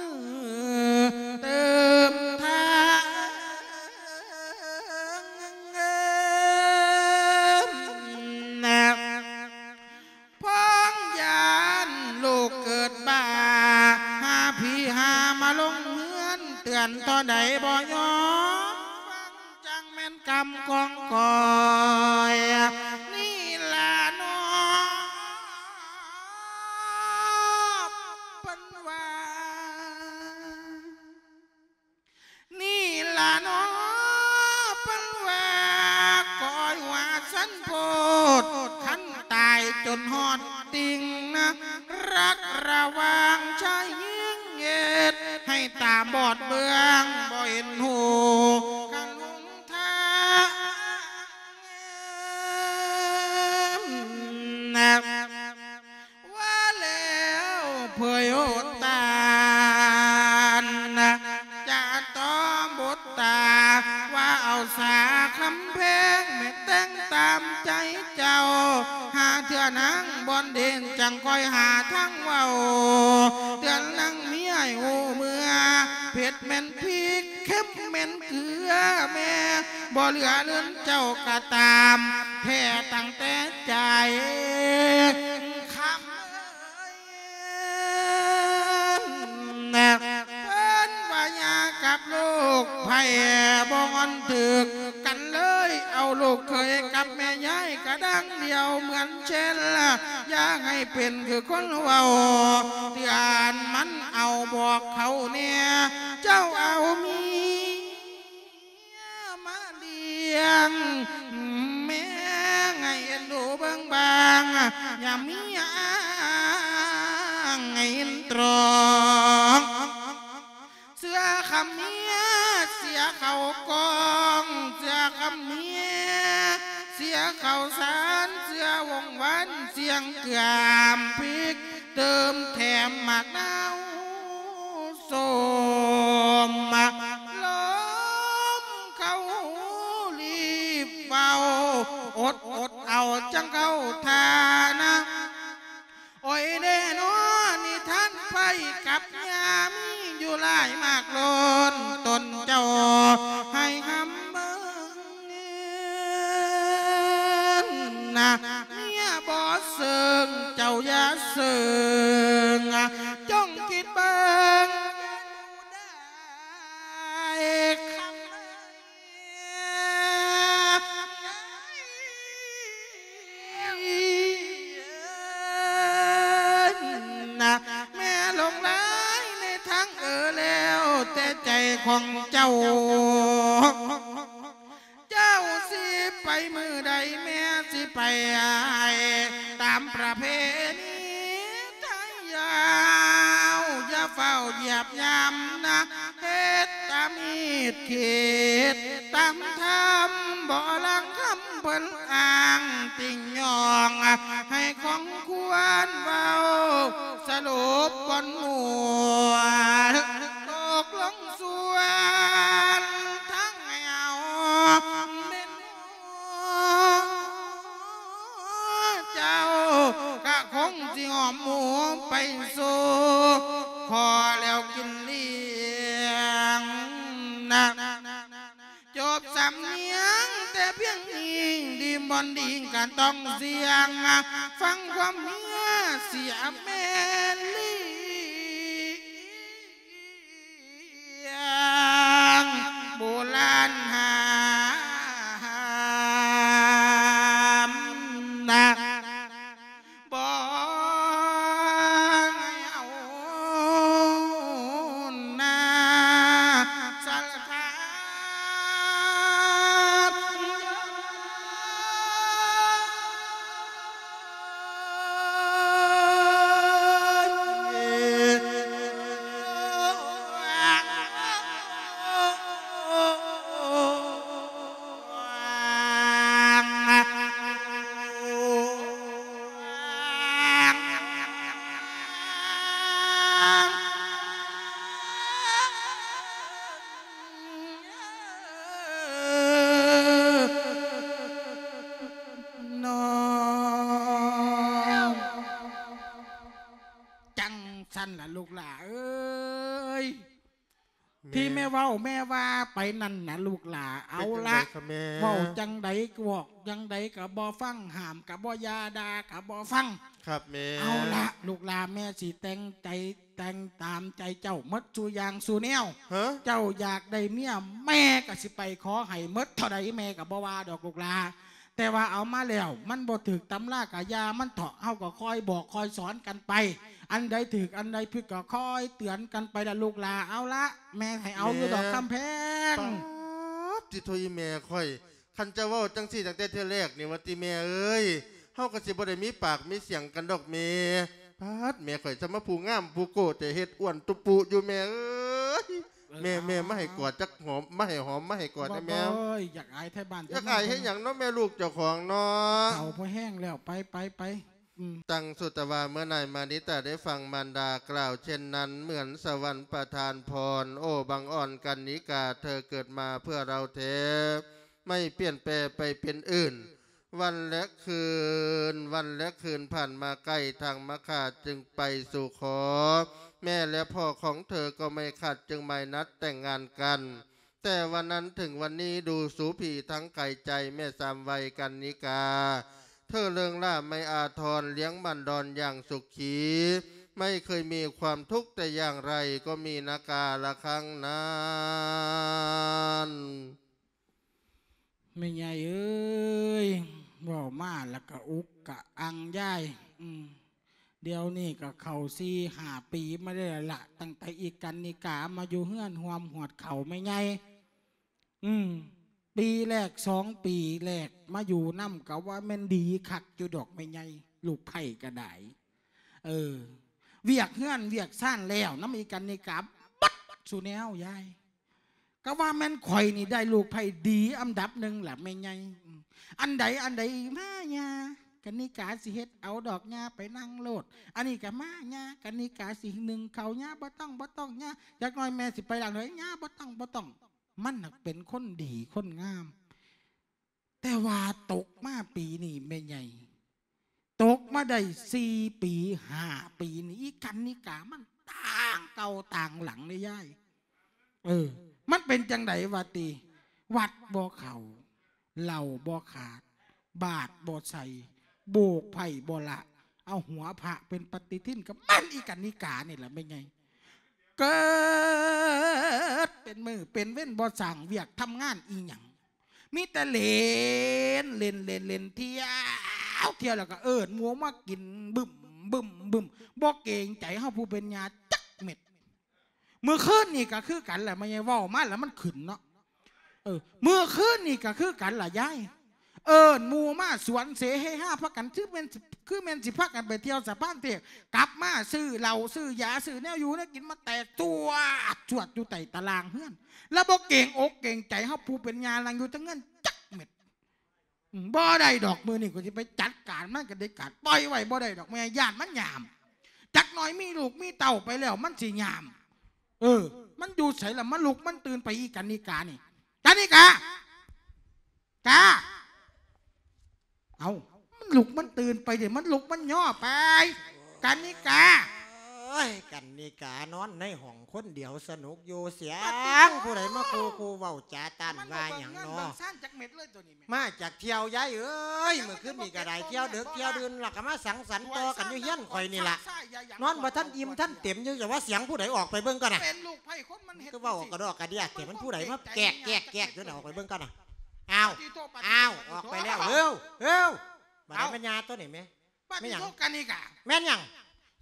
ເຕີມທາງ ພ້ອງຢ້ານລູກເກີດບ້າ ຫາຜີຫາມາລົງເຮືອນ ເຕືອນທໍ່ໃດບໍ່ຍອມຟັງ ຈັ່ງແມ່ນກຳຂອງຂ້ອຍນີ້ລະເນາະ ເພິ່ນວ່າ. ນີ້ລະເນາະ ເພິ່ນວ່າ ກ້ອຍວ່າຊັ້ນໂພດ ຄັນຕາຍຈົນຮອດຕິ່ງນະ ລັກລະຫວ່າງຊາຍຍິງ ເຮັດໃຫ້ຕາບອດເບື້ອງ ບໍ່ເຫັນຮູ້ກັນຫົນທາງນະ. ວ່າແລ້ວເຜີຍໂອດຕານ ຈະຕໍ່ບົດຕາ ວ່າເອົາສາຄຳແພງ ແມ່ນແຕ່ງຕາມໃຈເຈົ້າ ຫາເທື່ອນາງບ່ອນເດນ ຈັ່ງຄ່ອຍຫາທາງເວົ້າ ເຕືອນນາງເມຍໃຫ້ຮູ້ເມືອ ເຜັດແມ່ນພິກ ເຄັມແມ່ນເກືອແມ່ ບໍ່ເຫຼືອເລື່ອນເຈົ້າກະຕາມ ແທ້ຕັ້ງແຕ່ໃຈ ຄຳເອີຍ ເພິ່ນວ່າຢ່າກັບລູກໃຜ ບໍ່ງອນຖືກກັນເລີຍ ເອົາລູກເຂີຍກັບແມ່ຍາຍກະດັ່ງດຽວ ເໝືອນເຊັ່ນ ຢ່າໃຫ້ເປັນຄືຄົນເວົ້າ ເຕືອນມັນເອົາບອກເຂົາແດ່ ເຈົ້າເອົາເມຍ ມາລ້ຽງແມ່ ໃຫ້ເອັນດູເບິ່ງບາງ ຢ່າມີອ້າງໃຫ້ເຫັນຕອງ ເຊື່ອຄຳເມຍ ເສຍເຂົ້າກ້ອງ ເຊື່ອຄຳເມຍ ເສຍເຂົ້າສານ ເຊື່ອວົງວານ ສຽງເກືອມພິກ ເຕີມແຖມໝາກນາວ ສົ້ມ ລົມເຂົ້າຮີບເວົ້າ ອົດອົດເອົາຈັ່ງເຂົ້າທ່ານະ ໂອ້ຍເດເນາະ ນິທານໄພກັບຍາ ມີຢູ່ຫຼາຍມາກລົ້ນ ຕົນເຈົ້າໃຫ້ຫຳເບິ່ງ ນະ ເມຍບໍ່ເຊິ່ງ ເຈົ້າຢ່າເຊິ່ງ ຈົ່ງຄິດເບິ່ງ ນະ ແມ່ຫຼົງໄຫຼໃນທາງເອີແລ້ວ ແຕ່ໃຈຂອງເຈົ້າ ເຈົ້າຊິໄປມື້ໃດ ແມ່ຊິໄປໃຫ້ຕາມປະເພນີໄທຍາວ ຢ່າຟ້າວຢຽບຢາມນະ ເຮັດຕາມຮີດຄິດຕາມທຳ ບໍ່ລັງຄຳເພິ່ນອ້າງຕິງຍ້ອງ ໃຫ້ຂອງຄວນເວົ້າ ສະຫຼຸບບ່ອນມ່ວນ ຕົກລົງ ສ່ວນທາງໃຫ້ເອົາແມ່ນເຈົ້າ ກະຄົງຊິຫອມໝູໄປສູ່ ຂໍແລ້ວກິນລ້ຽງນະ ຈົບສຳນຽງແຕ່ພຽງອີງ ດີມບ່ອນດີງກະຕ້ອງສຽງ ຟັງຄວາມເມຍເສຍແມ່ນລ້ຽງ ຍງໂບລານຫ້າມນະ ບໍ່ໃຫ້ເອົາໜ້າສັດທາ ລູກຫຼ້າເອີຍ ແມ່ ທີ່ແມ່ເວົ້າແມ່ວ່າໄປນັ້ນນະລູກຫຼ້າ ເອົາລະ ເປັນຈັ່ງໃດຄະແມ່? ເວົ້າຈັ່ງໃດ ບອກຈັ່ງໃດກໍບໍ່ຟັງ ຫ້າມກໍບໍ່ຢ່າ ດ່າກໍບໍ່ຟັງ ຄັບແມ່ ເອົາລະລູກຫຼ້າ ແມ່ຊິແຕ່ງໃຈ ແຕ່ງຕາມໃຈເຈົ້າໝົດສູ່ຢ່າງສູ່ແນວ ຮະ? ເຈົ້າຢາກໄດ້ເມຍ ແມ່ກໍຊິໄປຂໍໃຫ້ໝົດເທົ່າໃດ ແມ່ກໍບໍ່ວ່າດອກລູກຫຼ້າ ແຕ່ວ່າເອົາມາແລ້ວ ມັນບໍ່ຖືກຕຳລາກະຢ່າມັນເຖາະ ເຮົາກໍຄອຍບອກຄອຍສອນກັນໄປ ອັນໃດຖືກອັນໃດຜິດກໍຄອຍເຕືອນກັນໄປລະລູກຫຼ້າ ເອົາລະ ແມ່ໃຫ້ເອົາຢູ່ດອກ ແມ່ ຄຳແພງ ປາດ ຕິໂທ ອີແມ່ຂ້ອຍ ຄັນເຈົ້າເວົ້າຈັ່ງຊີ້ຕັ້ງແຕ່ເທື່ອແລກນີ້ວ່າຕິແມ່ເອີຍ ເຮົາກໍຊິບໍ່ໄດ້ມີປາກມີສຽງກັນດອກແມ່ ປາດ ແມ່ຂ້ອຍຊ່ຳມາຜູ້ງາມຜູ້ໂກ້ແຕ່ ເຮັດອ້ວນຕຸປຸຢູ່ແມ່ເອີຍ ເອີ ແມ່ ເອົາ ແມ່ ເອົາ ມາໃຫ້ກອດຈັກຫອມ ມາໃຫ້ຫອມ ມາໃຫ້ກອດແດ່ແມ່ ບໍ່ ບໍ່ ຢາກອາຍໄທບ້ານ ຢາກອາຍເຮັດຫຍັງເນາະແມ່ລູກເຈົ້າຂອງເນາະ ເຖົ້າພໍແຫ້ງແລ້ວ ໄປ ໄປ ໄປ ອືມ ຕັງສຸຕະວາ ເມື່ອນາຍມານິຕາໄດ້ຟັງມານດາກ່າວເຊັ່ນນັ້ນ ເໝືອນສະຫວັນປະທານພອນ ໂອ້ ບັງອອນກັນນິກາ ເທີເກີດມາເພື່ອເຮົາແທ້ ໄມ່ປ່ຽນແປໄປເປັນອື່ນ ວັນແລະຄືນ ວັນແລະຄືນຜ່ານມາໃກ້ ທາງມາຄາຈຶ່ງໄປສູ່ຂໍ ແມ່ແລະພໍ່ຂອງເທີກໍໄມ່ຂັດ ຈຶ່ງໝາຍນັດແຕ່ງງານກັນ ແຕ່ວັນນັ້ນເຖິງວັນນີ້ ດູສູຜີທັງກາຍໃຈ ແມ່ສາມໄວກັນນິກາ ເທີເລີງຫຼ້າໄມ່ອາທອນ ລ້ຽງໝັ່ນດອນຢ່າງສຸຂີ ໄມ່ເຄີຍມີຄວາມທຸກແຕ່ຢ່າງໃດ ກໍມີນາກາລະຄັ້ງນັ້ນ. ແມ່ໃຫຍ່ເອີຍ ເວົ້າມາລະກະອຸກກະອັງຍາຍ ອືມ ດຽວນີ້ກະເຂົ້າສີ່ຫ້າປີມາໄດ້ລະ ຕັ້ງແຕ່ອີ່ກັນນິກາມາຢູ່ເຮືອນຮ່ວມຫວດເຂົ້າແມ່ໃຫຍ່ ອືມ ປີແລກສອງປີແລກມາຢູ່ນຳກະວ່າແມ່ນດີຄັກຢູ່ດອກແມ່ໃຫຍ່ ລູກໃພ້ກະໄດ້ ເອີ ວຽກເຮືອນວຽກຊານແລ້ວນຳອີ່ກັນນິກາ ບັດສູ່ແນວຍາຍ ກະວ່າແມ່ນຂ້ອຍນີ້ໄດ້ລູກໃພ້ດີອັນດັບໜຶ່ງລະແມ່ໃຫຍ່ ອັນໃດ ອັນໃດ ມາຍ່າ ກັນນິກາຊິເຮັດເອົາດອກ ຍ່າໄປນັ່ງໂລດ ອັນນີ້ກະມາ ຍ່າ ກັນນິກາຊິໜຶ້ງເຂົ້າ ຍ່າ ບໍ່ຕ້ອງ ບໍ່ຕ້ອງ ຍ່າ ຈັກໜ້ອຍແມ່ຊິໄປລ້າງຖ້ວຍ ຍ່າ ບໍ່ຕ້ອງ ບໍ່ຕ້ອງ ມັນຫັ້ນເປັນຄົນດີຄົນງາມ ແຕ່ວ່າຕົກມາປີນີ້ແມ່ໃຫຍ່ ຕົກມາໄດ້ສີ່ປີຫ້າປີນີ້ ອີ່ກັນນິກາມັນຕ່າງເກົ່າຕ່າງຫຼັງເດ້ຍາຍ ເອີ ມັນເປັນຈັ່ງໃດວະຕິ ວັດບໍ່ເຂົ້າ ເຫຼົ້າບໍ່ຂາດ ບາດບໍ່ໃສ່ ໂບກໄພ້ບໍ່ລະ ເອົາຫົວພະເປັນປະຕິທິນ ກະແມ່ນອີ່ກັນນິການີ້ລະແມ່ໃຫຍ່ ເກີດເປັນມື້ເປັນເວັນ ບໍ່ສ້າງວຽກທຳງານອີ່ຫຍັງ ມີແຕ່ເຫຼັ້ນ ເຫຼັ້ນ ເຫຼັ້ນ ເຫຼັ້ນ ທ່ຽວ ທ່ຽວ ແລ້ວກະເອີ້ນໝູ່ມາກິນບຶ້ມ ບຶ້ມ ບຶ້ມ ບໍ່ເກງໃຈເຮົາຜູ້ເປັນຍ່າຈັກເມັດ. ມື້ຄືນນີ້ກະຄືກັນລະ ແມ່ໃຫຍ່ເວົ້າມາລະມັນຂຶ້ນເນາະ ເອີ ມື້ຄືນນີ້ກະຄືກັນລະຍາຍ ເອີ້ນໝູ່ມາສວນເສເຮຮາ ພາກັນ ຄືແມ່ນ ຄືແມ່ນຊິພາກັນໄປທ່ຽວສະພານເທບ ກັບມາຊື້ເຫຼົ້າ ຊື້ຢາ ຊື້ແນວຢູ່ແນວກິນມາແຕກຕົວດ ສວດຢູ່ໃຕ້ຕາລ່າງເຮືອນ ລະບໍ່ເກງອົກເກງໃຈເຮົາຜູ້ເປັນຍ່າ ນັ່ງຢູ່ເທິງເຮືອນຈັກເມັດ. ອືມ ບໍ່ໄດ້ດອກ ມື້ນີ້ກູຊິໄປຈັດການມັນກະເດັດຂາດ ປ່ອຍໄວ້ບໍ່ໄດ້ດອກ ແມ່ຢ້ານມັນຍາມ ຈັກໜ້ອຍມີລູກມີເຕົ້າໄປແລ້ວມັນຊິຍາມ ເອີ ມັນຢູ່ໃສລະ ມາລຸກມັນຕື່ນໄປ ອີ່ກັນນິການີ້ ກັນນິກາ ກາ ເອົ້າ ມັນລຸກມັນຕື່ນໄປເດ ມັນລຸກມັນຍໍໄປ ກັນນິກາ ໂອ້ຍ ກັນນິການອນໃນຫ້ອງຄົນດຽວສະໜຸກຢູ່ ສຽງຜູ້ໃດມາຄູ່ຄູ່ເວົ້າຈາຕ້ານວ່າຫຍັງເນາະ ມາຈາກທ່ຽວຍາຍເອີຍ ມື້ຄືນນີ້ກະໄດ້ທ່ຽວເດິກທ່ຽວດື່ນ ລະກະມາສັງສັນຕໍ່ກັນຢູ່ເຮືອນຂ້ອຍນີ້ລະ ນອນບໍ່ທັນອີ່ມທັນເຕັມຢູ່ ຢ່າວ່າສຽງຜູ້ໃດ ອອກໄປເບິ່ງກ່ອນນະ ຄືເວົ້າກະດອກກະເດຍແທ້ ມັນຜູ້ໃດມາແກກໆໆຢູ່ນະ ອອກໄປເບິ່ງກ່ອນນະ ອ້າວ ອ້າວ ອອກໄປແລ້ວ ເຮີ້ວ ເຮີ້ວ ບາດນີ້ແມ່ນຫຍັງ ແມ່ນຫຍັງ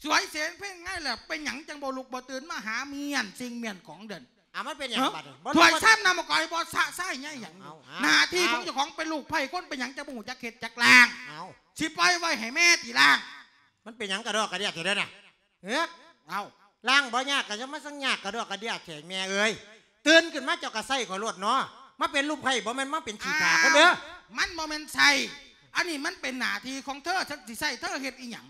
ສວຍເສນເພງໄງລະ ເປັນຫຍັງຈັ່ງບໍ່ລຸກບໍ່ຕື່ນມາຫາມ້ຽນສິ່ງມ້ຽນຂອງເດີ່ນ ອ້າວ ມັນເປັນຫຍັງບາດນີ້ ຖ້ວຍຊາມນ້ຳມະກອຍບໍ່ສະຊາຍໃຫຍ່ຫຍັງ ໜ້າທີ່ຂອງເຈົ້າຂອງເປັນລູກໃພ້ຄົນ ເປັນຫຍັງຈັ່ງບໍ່ຮູ້ຈັກເຮັດຈັກລ້າງ ຊິປ່ອຍໄວ້ໃຫ້ແມ່ຕິລ້າງ ມັນເປັນຫຍັງກະດອກກະເດຍແທ້ເດີນະ ເອີ ເອົ້າ ລ້າງບໍ່ຍາກກະຢ່າມາສັ່ງຍາກກະດອກກະເດຍແທ້ແມ່ເອີຍ ຕື່ນຂຶ້ນມາເຈົ້າກະໃສ່ຂ້ອຍໂລດເນາະ ມາເປັນລູກໃພ້ບໍ່ແມ່ນມາເປັນຂີ້ຂ້າຄົນເດີ ມັນບໍ່ແມ່ນໃສ່ ອັນນີ້ມັນເປັນໜ້າທີ່ຂອງເທີ ຊິໃສ່ເທີເຮັດອີ່ຫຍັງ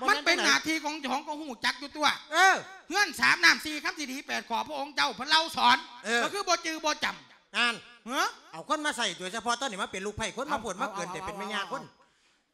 ມັນເປັນໜ້າທີ່ຂອງເຈົ້າຂອງ ກະຮູ້ຈັກຢູ່ຕົວະ ເອີ ເຮືອນສາມນ້ຳສີ່ຄຳ ສີ່ດີແປດຂໍ້ ພະອົງເຈົ້າເພິ່ນເລົ່າສອນ ກະຄືບໍ່ຈື່ບໍ່ຈຳ ນັ້ນ ເອີ ເອົາຄົນມາໃສ່ ໂດຍສະເພາະຕອນນີ້ມາເປັນລູກໃພ້ຄົນ ມາໂພດມາເກີນແຕ່ເປັນແມ່ຍ່າຄົນ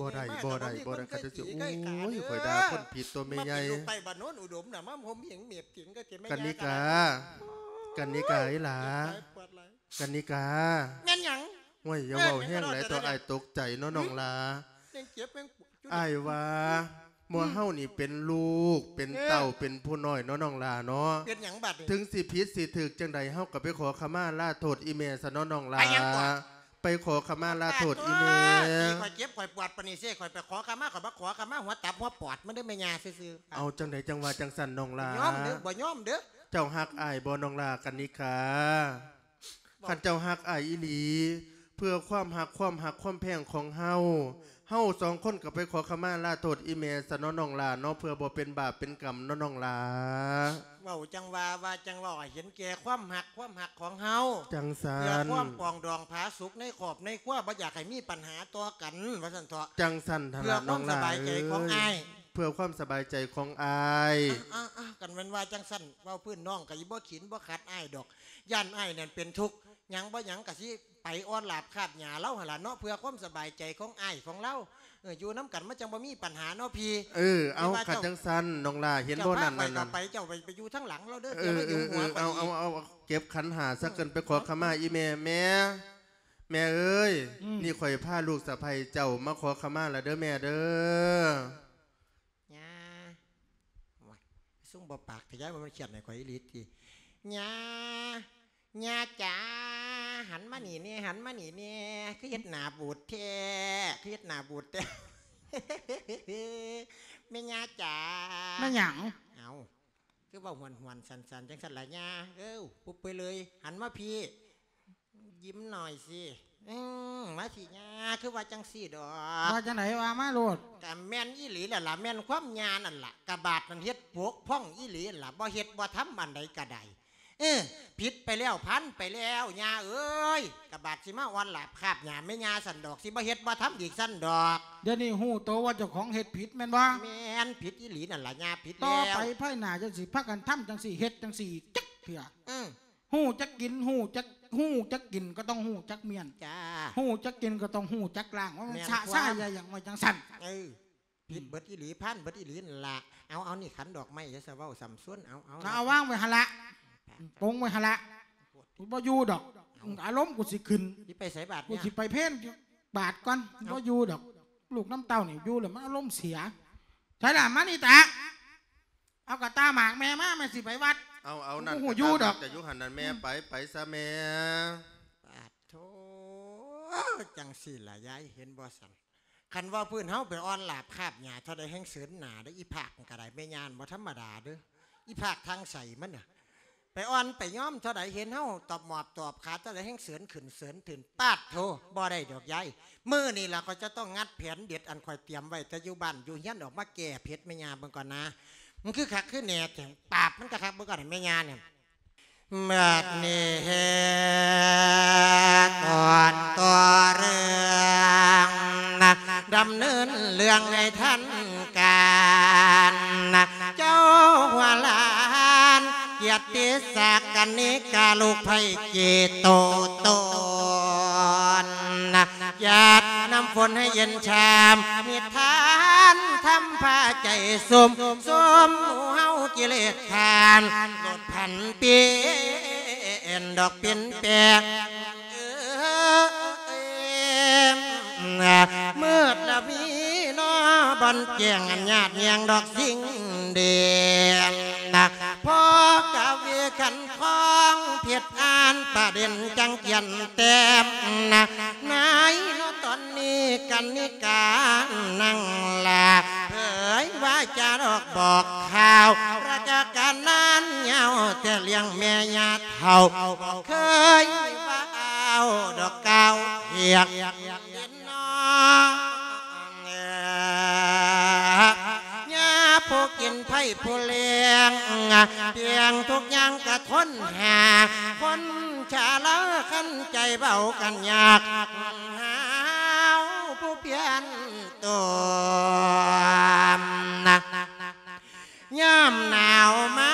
ບໍ່ໄດ້ ບໍ່ໄດ້ ບໍ່ໄດ້ ຂ້າເຈົ້າຊິ ໂອ້ຍ ຂ້ອຍດ່າຄົນຜິດຕົວແມ່ໃຫຍ່ ມາເປັນລູກໄຟບ້ານໂນນອຸດົມນະ ມາຫົ່ມເຫງເມບເຖິງກໍເຕັມແມ່ ກັນນິກາ ກັນນິກາອີ່ຫຼາ ກັນນິກາ ແມ່ນຫຍັງ? ໂອ້ຍ ຢ່າເວົ້າແຮງຫຼາຍ ເອີ ເຈົ້າ ອ້າຍຕົກໃຈເນາະ ນ້ອງຫຼ້າ ຍັງເຈັບຍັງປວດຢູ່ ອ້າຍວ່າ ໝູ່ເຮົານີ້ເປັນລູກ ເປັນເຕົ້າ ເອີ ເປັນຜູ້ນ້ອຍເນາະ ນ້ອງຫຼ້າເນາະ ເປັນຫຍັງບັດນີ້? ເຖິງຊິຜິດຊິຖືກຈັ່ງໃດ ເຮົາກໍໄປຂໍຂະມາລາໂທດອີ່ແມ່ຊະເນາະ ນ້ອງຫຼ້າ ໄປຫຍັງເກາະ? ໄປຂໍຂະມາລາໂທດອີ່ແມ່ ປາດໂທ້ ທີ່ຂ້ອຍເຈັບຂ້ອຍປວດປານນີ້ເຊ ຂ້ອຍໄປຂໍຂະມາ ຂ້ອຍມາຂໍຂະມາຫົວຕັບຫົວປອດມັນເດີ້ແມ່ຍ່າຊື່ໆ ເອົາ ຈັ່ງໃດຈັ່ງວ່າຈັ່ງຊັ້ນນ້ອງຫຼ້າ ບໍ່ຍອມເດີ້ ບໍ່ຍອມເດີ້ ເຈົ້າຮັກອ້າຍບໍ່ນ້ອງຫຼ້າ ກັນນິກາ? ຄັນເຈົ້າຮັກອ້າຍອີ່ຫຼີ ເພື່ອຄວາມຮັກ ຄວາມຮັກຄວາມແພງຂອງເຮົາ ເຮົາສອງຄົນກໍໄປຂໍຂະມາລາໂທດອີ່ແມ່ຊະເນາະ ນ້ອງຫຼ້າເນາະ ເພື່ອບໍ່ເປັນບາບເປັນກຳເນາະ ນ້ອງຫຼ້າ. ເວົ້າຈັ່ງວ່າ ວ່າຈັ່ງເວົ້າ ໃຫ້ເຫັນແກ່ຄວາມຮັກ ຄວາມຮັກຂອງເຮົາ ຈັ່ງຊັ້ນ ເພື່ອຄວາມປອງດອງຜາສຸກໃນຄອບໃນຄົວ ບໍ່ຢາກໃຫ້ມີບັນຫາຕໍ່ກັນ ວ່າຊັ້ນເຖາະ ຈັ່ງຊັ້ນຫັ້ນລະ ນ້ອງຫຼ້າເອີຍ ເພື່ອຄວາມສະບາຍໃຈຂອງອ້າຍ ເອີ ຄັນແມ່ນວ່າຈັ່ງຊັ້ນ ເວົ້າພື້ນນ້ອງກໍຊິບໍ່ຂິນບໍ່ຂັດອ້າຍດອກ ຢ້ານອ້າຍນັ້ນເປັນທຸກ ຫຍັງບໍ່ຫຍັງກໍຊິໄປອອນລາບຄາບຫຍ້າລາວຫັ້ນລະເນາະ ເພື່ອຄວາມສະບາຍໃຈຂອງອ້າຍຂອງລາວ ເອີ ຢູ່ນຳກັນມັນຈັ່ງບໍ່ມີບັນຫາເນາະພີ່ ເອີ ເອົາ ຄັນຈັ່ງຊັ້ນນ້ອງຫຼ້າເຫັນບໍ່ນັ້ນ ເຈົ້າພາຂ້ອຍເຂົ້າໄປ ເຈົ້າໄປ ໄປຢູ່ທາງຫຼັງລາວເດີ້ ເອີ ເອີ ເອີ ເອົາ ເອົາ ເອົາ ເກັບຂັນຫ້າຊະ ຂຶ້ນໄປຂໍຂະມາອີ່ແມ່ ແມ່ ແມ່ເອີຍ ນີ້ຂ້ອຍພາລູກສະໃພ້ເຈົ້າມາຂໍຂະມາລະເດີ້ແມ່ເດີ້. ຍ່າ ໂອ້ຍ ຊຸ່ມບໍ່ປາກແທ້ ຍາຍ ມັນຄຽດໃຫ້ຂ້ອຍອີ່ຫຼີຕິ ຍ່າ ຍ່າຈ໋າ ຫັນມານີ້ແດ່ ຫັນມານີ້ແດ່ ຄືເຮັດໜ້າບູດແທ້ ຄືເຮັດໜ້າບູດແທ້ ແມ່ຍ່າຈ໋າ ແມ່ນຫຍັງ? ເອົ້າ ຄືເວົ້າຫວນໆ ສັ່ນໆ ຈັ່ງຊັ້ນລະຍ່າ ເອີ ປຸບໄປເລີຍ ຫັນມາພີ້ ຍິ້ມໜ້ອຍຊິ ອືມ ມາຊິຍ່າ ຄືວ່າຈັ່ງຊີ້ດອກ ວ່າຈັ່ງໃດ ວ່າມາໂລດ ກະແມ່ນອີ່ຫຼີແລ້ວລະ ແມ່ນຄວາມຍ່ານັ້ນລະ ກະບາດນັ້ນເຮັດປົກຜ່ອງອີ່ຫຼີຫັ້ນລະ ບໍ່ເຮັດບໍ່ທຳອັນໃດກະໄດ້ ເອີ ຜິດໄປແລ້ວ ຜ່ານໄປແລ້ວ ຍ່າເອີຍ ກະບາດຊິມາອ່ອນລາບຄາບຫຍ້າແມ່ຍ່າຊັ້ນດອກ ຊິບໍ່ເຮັດບໍ່ທຳອີກຊັ້ນດອກ ດຽວນີ້ຮູ້ໂຕວ່າເຈົ້າຂອງເຮັດຜິດແມ່ນບໍ່? ແມ່ນ ຜິດອີ່ຫຼີນັ້ນລະຍ່າ ຜິດແລ້ວ ຕໍ່ໄປພາຍໜ້າຈະຊິພາກັນທຳຈັ່ງຊີ້ ເຮັດຈັ່ງຊີ້ ຈັກເທື່ອ ອືມ ຮູ້ຈັກກິນ ຮູ້ຈັກ ຮູ້ຈັກກິນກໍຕ້ອງຮູ້ຈັກມ້ຽນ ຈ້າ ຮູ້ຈັກກິນກໍຕ້ອງຮູ້ຈັກລ້າງ ວ່າມັນ ແມ່ນ ຊະຊາຍຢ່າຫຍັງໄວ້ຈັ່ງຊັ້ນ ເອີ ຜິດເບິດອີ່ຫຼີ ຜ່ານເບິດອີ່ຫຼີນັ້ນລະ ເອົາ ເອົາ ນີ້ຂັນດອກໄມ້ ຢ່າສະເວົ້າສ່ຳຊວນ ເອົາ ເອົາ ເອົາ ວາງໄວ້ຫັ້ນລະ ປົງໄວ້ຫັ້ນລະ ບໍ່ຢູ່ດອກ ອາລົມກູຊິຂຶ້ນ ຊິໄປໃສບາດ ກູຊິໄປເພນບາດກ່ອນ ເອົາ ບໍ່ຢູ່ດອກ ລູກນຳເຕົ້ານີ້ຢູ່ແລ້ວມັນອາລົມເສຍ ໃສລະ ມານີ້ຕາ ເອົາກະຕ່າໝາກແມ່ມາ ແມ່ຊິໄປວັດ ເອົາ ເອົາ ນັ້ນ ບໍ່ຮູ້ຢູ່ດອກ ກະຕ່າໝາກກະຢູ່ຫັ້ນນັ້ນແມ່ ອືມ ໄປ ໄປຊະແມ່ ປາດໂທ້ ຈັ່ງຊີ້ລະຍາຍ ເຫັນບໍ່ຊັ້ນ ຄັນວ່າພື້ນເຮົາໄປອ່ອນລາບຄາບຫຍ້າເທົ່າໃດແຮ່ງເສີນໜ້າເດີ້ ອີພາກມັນກະໄດ້ ແມ່ຍ່າບໍ່ທຳມະດາເດີ້ ອີພາກທາງໃສມັນນະ ໄປອ່ອນໄປຍອມເທົ່າໃດ ເຫັນເຮົາຕອບໝອບຕອບຂາເທົ່າໃດແຮ່ງເສີນຂຶ້ນເສີນຂຶ້ນ ປາດໂທ້ ບໍ່ໄດ້ດອກຍາຍ ມື້ນີ້ລະຂ້ອຍຈະຕ້ອງງັດແຜນເດັດ ອັນຂ້ອຍຕຽມໄວ້ແຕ່ຢູ່ບ້ານຢູ່ເຮືອນ ອອກມາແກ້ເຜັດແມ່ຍ່າເບິ່ງກ່ອນນາ ມັນຄືຄັກຄືແນ່ແທ້ ປາບມັນກະຄັກເບິ່ງກ່ອນແມ່ຍ່ານີ້ ບາດນີ້ແຮກກ່ອນຕໍ່ເລື່ອງ ດຳເນີນເລື່ອງໃຫ້ທັນການ ເຈົ້າຫົວຫຼານ ກຽດຕິສັກກັນນິກາ ລູກໃພ້ເກໂຕຕນ ຢາດນ້ຳຝົນໃຫ້ເຢັນຊາມ ນິທານທຳພາໃຈຊຸ່ມ ຊຸ່ມເຮົາກິເລດຂ້ານ ລົດພັນປ່ຽນດອກປິ່ນແປງ ເອີ ມືດລະມີນໍ ບ່ອນແຈ້ງອັນຍາດແຍງດອກສິ່ງເດ ພໍກະເວຂັນ ຂອງເພັດອ່ານປະເດັນຈັງກຽນແຕ້ມນະ ໃນຕອນນີ້ກັນນິການັ່ງລາ ເຜີຍວ່າຈາດອກບອກຂ່າວ ລະຈະການນານຍາວແຕ່ລ້ຽງແມ່ຍ່າເຖົ້າ ບໍ່ເຄີຍວ່າອ້າວດອກກ່າວທຽງ ພີ່ນ້ອງເອີຍ ຍາຜູ້ກິນໃຜຜູ້ລ້ຽງ ປ່ຽງທຸກຢ່າງກະທົນຫາ ຄົນຊະລາຄັນໃຈເວົ້າກັນຍາກ ຫາວຜູ້ປ່ຽນຕົວ ຍາມໜາວມາ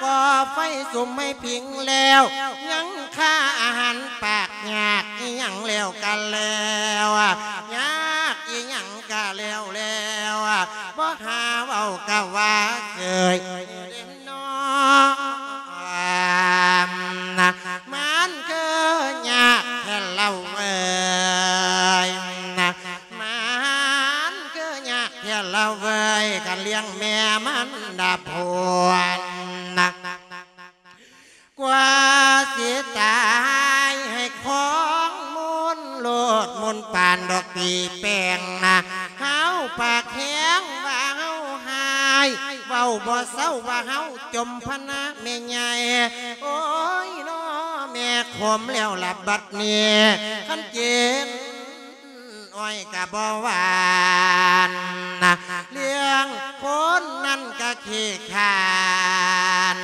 ກໍ່ໄຟສຸມໃຫ້ພິງແລ້ວ ຍັງຄາອາຫານປາກຍາກ ອີ່ຫຍັງແລ້ວກະແລ້ວ ຍາກອີ່ຫຍັງກະ ແລ້ວແລ້ວ ບໍ່ຫາເວົ້າກະວ່າເຊີຍເດ້ນອ ມັນຄືຍາກແທ້ລະເວີຍ ມັນຄືຍາກແທ້ລະເວີຍ ຄັນລ້ຽງແມ່ມັນດາພວນ ກວ່າຊິຕາຍໃຫ້ຂອງມົນໂລດ ມົນປານດອກປີແປ້ງນະ ເຮົາປາກແຂງວ່າເຮົາຫາຍ ເວົ້າບໍ່ເຊົາວ່າເຮົາຈົມພະນະແມ່ໃຫຍ່ ໂອ້ຍນໍ ແມ່ຂົມແລ້ວລະບັດນີ້ ຄັນເຈັນ ອ້ອຍກະບໍ່ຫວານ ເລື່ອງຄົນນັ້ນກະຂີ້ຄ້ານ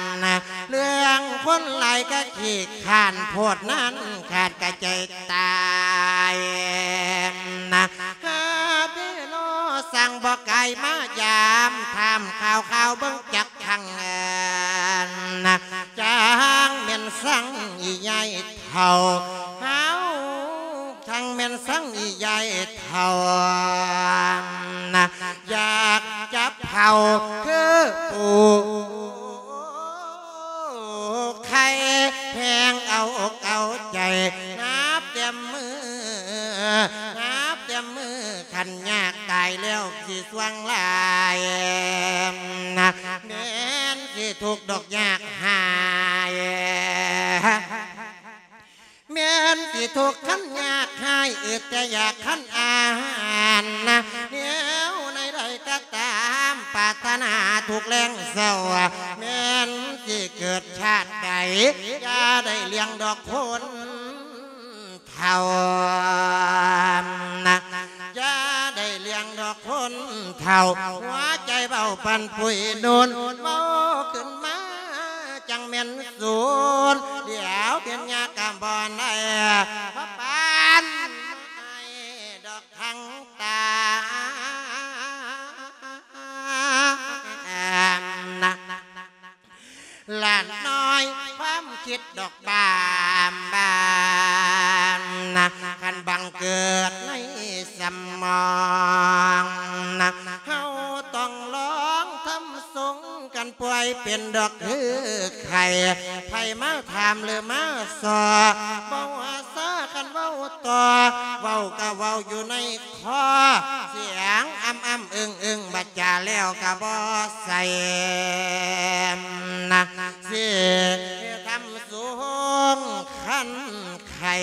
ເລື່ອງຄົນຫຼາຍກະຂີ້ຄ້ານ ໂພດນັ້ນຂາດກະໃຈຕາຍ ຫາເດນອ ຊ່າງບໍ່ກາຍມາຢາມ ຖາມຂ່າວໆເບິ່ງຈັກຄັ້ງ ຈັ່ງແມ່ນຊ່າງອີໃຫຍ່ ເຖົ້າເຮົາ ທັງແມ່ນສັງອີໃຫຍ່ເຖົ້າ ຢາກຈັບເຜົາຄືປູໄຂ່ ແຮງເອົາອົກເອົາໃຈ ນັບແຕ່ມື້ ນັບແຕ່ມື້ ຄັນຍາກຕາຍແລ້ວຊິສ່ວງຫຼາຍ ແມ່ນຊິທຸກດອກຍາກຫາຍ ແມ່ນຊິທຸກຄັນຍາກຫາຍ ອຶດແຕ່ຢາກຄັນອາຫານນະ ແນວໃດກໍຕາມ ປາດຖະໜາທຸກແລງເສົ້າ ແມ່ນຊິເກີດຊາດໃດ ຢ່າໄດ້ລ້ຽງດອກຄົນເຖົ້ານະ ຢ່າໄດ້ລ້ຽງດອກຄົນເຖົ້າ ຫົວໃຈເບົາປັນປຸຍນຸ່ນ ເວົ້າຂຶ້ນມາ ຈັ່ງແມ່ນສູນ ດຽວເປັນຍາກະບໍ່ໄດ້ ພະປານໃຫ້ດອກທັງຕານະ ຫຼານນ້ອຍຄວາມຄິດດອກບາມບາມນະ ຄັນບັງເກີດໃນສະໝອງນະ ເຮົາຕ້ອງລອງທຳ ສົງກັນປ່ວຍເປັນດອກຄືໄຂ້ ໃຜມາຖາມຫຼືມາສໍ້ ເວົ້າຊາຄັນເວົ້າຕໍ່ ເວົ້າກະເວົ້າຢູ່ໃນຄໍ ສຽງອຳໆອຶ້ງໆ ບັດຈາແລ້ວກະບໍ່ໃສ່ນະ ຊິທຳສູງຄັນໄຂ້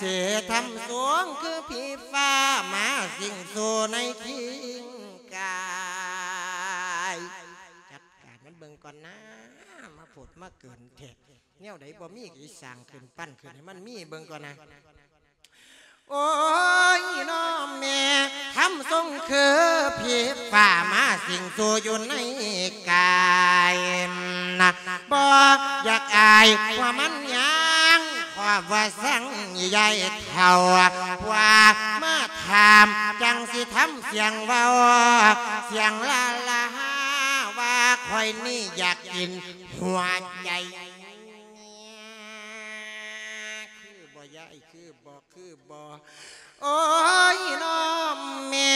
ຊິທຳສູງຄືຜີຟ້າ ມາສິງສູ່ໃນຄີ ກາຍ ຈັດການມັນເບິ່ງກ່ອນນາ ມາໂພດມາເກີນແທ້ ແນວໃດບໍ່ມີກະຊິສ້າງຂຶ້ນ ປັ້ນຂຶ້ນໃຫ້ມັນມີເບິ່ງກ່ອນນາ ໂອ້ຍນໍແມ່ ທຳຊົງຄືຜີຟ້າ ມາສິງສູ່ຢູ່ໃນກາຍນະ ບໍ່ຢາກອາຍວ່າມັນຫຍັງ ຄວາມວ່າສັງຍາຍເຖົ້າ ວ່າມາຖາມ ຈັ່ງຊິທຳສຽງເວົ້າ ສຽງລາລາ ວ່າຂ້ອຍນີ້ຢາກກິນຫົວໃຈ ຄືບໍ່ຍາຍ ຄືບໍ່ ຄືບໍ່ ໂອ້ຍ ນ້ອງແມ່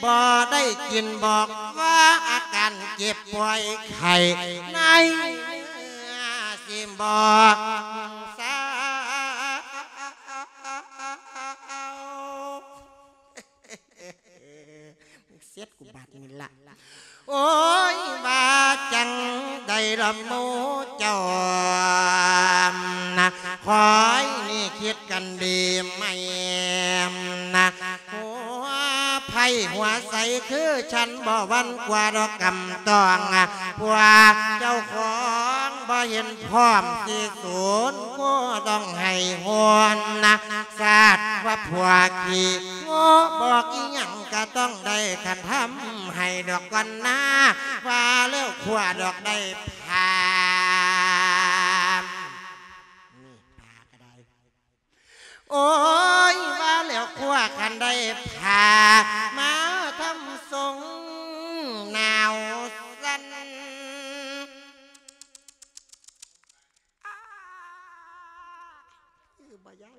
ບໍ່ໄດ້ກິນ ບອກວ່າອາການເຈັບປ່ວຍໄຂ້ໃນເນື້ອ ຊິບໍ່ເຊົາ ເສັດກູບາດນີ້ລະ ໂອ້ຍ ວ່າຈັ່ງໃດລະໝູ່ເຈົ້ານະ ຂ້ອຍນີ້ຄິດກັນດີໃໝ່ນະ ຫົວໃຜຫົວໃສຄື ສັນບໍ່ຫວັ່ນກວ່າດອກກຳຕ້ອງ ພວກເຈົ້າຂອງບໍ່ເຫັນພ້ອມຊິສູນ ກໍຕ້ອງໃຫ້ຫົວນະ ຊາດວ່າພວກຂີ້ໂງ່ ບອກອີ່ຫຍັງກະຕ້ອງໄດ້ ຄັນທຳໃຫ້ດອກກ່ອນນາ ວ່າແລ້ວຄວ້າດອກໄດ້ພາມ ນີ້ພາກະໄດ້ ໂອ້ຍ ວ່າແລ້ວຄວ້າຄັນໄດ້ພາມາທຳຊົງໜາວສັ່ນ ຄືບໍ່ຢາກ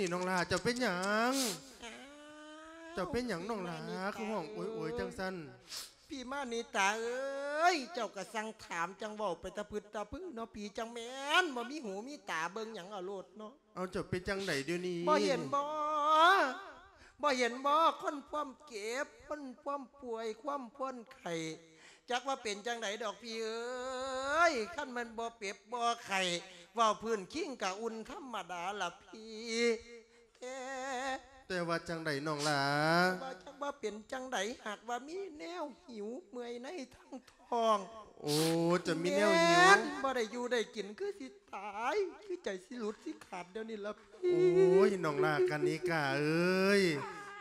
ນີ້ນ້ອງຫຼ້າ ເຈົ້າເປັນຫຍັງ? ເຈົ້າເປັນຫຍັງນ້ອງຫຼ້າ ຄືຮ້ອງໂອຍໆ ຈັ່ງຊັ້ນ? ພີ່ມານິຕາເອີຍ ເຈົ້າກໍຊ່າງຖາມ ຈັ່ງເວົ້າໄປຕະພຶດຕະພືເນາະ ຜີຈັ່ງແມ່ນ ບໍ່ມີຫູມີຕາເບິ່ງຫຍັງເອົາໂລດເນາະ. ເອົາ ເຈົ້າເປັນຈັ່ງໃດດຽວນີ້? ບໍ່ເຫັນບໍ່ ບໍ່ເຫັນບໍ່ ຄົນພວມເຈັບ ຄົນພວມປ່ວຍ ຄວາມພວນໄຂ້ ຈັກວ່າເປັນຈັ່ງໃດດອກພີ່ເອີຍ ຄັນມັນບໍ່ເປັບບໍ່ໄຂ້ ເວົ້າພື້ນຄິງກະອຸ່ນທຳມະດາລະພີ່ ແຕ່ ແຕ່ວ່າຈັ່ງໃດນ້ອງຫຼ້າ? ວ່າຈັກວ່າເປັນຈັ່ງໃດ ຫາກວ່າມີແນວຫິວເມື່ອຍໃນທັງທ້ອງ. ໂອ້ ຈະມີແນວຫິວ ແມ່ນ ບໍ່ໄດ້ຢູ່ໄດ້ກິນ ຄືຊິຕາຍ ຄືໃຈຊິຫຼຸດຊິຂາດດຽວນີ້ລະພີ່. ໂອ້ຍ ນ້ອງຫຼ້າກະນິກາເອີຍ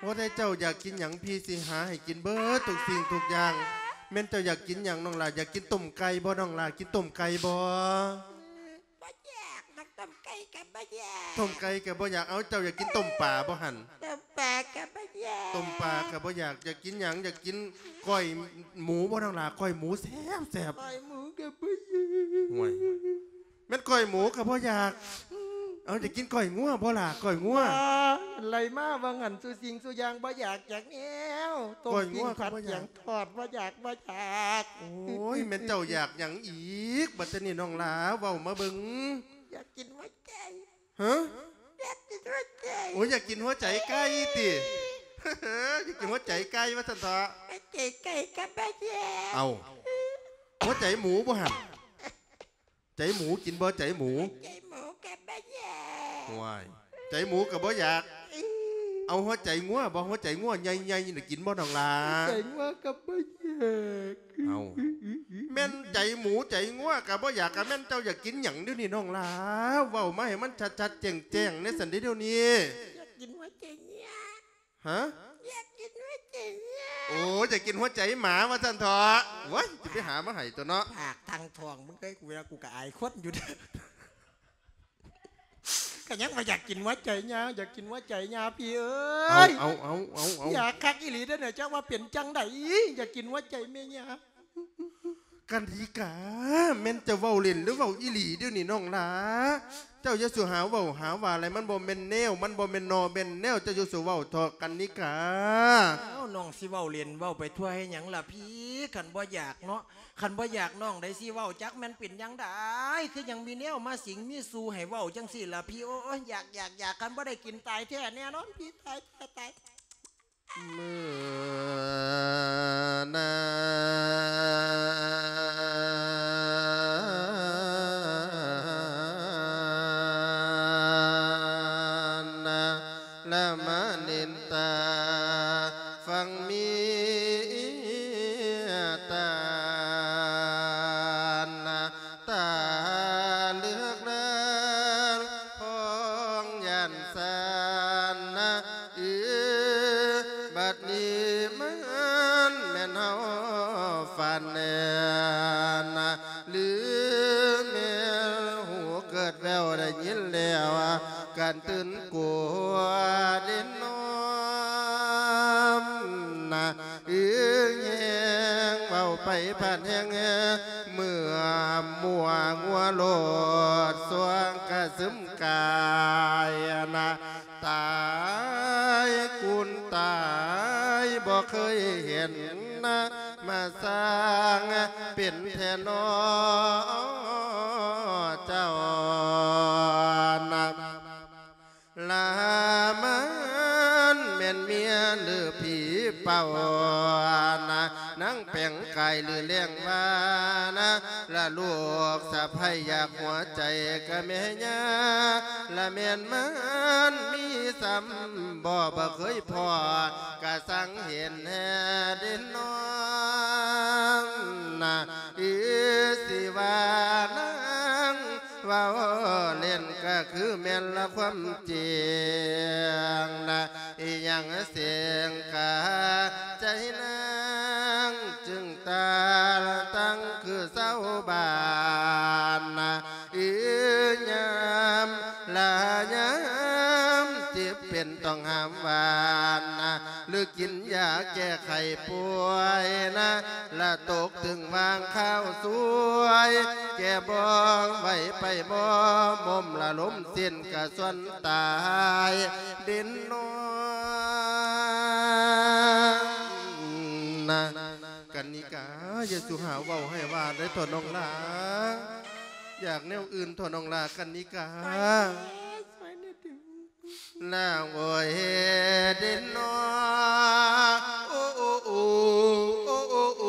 ບໍ່ໄດ້ ເຈົ້າຢາກກິນຫຍັງ ພີ່ຊິຫາໃຫ້ກິນເບິດທຸກສິ່ງທຸກຢ່າງ. ແມ່ນເຈົ້າຢາກກິນຫຍັງນ້ອງຫຼ້າ? ຢາກກິນຕົ້ມໄກ່ບໍ່ນ້ອງຫຼ້າ? ກິນຕົ້ມໄກ່ບໍ່? ບໍ່ຢາກດອກ ຕົ້ມໄກ່ກໍບໍ່ຢາກ ຕົ້ມໄກ່ກໍບໍ່ຢາກ. ເອົາ ເຈົ້າຢາກກິນຕົ້ມປາບໍ່ຫັ້ນ? ຕົ້ມປ ປາກໍບໍ່ຢາກ ຕົ້ມປາກໍບໍ່ຢາກ ຢາກກິນຫຍັງ? ຢາກກິນກ້ອຍໝູບໍ່ ນ້ອງຫຼ້າ? ກ້ອຍໝູແຊບໆ. ກ້ອຍໝູກໍບໍ່ຢາກ. ໂອ້ຍ ແມ່ນກ້ອຍໝູກໍບໍ່ຢາກ. ເອົາ ຢາກກິນກ້ອຍງົວບໍ່ຫຼ້າ? ກ້ອຍງົວ ບໍ່ ໄລ່ມາວ່າງນັ້ນ ສູ່ສິ່ງສູ່ຢ່າງບໍ່ຢາກຈັກແນວ. ຕົ້ມ ປີ້ງ ຜັດ ກຽງ ທອດ ບໍ່ຢາກ ບໍ່ຢາກ. ໂອ້ຍ ແມ່ນເຈົ້າຢາກຫຍັງອີກບັດນີ້ ນ້ອງຫຼ້າ? ເວົ້າມາເບິ່ງ. ຢາກກິນຫົວໃຈ. ຮະ? ຢາກກິນຫົວໃຈ. ໂອ້ຍ ຢາກກິນຫົວໃຈໄກ່ຕິ? ຢາກກິນຫົວໃຈໄກ່ວ່າຊັ້ນເຖາະ. ຫົວໃຈໄກ່ກໍບໍ່ຢາກ. ເອົ້າ ຫົວໃຈໝູບໍ່ຫັ້ນ? ໃຈໝູກິນບໍ່ ໃຈໝູ? ໃຈໝູກໍບໍ່ຢາກ. ໂອ້ຍ ໃຈໝູກໍບໍ່ຢາກ. ອື ເອົາ ຫົວໃຈງົວບໍ່? ຫົວໃຈງົວໃຫຍ່ໆ ນີ້ກິນບໍ່ ນ້ອງຫຼ້າ? ໃຈງົວກໍບໍ່ຢາກ. ເອົ້າ ແມ່ນໃຈໝູໃຈງົວກໍບໍ່ຢາກ ກໍແມ່ນເຈົ້າຢາກກິນຫຍັງດຽວນີ້ ນ້ອງຫຼ້າ? ເວົ້າມາໃຫ້ມັນຊັດໆ ແຈ້ງໆ ແດ່ຊັ້ນເດ ດຽວນີ້. ຢາກກິນຫົວໃຈເຫຍື່ອ. ຮະ? ຢາກກິນຫົວໃຈເຫຍື່ອ. ໂອ້ ຢາກກິນຫົວໃຈໝາວ່າຊັ້ນເຖາະ. ໂອ້ຍ ຊິໄປຫາມາໃຫ້ຕົວະເນາະ. ປາກທາງທ້ອງມຶງເອີຍ ກູວ່າກູກໍອາຍຄົນຢູ່ເດ້. ກໍຍັງວ່າຢາກກິນຫົວໃຈຫຍ້າ ຢາກກິນຫົວໃຈຫຍ້າ ພີ່ເອີຍ. ເອົາ ເອົາ ຢາກຄັກອີ່ຫຼີເດີ້ເນາະ. ຈັກວ່າເປັນຈັ່ງໃດ ຢາກກິນຫົວໃຈແມ່ຫຍ້າ. ກັນທິກາ ແມ່ນເຈົ້າເວົ້າຫຼິ້ນ ຫຼືເວົ້າອີ່ຫຼີດຽວນີ້ ນ້ອງຫຼ້າ? ເຈົ້າຢ່າສູ່ຫາເວົ້າຫາວ່າຫຼາຍ ມັນບໍ່ແມ່ນແນວ ມັນບໍ່ແມ່ນໜໍ່ແມ່ນແນວ. ເຈົ້າຢ່າສູ່ເວົ້າເຖາະ ກັນນິກາ. ອ້າວ ນ້ອງຊິເວົ້າຫຼິ້ນເວົ້າໄປທົ່ວເຮັດຫຍັງລະພີ່? ຄັນບໍ່ຢາກເນາະ ຄັນບໍ່ຢາກນ້ອງໃດຊິເວົ້າ. ຈັກແມ່ນເປັນຫຍັງໃດ ຄືຍັງມີແນວມາສິງມີສູ່ໃຫ້ເວົ້າຈັ່ງຊີ້ລະພີ່? ໂອ້ຍ ຢາກ ຢາກ ຢາກ ຄັນບໍ່ໄດ້ກິນຕາຍແທ້ແນ່ນອນ ພີ່ ຕາຍ ຕາຍ ຕາຍ. ເມື່ອນານນະ ລະມະນິນຕາ ຟັງມີຕານະ ຕາເລືອກເລີນ ພອງຢ້ານຊານນະ ເອີ ບັດນີ້ມັນແມ່ນເຮົາຝັນແນ່ນະ ຫຼືແມ່ນຫູເກີດແວ່ວໄດ້ຍິນແລ້ວ ການຕື່ນກົວເດນອມນະ ອຶງແຮງເວົ້າໄປພາດແຮງ ເມື່ອມົວງົວໂລດ ສວງກະຊຶມກາຍນະ ຕາຍກຸນຕາຍບໍ່ເຄີຍເຫັນນະ ມາສ້າງເປັນແທ້ນໍເຈົ້ານະ. ລາມັນແມ່ນເມຍຫຼືຜີເປົ່ານະ ນາງແປງກາຍຫຼືແລງວ່ານະ ລະລູກສະໃພ້ຢາກຫົວໃຈກະແມ່ຍ່າ ລະແມ່ນມັນມີຊ້ຳບໍ່ ບໍ່ເຄີຍພໍ້ ກະສັງເຫັນແທ້ເດນອງນະ ອີ ຊິວ່ານາງ ເວົ້າເລ່ນກະຄືແມ່ນລະຄວາມຈິງນະ ອີຫຍັງເສັງກາໃຈນາງ ຈຶ່ງຕາຕັ້ງຄືຊາວບ້ານນະ ອີຍາມລະຍາມເຈັບເປັນຕ້ອງຫ້າມຫວານນະ ຫຼືກິນຢາແກ້ໄຂ້ປ່ວຍນະ ລະຕົກຕຶງຫວ່າງຄາວສວຍ ແກ້ບໍ່ໄຫວໄປບໍ່ມົມ ລະລົມສິ້ນກະສ່ວນຕາຍເດນອງນະ. ກັນນິກາ ຢ່າສູ່ຫາເວົ້າໃຫ້ວ່າໄດ້ເຖາະນ້ອງຫຼ້າ ຢາກແນວອື່ນເຖາະນ້ອງຫຼ້າ ກັນນິກາ. ນາງໂອຍເດນອ ໂອ ໂອ ໂອ ໂອ ໂອ ໂ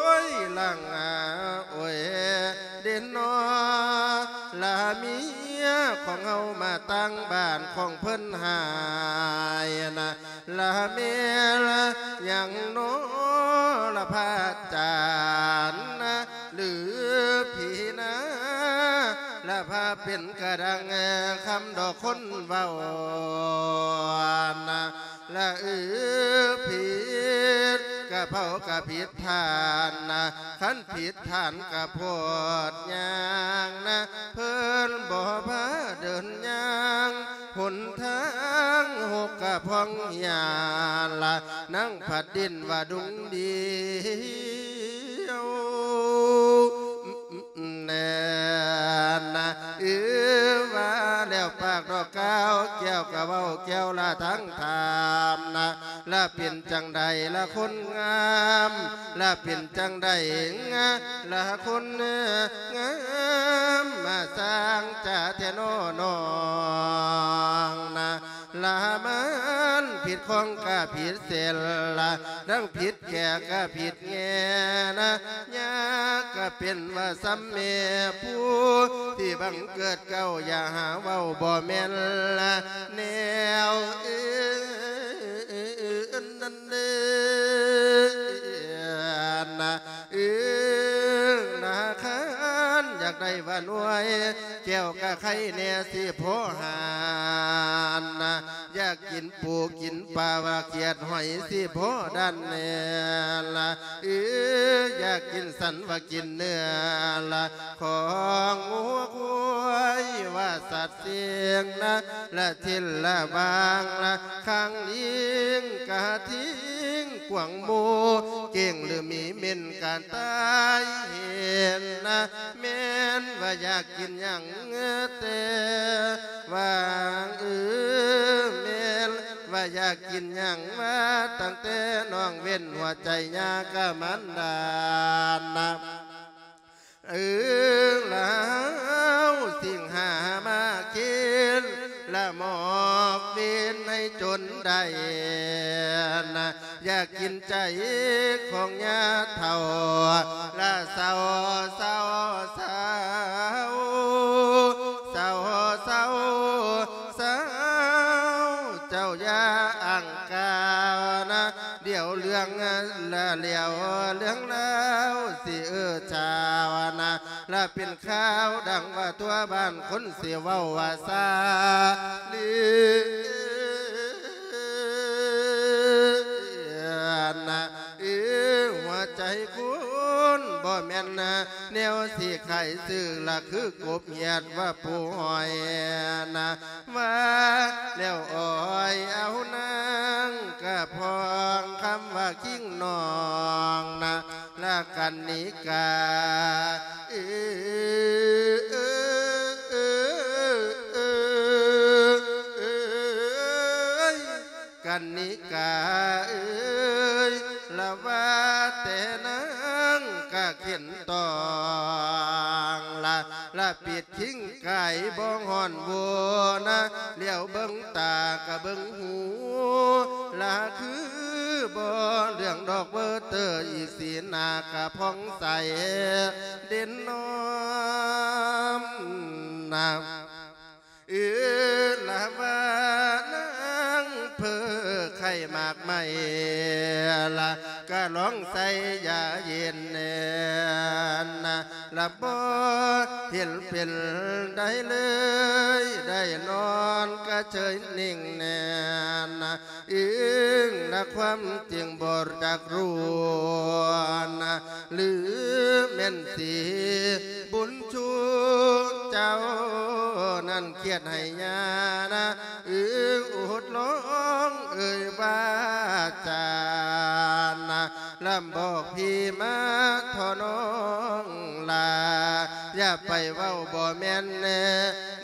ອ ຍ ລາງອາ ໂອຍເດນອ ລາເມຍຂອງເຮົາມາຕ່າງບ້ານຂອງເພິ່ນຫາຍນະ ລະແມ່ນຫຍັງນໍລະພະອາຈານນະ ຫຼືຜີນາ ລະພະເປັນກະດັງຄຳດອກຄົນເວົ້ານະ ລະເອີ ຜິດ ກະເພົາກະຜິດທ່ານນະ ຄັນຜິດທ່ານກະໂພດຍ່າງນະ ເພິ່ນບໍ່ພາເດີນຍ່າງ ຫົນທາງຫົກກະພອງເຫຍລະ ນາງພັດດິນວ່າດຸງດຽວ ແນ່ນະ ເອີ ວ່າແລ້ວປາກດອກກ່າວ ແກ້ວກະເວົ້າແກ້ວລະທັງຖາມນະ ລະເປັນຈັ່ງໃດລະຄົນງາມ ລະເປັນຈັ່ງໃດງາ ລະຄົນງາມ ມາຊ່າງຈາແທ້ນໍນ້ອງນະ ລະມັນຜິດຂອງກະຜິດເສນລະ ທັງຜິດແກ່ກະຜິດແງ່ນະ ຍາກກະເປັນວ່າຊ່ຳແມ່ຜູ້ທີ່ບັງເກີດເກົ່າ ຢ່າຫາເວົ້າບໍ່ແມ່ນລະແນວອື່ນນັ້ນເດີ ນະ ເອີ ນະ ຄັນຢາກໄດ້ວ່າໜ່ວຍ ແກ້ວກະໄຄແນ່ຊິພໍຫານນະ ຢາກກິນປູກິນປາວ່າຂຽດຫອຍຊິພໍດັນແນ່ລະ ເອີ ຢາກກິນສັນວ່າກິນເນື້ອລະ ຂອງງົວຄວາຍວ່າສັດ ສຽງນະ ລະທິນລະບາງລະ ຄາງລິງກະທິງກວາງໝູ່ ເກັ່ງຫຼືມີເໝັນກະຕາຍເຫັນນະ ແມ່ນວ່າຢາກກິນຫຍັງແຕ່ຫວ່າງ ເອີ ແມ່ນວ່າຢາກກິນຫຍັງວ່າ ຕັ້ງແຕ່ນ້ອງເວັ້ນຫົວໃຈຍາກະມັນດານະ ເອີ ລາວສິງຫາມາເຄນ ລະມອບເວນໃຫ້ຈົນໄດ້ນະ ຢາກກິນໃຈຂອງຍາເຖົ້າ ລະເຊົາ ເຊົາ ເຊົາ ເຊົາ ເຊົາ ເຊົາ ເຈົ້າຢ່າອ່າງກ່າວນະ ດຽວເລື່ອງລະແລ້ວເລື່ອງລາວ ຊິເອີຊາວນະ ລະເປັນຂ່າວດັງວ່າທົ່ວບ້ານຄົນຊິເວົ້າວ່າຊາລີນະ ເອີ ຫົວໃຈຄົນບໍ່ແມ່ນນະ ແນວຊິຂາຍຊື້ລະຄືກົບຫຽດວ່າປູຫອຍນະ ວ່າແລ້ວອ້ອຍເອົານາງກະພອງຄຳວ່າຄິງນ້ອງນະ ລະກັນນິກາ ເອີ ເອີ ກັນນິກາເອີຍ ລະວ່າແຕ່ນາງກະເຂັນຕອງລະ ລະປິດຄິງກາຍບໍ່ຮ້ອນໂວນະ ຫຼຽວເບິ່ງຕາກະເບິ່ງຫູ ລະຄືບໍ່ເຫຼືອງດອກເບີເຕີ ອີກສີໜ້າກະຜ່ອງໃສເດັ່ນນອມນະ. ເອີ ລະວ່ານາງເພີໄຂ່ໝາກໄມ້ ລະກະລອງໃສ່ຢາເຢັນແນ່ນະ ລະບໍ່ເຫັນເປັນໃດເລີຍ ໄດ້ນອນກະເຊີຍນິ່ງແນ່ນະ ເອີງນະ ຄວາມຈິງບໍ່ຈັກຮູ້ນະ ຫຼືແມ່ນຊິບຸນຊູເຈົ້ານັ້ນຄຽດໃຫ້ຍານະ ເອີງອຸດລອງເອີຍວ່າຈານະ ລຳບອກພີ່ມາທໍ່ນ້ອງຫຼ້າ ຢ່າໄປເວົ້າບໍ່ແມ່ນແນ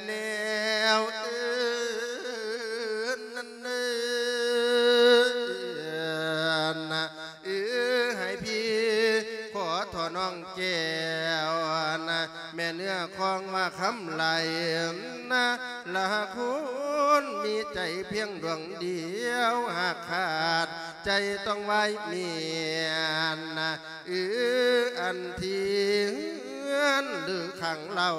ແນວອື່ນນັ້ນເດີ ນະ ເອີ ໃຫ້ພີ່ຂໍທໍ່ນ້ອງແກ້ວນະ ແມ່ເນື້ອຄອງວ່າຄຳໄຫຼນະ ລະຄົນມີໃຈພຽງດວງດຽວ ຫາກຂາດໃຈຕ້ອງວາຍເມຍນະ ເອີ ອັນທີ່ເຮືອນຫຼືຂັງເລົ່າ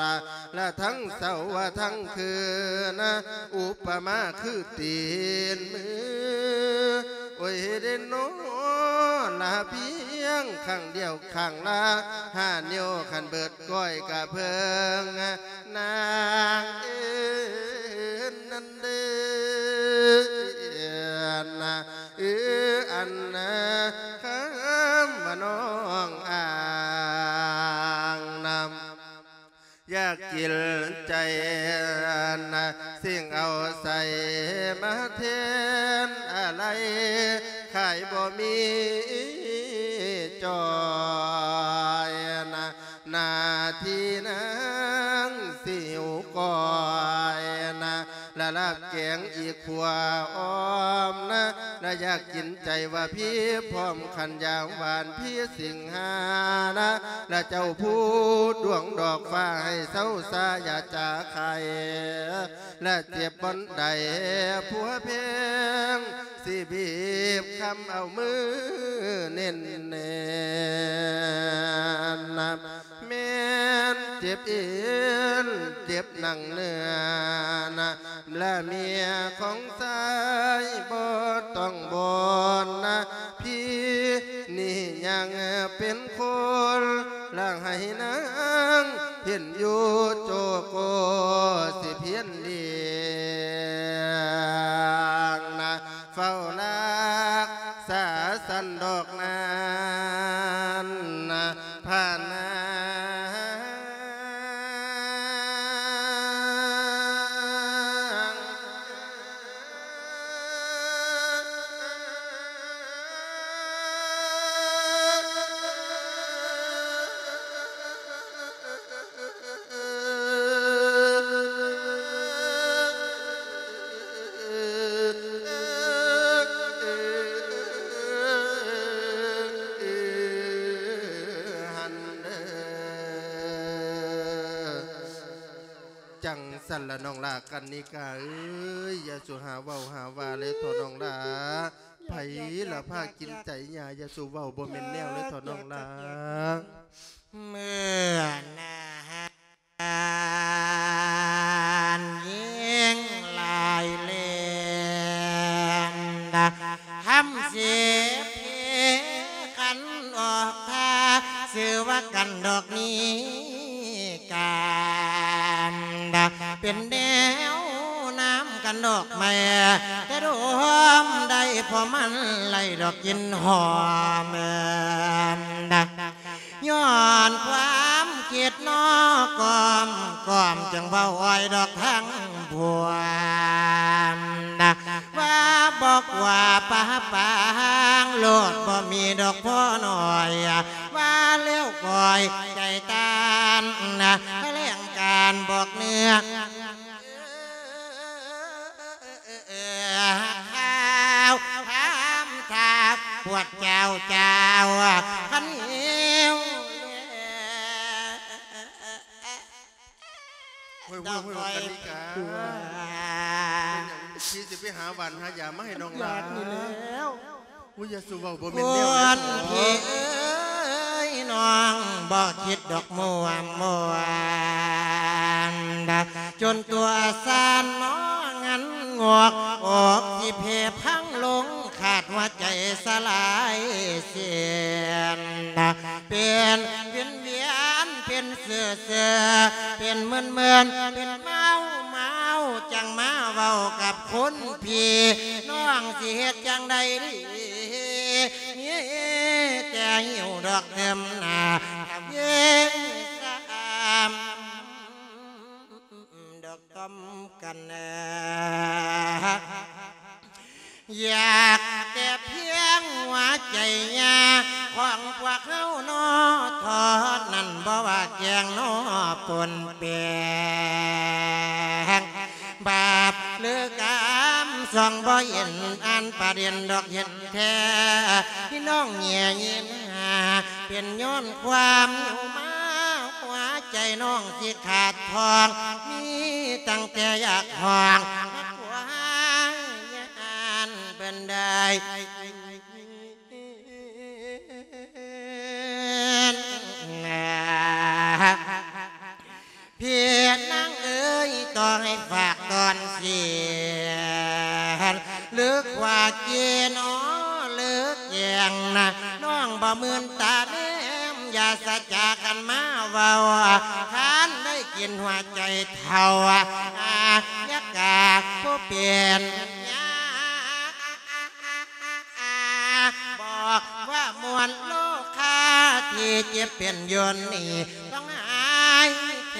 ລະ ລະທັງເຊົ້າວ່າທັງຄືນນະ ອຸປະມາຄືຕີນມື ໂອ້ຍເດໂນ ລະພຽງຄັ້ງດຽວ ຂ້າງລະຫ້ານິ້ວ ຄັນເບີດກ້ອຍກະເພິ່ງນາງເອີນນັ້ນເດີ ເອີ ອັນ ກິນໃຈນະ ສິ່ງເອົາໃສມາແທນອາໄລ ຂາຍບໍ່ມີຈ່ອຍນະ ໜ້າທີ່ນາງຊິຫິວກ້ອຍນະ ລະລາບແກງອີກຂົວອ້ອມນະ ລະຢາກກິນໃຈວ່າພີພ້ອມຂັນຢາມຫວານພີສິງຫານະ ລະເຈົ້າຜູ້ດວງດອກຟ້າໃຫ້ເຊົາຊາຢ່າຈາໄຄ ລະເຈັບບ່ອນໃດຜົວແພງ ຊິບີບຄຳເອົາມືເນັ້ນແໜ້ນນະ ແມ່ນເຈັບເອັນເຈັບໜັງເນື້ອນະ ລະເມຍຂອງຊາຍບໍ່ຕ້ອງບ່ອນນະ ພີນີ້ຍັງເປັນຄົນ ລະໃຫ້ນາງເຫັນຢູ່ໂຈໂກ ຊິພຽນລ້ຽງນະ ເຝົ້າຮັກສາສັນດອກນານນະ ພະນາງ ຈັ່ງຊັ້ນລະນ້ອງຫຼ້າກັນນິກາເອີຍ ຢ່າສູ່ຫາເວົ້າຫາວ່າເລີຍເຖາະນ້ອງຫຼ້າ ໃຜລະພາກິນໃຈຍ່າ ຢ່າສູ່ເວົ້າບໍ່ແມ່ນແນວເລີຍເຖາະນ້ອງຫຼ້າ ເມື່ອນານຍິງລາຍແລນ ທຳເສເພຂັນອອກທ່າ ຊື່ວ່າກັນດອກນີ້ ການເປັນແນວນາມກັນດອກໄມ້ ແຕ່ດອມໄດ້ ເພາະມັນໄດ້ດອກກິ່ນຫອມ ຍ້ອນຄວາມຄິດນອກ ກອມກອມຈຶ່ງເວົ້າອ້ອຍດອກທາງພວມ ວ່າບໍ່ກວ່າປາປາງໂລດ ບໍ່ມີດອກພໍນ້ອຍ ວ່າແລ້ວກ້ອຍໃຈຕ້ານ ຖະແຫຼງການບອກເນື້ອ ຂ້າວຖາມຖ້າປວດເຈົ້າ ເຈົ້າຄັນຫິວ ໂອ້ຍ ໂອ້ຍ ໂອ້ຍ ກັນນິກາ ເປັນຫຍັງ ພີ່ຊິໄປຫາຫວານຫາຢາມາໃຫ້ນ້ອງຫຼ້າ ຢາກນີ້ແລ້ວ ໂອ້ຍ ຢ່າສູ່ເວົ້າ ບໍ່ແມ່ນແນວນັ້ນ ພີ່ເອີຍ ນ້ອງບໍ່ຄິດດອກມ່ວນມ່ວນ ຈົນຕົວສັ່ນງອງັນງອກ ອອກຊິເພພັງລົງ ຂາດຫົວໃຈສະຫຼາຍເສັ້ນ ເປັນ ເປັນວຽນ ເປັນເຊື່ອເຊື່ອ ເປັນເມີນເມີນ ເປັນເມົາເມົາ ຈັ່ງມາເວົ້າກັບຄົນພີ່ ນ້ອງຊິເຮັດຈັ່ງໃດດີ ມີແຕ່ຫິວດອກເຕີມໜ້າ ເຢັນສາມ ດອກຕ້ອມກັນເອີ ຢາກແຕ່ພຽງຫົວໃຈຍາຂອງພວກເຮົານອ ເທົ່ານັ້ນ ບໍ່ວ່າແກງນອປົນແປງ ບາບຫຼືກຳ ສ່ອງບໍ່ເຫັນອັນປະເດັນດອກເຫັນແທ້ ພີ່ນ້ອງແຍງຍິນຫາ ເປັນຍ້ອນຄວາມຫິວມາ ຫົວໃຈນ້ອງຊິຂາດທ້ອງ ມີຕັ້ງແຕ່ຢາກຮ້ອງ ຮັກຫວາຍານເພິ່ນໄດ້ ພີ່ນາງເອີຍ ຕ້ອງໃຫ້ຝາກຕອນສຽນ ເລິກວ່າເກນອ ເລິກແກງນະ ນ້ອງບໍ່ມື່ນຕາແນມ ຢ່າສະຈາຄັນມາເວົ້າ ຄັນໄດ້ກິນຫົວໃຈເຖົ້າ ອາຍະກາຜູ້ເປັນຍາ ບອກວ່າມ່ວນໂລຄາ ທີ່ເຈັບເປັນຢູ່ນີ້ ຕ້ອງຫາຍແຂ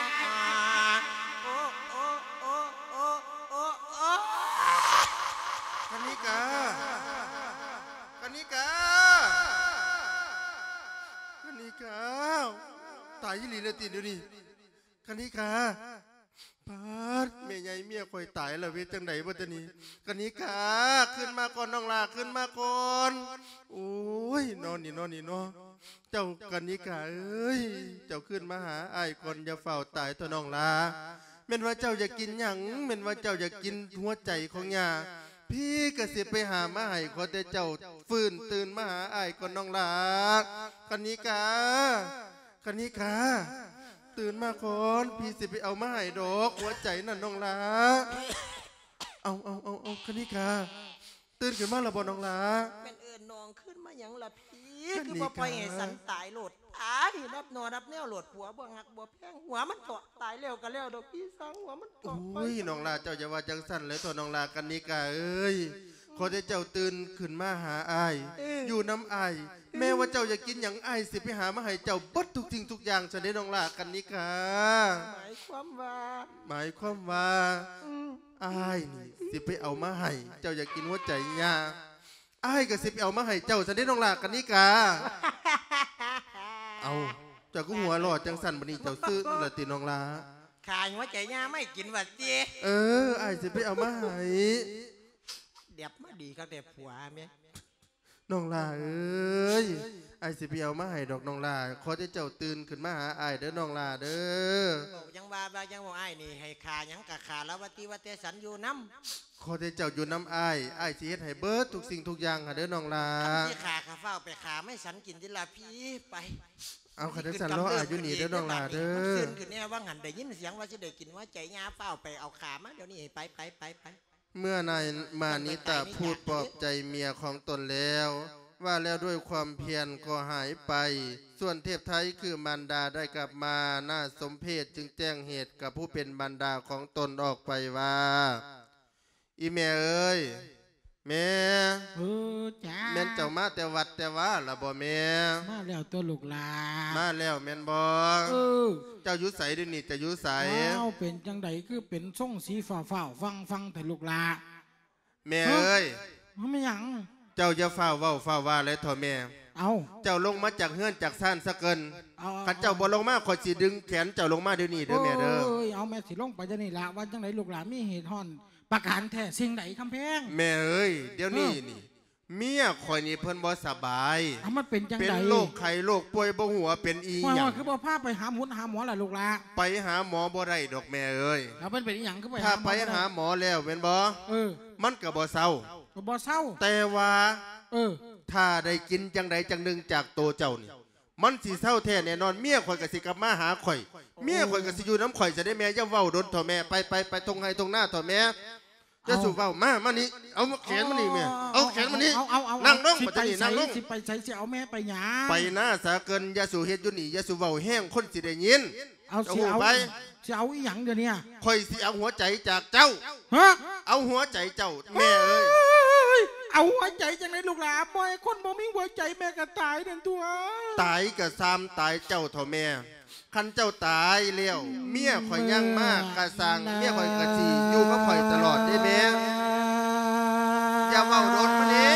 ໂອ້ ໂອ້ ໂອ້ ໂອ້ ໂອ້ ໂອ້ ກະນິກາ ກະນິກາ ກະນິກາ ຕາຍອີ່ຫຼີແລ້ວຕິດຽວນີ້ ກະນິກາ ປາດ ແມ່ໃຫຍ່ເມຍຂ້ອຍຕາຍແລ້ວ ເຮັດຈັ່ງໃດບັດນີ້? ກະນິກາ ຄືນມາກ່ອນນ້ອງຫຼ້າ ຄືນມາກ່ອນ. ໂອ້ຍ ນອນນີ້ ນອນນີ້ເນາະ ເຈົ້າກະນິກາເອີຍ ເຈົ້າຄືນມາຫາອ້າຍກ່ອນ ຢ່າຟ້າວຕາຍເຖາະນ້ອງຫຼ້າ. ແມ່ນວ່າເຈົ້າຢາກກິນຫຍັງ? ແມ່ນວ່າເຈົ້າຢາກກິນຫົວໃຈຂອງຍ່າ ພີ່ກະຊິໄປຫາມາໃຫ້ ຂໍແຕ່ເຈົ້າຟື້ນຕື່ນມາຫາອ້າຍກ່ອນນ້ອງຫຼ້າ. ກະນິກາ ກະນິກາ ຕື່ນມາກ່ອນ ພີ່ຊິໄປເອົາມາໃຫ້ດອກ ຫົວໃຈນັ້ນນ້ອງຫຼ້າ. ເອົາ ເອົາ ເອົາ ເອົາ ກະນິກາ ຕື່ນຂຶ້ນມາແລ້ວບໍ່ນ້ອງຫຼ້າ? ແມ່ນເອີ້ນນ້ອງຄືນມາຫຍັງລະພີ່? ກະນິກາ ຄືບໍ່ປ່ອຍໃຫ້ສັນຕາຍໂລດ ຕາຍນັບໜໍ່ນັບແນວໂລດ ຜົວບໍ່ຮັກບໍ່ແພງ ຫົວມັນເຖາະ ຕາຍແລ້ວກະແລ້ວດອກພີ່ ຊ່າງຫົວມັນເຖາະ. ໂອ້ຍ ນ້ອງຫຼ້າ ເຈົ້າຢ່າວ່າຈັ່ງຊັ້ນເລີຍເຖາະນ້ອງຫຼ້າ ກະນິກາເອີຍ ອືມ ຂໍແຕ່ເຈົ້າຕື່ນຂຶ້ນມາຫາອ້າຍ ເອີ ຢູ່ນຳອ້າຍ ອືມ ແມ້ວ່າເຈົ້າຢາກກິນຫຍັງ ອ້າຍຊິໄປຫາມາໃຫ້ເຈົ້າເບິດທຸກສິ່ງທຸກຢ່າງຊັ້ນເດ້ນ້ອງຫຼ້າ ກະນິກາ. ໝາຍຄວາມວ່າ? ໝາຍຄວາມວ່າ ອືມ ອ້າຍນີ້ຊິໄປເອົາມາໃຫ້ ເຈົ້າຢາກກິນຫົວໃຈຍ່າ ອ້າຍກະຊິໄປເອົາມາໃຫ້ເຈົ້າຊັ້ນເດ້ນ້ອງຫຼ້າ ກະນິກາ. ເອົ້າ ເຈົ້າຄືຫົວຫຼໍ່ຈັ່ງຊັ້ນ ບັດນີ້ເຈົ້າຊື່ລະຕິນ້ອງຫຼ້າ? ຂາຍຫົວໃຈຍ່າມາໃຫ້ກິນວ່າຕິ? ເອີ ອ້າຍຊິໄປເອົາມາໃຫ້. ແດບມາດີຄັກແດ່ຜົວແມ່. ນ້ອງຫຼ້າເອີຍ ອ້າຍຊິໄປເອົາມາໃຫ້ດອກນ້ອງຫຼ້າ. ຂໍແຕ່ເຈົ້າຕື່ນຂຶ້ນມາຫາອ້າຍເດີນ້ອງຫຼ້າເດີ. ເວົ້າຫຍັງວ່າ ວ່າຫຍັງວ່າ ອ້າຍນີ້ໃຫ້ຂ້າຫຍັງກະຂ້າລະວ່າຕິວ່າແຕ່ສັນຢູ່ນຳ. ຂໍແຕ່ເຈົ້າຢູ່ນຳອ້າຍ ອ້າຍຊິເຮັດໃຫ້ເບິດທຸກສິ່ງທຸກຢ່າງຫັ້ນເດີນ້ອງຫຼ້າ. ຄັນຊິຂ້າກະຟ້າວໄປຂ້າໄມ້ສັນກິນຕິລະພີ່ ໄປ. ເອົາ ຄັນຈັ່ງຊັ້ນລໍອ້າຍຢູ່ນີ້ເດີນ້ອງຫຼ້າເດີ. ມັນຊືນຂຶ້ນແນ່ ວ່າຫັ້ນໄດ້ຍິນສຽງວ່າຊິໄດ້ກິນຫົວໃຈຍ່າ ຟ້າວໄປເອົາຂ້າມາດຽວນີ້ ໄປ ໄປ ໄປ ໄປ. ເມື່ອນາຍມານິຕະພູດປອບໃຈເມຍຂອງຕົນແລ້ວ ວ່າແລ້ວດ້ວຍຄວາມພຽນກໍຫາຍໄປ. ສ່ວນເທບໄທຄືມານດາໄດ້ກັບມາ ໜ້າສົມເພດຈຶ່ງແຈ້ງເຫດກັບຜູ້ເປັນມານດາຂອງຕົນອອກໄປວ່າ ອີ່ແມ່ເອີຍ ແມ່. ເອີ ຈ້າ. ແມ່ນເຈົ້າມາແຕ່ວັດແຕ່ວາລະບໍ່ແມ່? ມາແລ້ວຕົວະລູກຫຼ້າ. ມາແລ້ວແມ່ນບໍ່? ເອີ. ເຈົ້າຢູ່ໃສດຽວນີ້ ເຈົ້າຢູ່ໃສ? ອ້າວ ເປັນຈັ່ງໃດຄືເປັນຊົງສີຟ້າວໆຟັ່ງໆແທ້ລູກຫຼ້າ? ແມ່ເອີຍ. ເອີ ມັນແມ່ນຫຍັງ? ເຈົ້າຢ່າຟ້າວເວົ້າຟ້າວວ່າເລີຍເຖາະແມ່. ເອົ້າ ເຈົ້າລົງມາຈາກເຮືອນຈາກຊານສາເກີນ. ເອົາ ຄັນເຈົ້າບໍ່ລົງມາ ເອົາ ຂ້ອຍຊິດຶງແຂນເຈົ້າລົງມາດຽວນີ້ເດີແມ່ເດີ. ໂອ້ຍ ເອົາ ແມ່ຊິລົງໄປດຽວນີ້ລະ. ວ່າຈັ່ງໃດລູກຫຼ້າ ມີເຫດຮ້ອນປະການແທ້ສິ່ງໃດຄຳແພງ? ແມ່ເອີຍ ດຽວນີ້ ເອີ ນີ້ ເມຍຂ້ອຍນີ້ເພິ່ນບໍ່ສະບາຍ. ເອົາ ມັນເປັນຈັ່ງໃດ? ເປັນໂລກໄຂ້ໂລກປ່ວຍ ບໍ່ຮູ້ວ່າເປັນອີ່ຫຍັງ. ວ່າ ວ່າຄືບໍ່ພາໄປຫາໝົດຫາໝໍລະລູກຫຼ້າ? ໄປຫາໝໍບໍ່ໄດ້ດອກແມ່ເອີຍ. ແລ້ວມັນເປັນອີ່ຫຍັງຄືໄປຫາໝໍບໍ່ໄດ້? ຖ້າໄປຫາໝໍແລ້ວແມ່ນບໍ່? ເອີ ມັນກໍບໍ່ເຊົາ. ກໍບໍ່ເຊົາ. ແຕ່ວ່າ ເອີ ຖ້າໄດ້ກິນຈັ່ງໃດຈັ່ງໜຶ່ງຈາກໂຕເຈົ້ານີ້ ມັນຊິເຊົາແທ້ແນ່ນອນ. ເມຍຂ້ອຍກໍຊິກັບມາຫາຂ້ອຍ ເມຍຂ້ອຍກໍຊິຢູ່ນຳຂ້ອຍຊະເດ້ແມ່. ຢ່າເວົ້າດົນເຖາະແມ່. ໄປ ໄປ ໄປທົ່ງໄຮ່ທົ່ງນາເຖາະແມ່. ເອົາ ຢ່າສູ່ເວົ້າ. ມາ ມານີ້ ເອົາແຂນມານີ້ແມ່. ເອົາ ເອົາແຂນມານີ້. ເອົາ ເອົາ ເອົາ ນັ່ງລົງ ຊິໄປໃສ? ບັດນີ້ນັ່ງລົງ. ຊິໄປໃສ? ຊິເອົາແມ່ໄປຫຍັງ? ໄປນາສາເກີນ. ຢ່າສູ່ເຮັດຢູ່ນີ້ ຢ່າສູ່ເວົ້າແຮງ ຄົນຊິໄດ້ຍິນ. ເອົາ ເຈົ້າ ຊິເອົາ ຮູ້ໄປ ຊິເອົາອີ່ຫຍັງດຽວນີ້? ຂ້ອຍຊິເອົາຫົວໃຈຈາກເຈົ້າ. ຮະ? ເອົາຫົວໃຈເຈົ້າ ແມ່ເອີຍ. ເອົາຫົວໃຈຈັ່ງໃດລູກຫຼ້າ? ບໍ່ໃຫ້ຄົນບໍ່ມີຫົວໃຈແມ່ກໍຕາຍນັ້ນຕົວະ. ຕາຍກໍຊ່າງຕາຍເຈົ້າເຖາະແມ່. ຄັນເຈົ້າຕາຍແລ້ວ ເມຍຂ້ອຍຍັງມາກະຊ່າງ ເມຍຂ້ອຍກໍຊິຢູ່ກັບຂ້ອຍຕະຫຼອດເດ້ແມ່. ຢ່າເວົ້າດົນມາເດ້.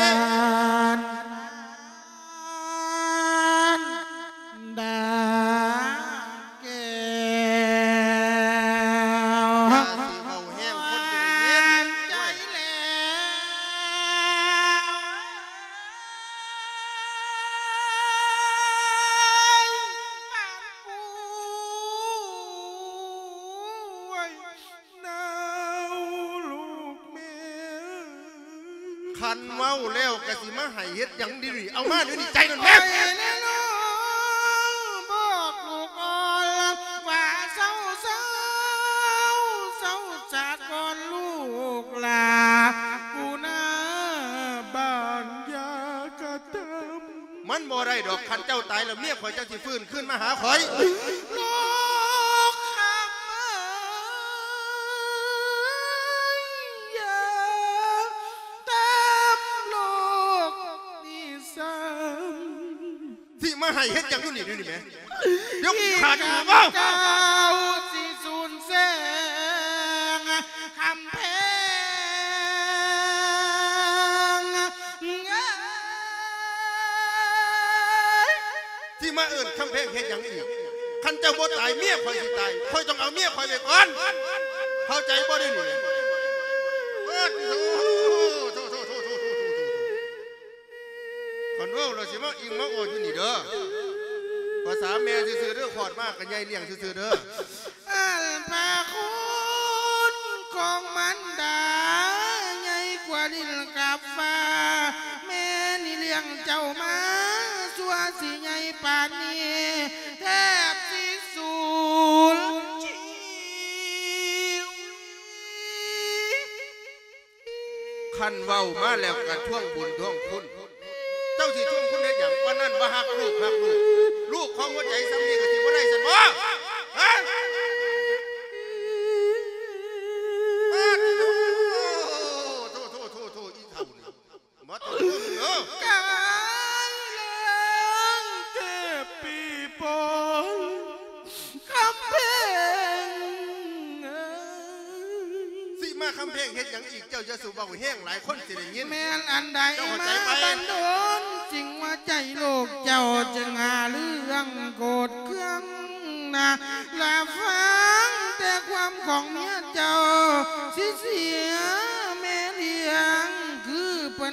ດາແກ້ວ ຢ່າຊິເວົ້າແຮງ ຄົນຊິໄດ້ຍິນ. ໃຈແລ້ວ ປານກູ ໂອ້ຍ ໜາວລູກແມ່. ຄັນເວົ້າແລ້ວກະຊິມາໃຫ້ເຮັດຫຍັງດຽວນີ້? ເອົາມາດຽວນີ້ ໃຈນັ້ນແມ່. ໄປແລ້ວເນາະ ບອກລູກອ່ອນວ່າເຊົາ ເຊົາ ເຊົາສາກ່ອນລູກຫຼ້າ ກູນາບ້ານຢ່າກະທຳ. ມັນບໍ່ໄດ້ດອກ ຄັນເຈົ້າຕາຍແລ້ວ ເມຍຂ້ອຍຈັ່ງຊິຟື້ນຄືນມາຫາຂ້ອຍ. ລູກຄຳເອີຍ ຢ່າທຳລູກນີ້ຊ້ຳ. ຊິມາໃຫ້ເຮັດຫຍັງຢູ່ນີ້ ດຽວນີ້ແໝ? ດຽວຂ້າຈະເວົ້າ. ເຈົ້າຊິສູນແສງ ຄຳແພງເອີຍ. ຊິມາເອີ້ນຄຳແພງເຮັດຫຍັງອີກ? ຄັນເຈົ້າບໍ່ຕາຍ ເມຍຂ້ອຍຊິຕາຍ. ຂ້ອຍຕ້ອງເອົາເມຍຂ້ອຍໄວ້ກ່ອນ. ເຂົ້າໃຈບໍ່ດຽວນີ້? ໂອ້ໂຫ ໂທ້ໆໆໆໆ ຄັນເວົ້າແລ້ວຊິມາອີ່ງມາອໍຢູ່ນີ້ເດີ. ພາສາແມ່ຊື່ໆເດີ ຄອດມາກໍໃຫຍ່ລ້ຽງຊື່ໆເດີ. ອັນພະຄຸນຂອງມານດາໃຫຍ່ກວ່າດິນກັບຟ້າ. ແມ່ນີ້ລ້ຽງເຈົ້າມາ ຊົ່ວຊິໃຫຍ່ປານນີ້ ແທບຊິສູນຊີວິດ. ຄັນເວົ້າມາແລ້ວກະທວງບຸນທວງຄຸນ. ເຈົ້າຊິທວງຄຸນເຮັດຫຍັງ? ປານນັ້ນວ່າຮັກລູກ ຮັກລູກ ລູກຂອງຫົວໃຈສ່ຳນີ້ກະຊິບໍ່ໄດ້ຊັ້ນບໍ? ຮະ? ປາດໂທ້ ໂທ້ໆໆໆ ອີເຖົ້ານີ້ ມາຕ້ອງເບິ່ງເດີ. ກາຍແລງເຈັບປີປອຍ ຄຳແພງເອີຍ. ຊິມາຄຳແພງເຮັດຫຍັງອີກ? ເຈົ້າຢ່າສູ່ເວົ້າແຮງຫຼາຍ ຄົນຊິໄດ້ຍິນ. ແມ່ນອັນໃດ ເຈົ້າເຂົ້າໃຈໄປ? ມາບັນດົນ ຈຶ່ງວ່າໃຈລູກເຈົ້າຈຶ່ງຫາເລື່ອງໂກດເຄືອງນາ. ລະຟັງແຕ່ຄວາມຂອງເມຍເຈົ້າ ຊິເສຍແມ່ລ້ຽງຄື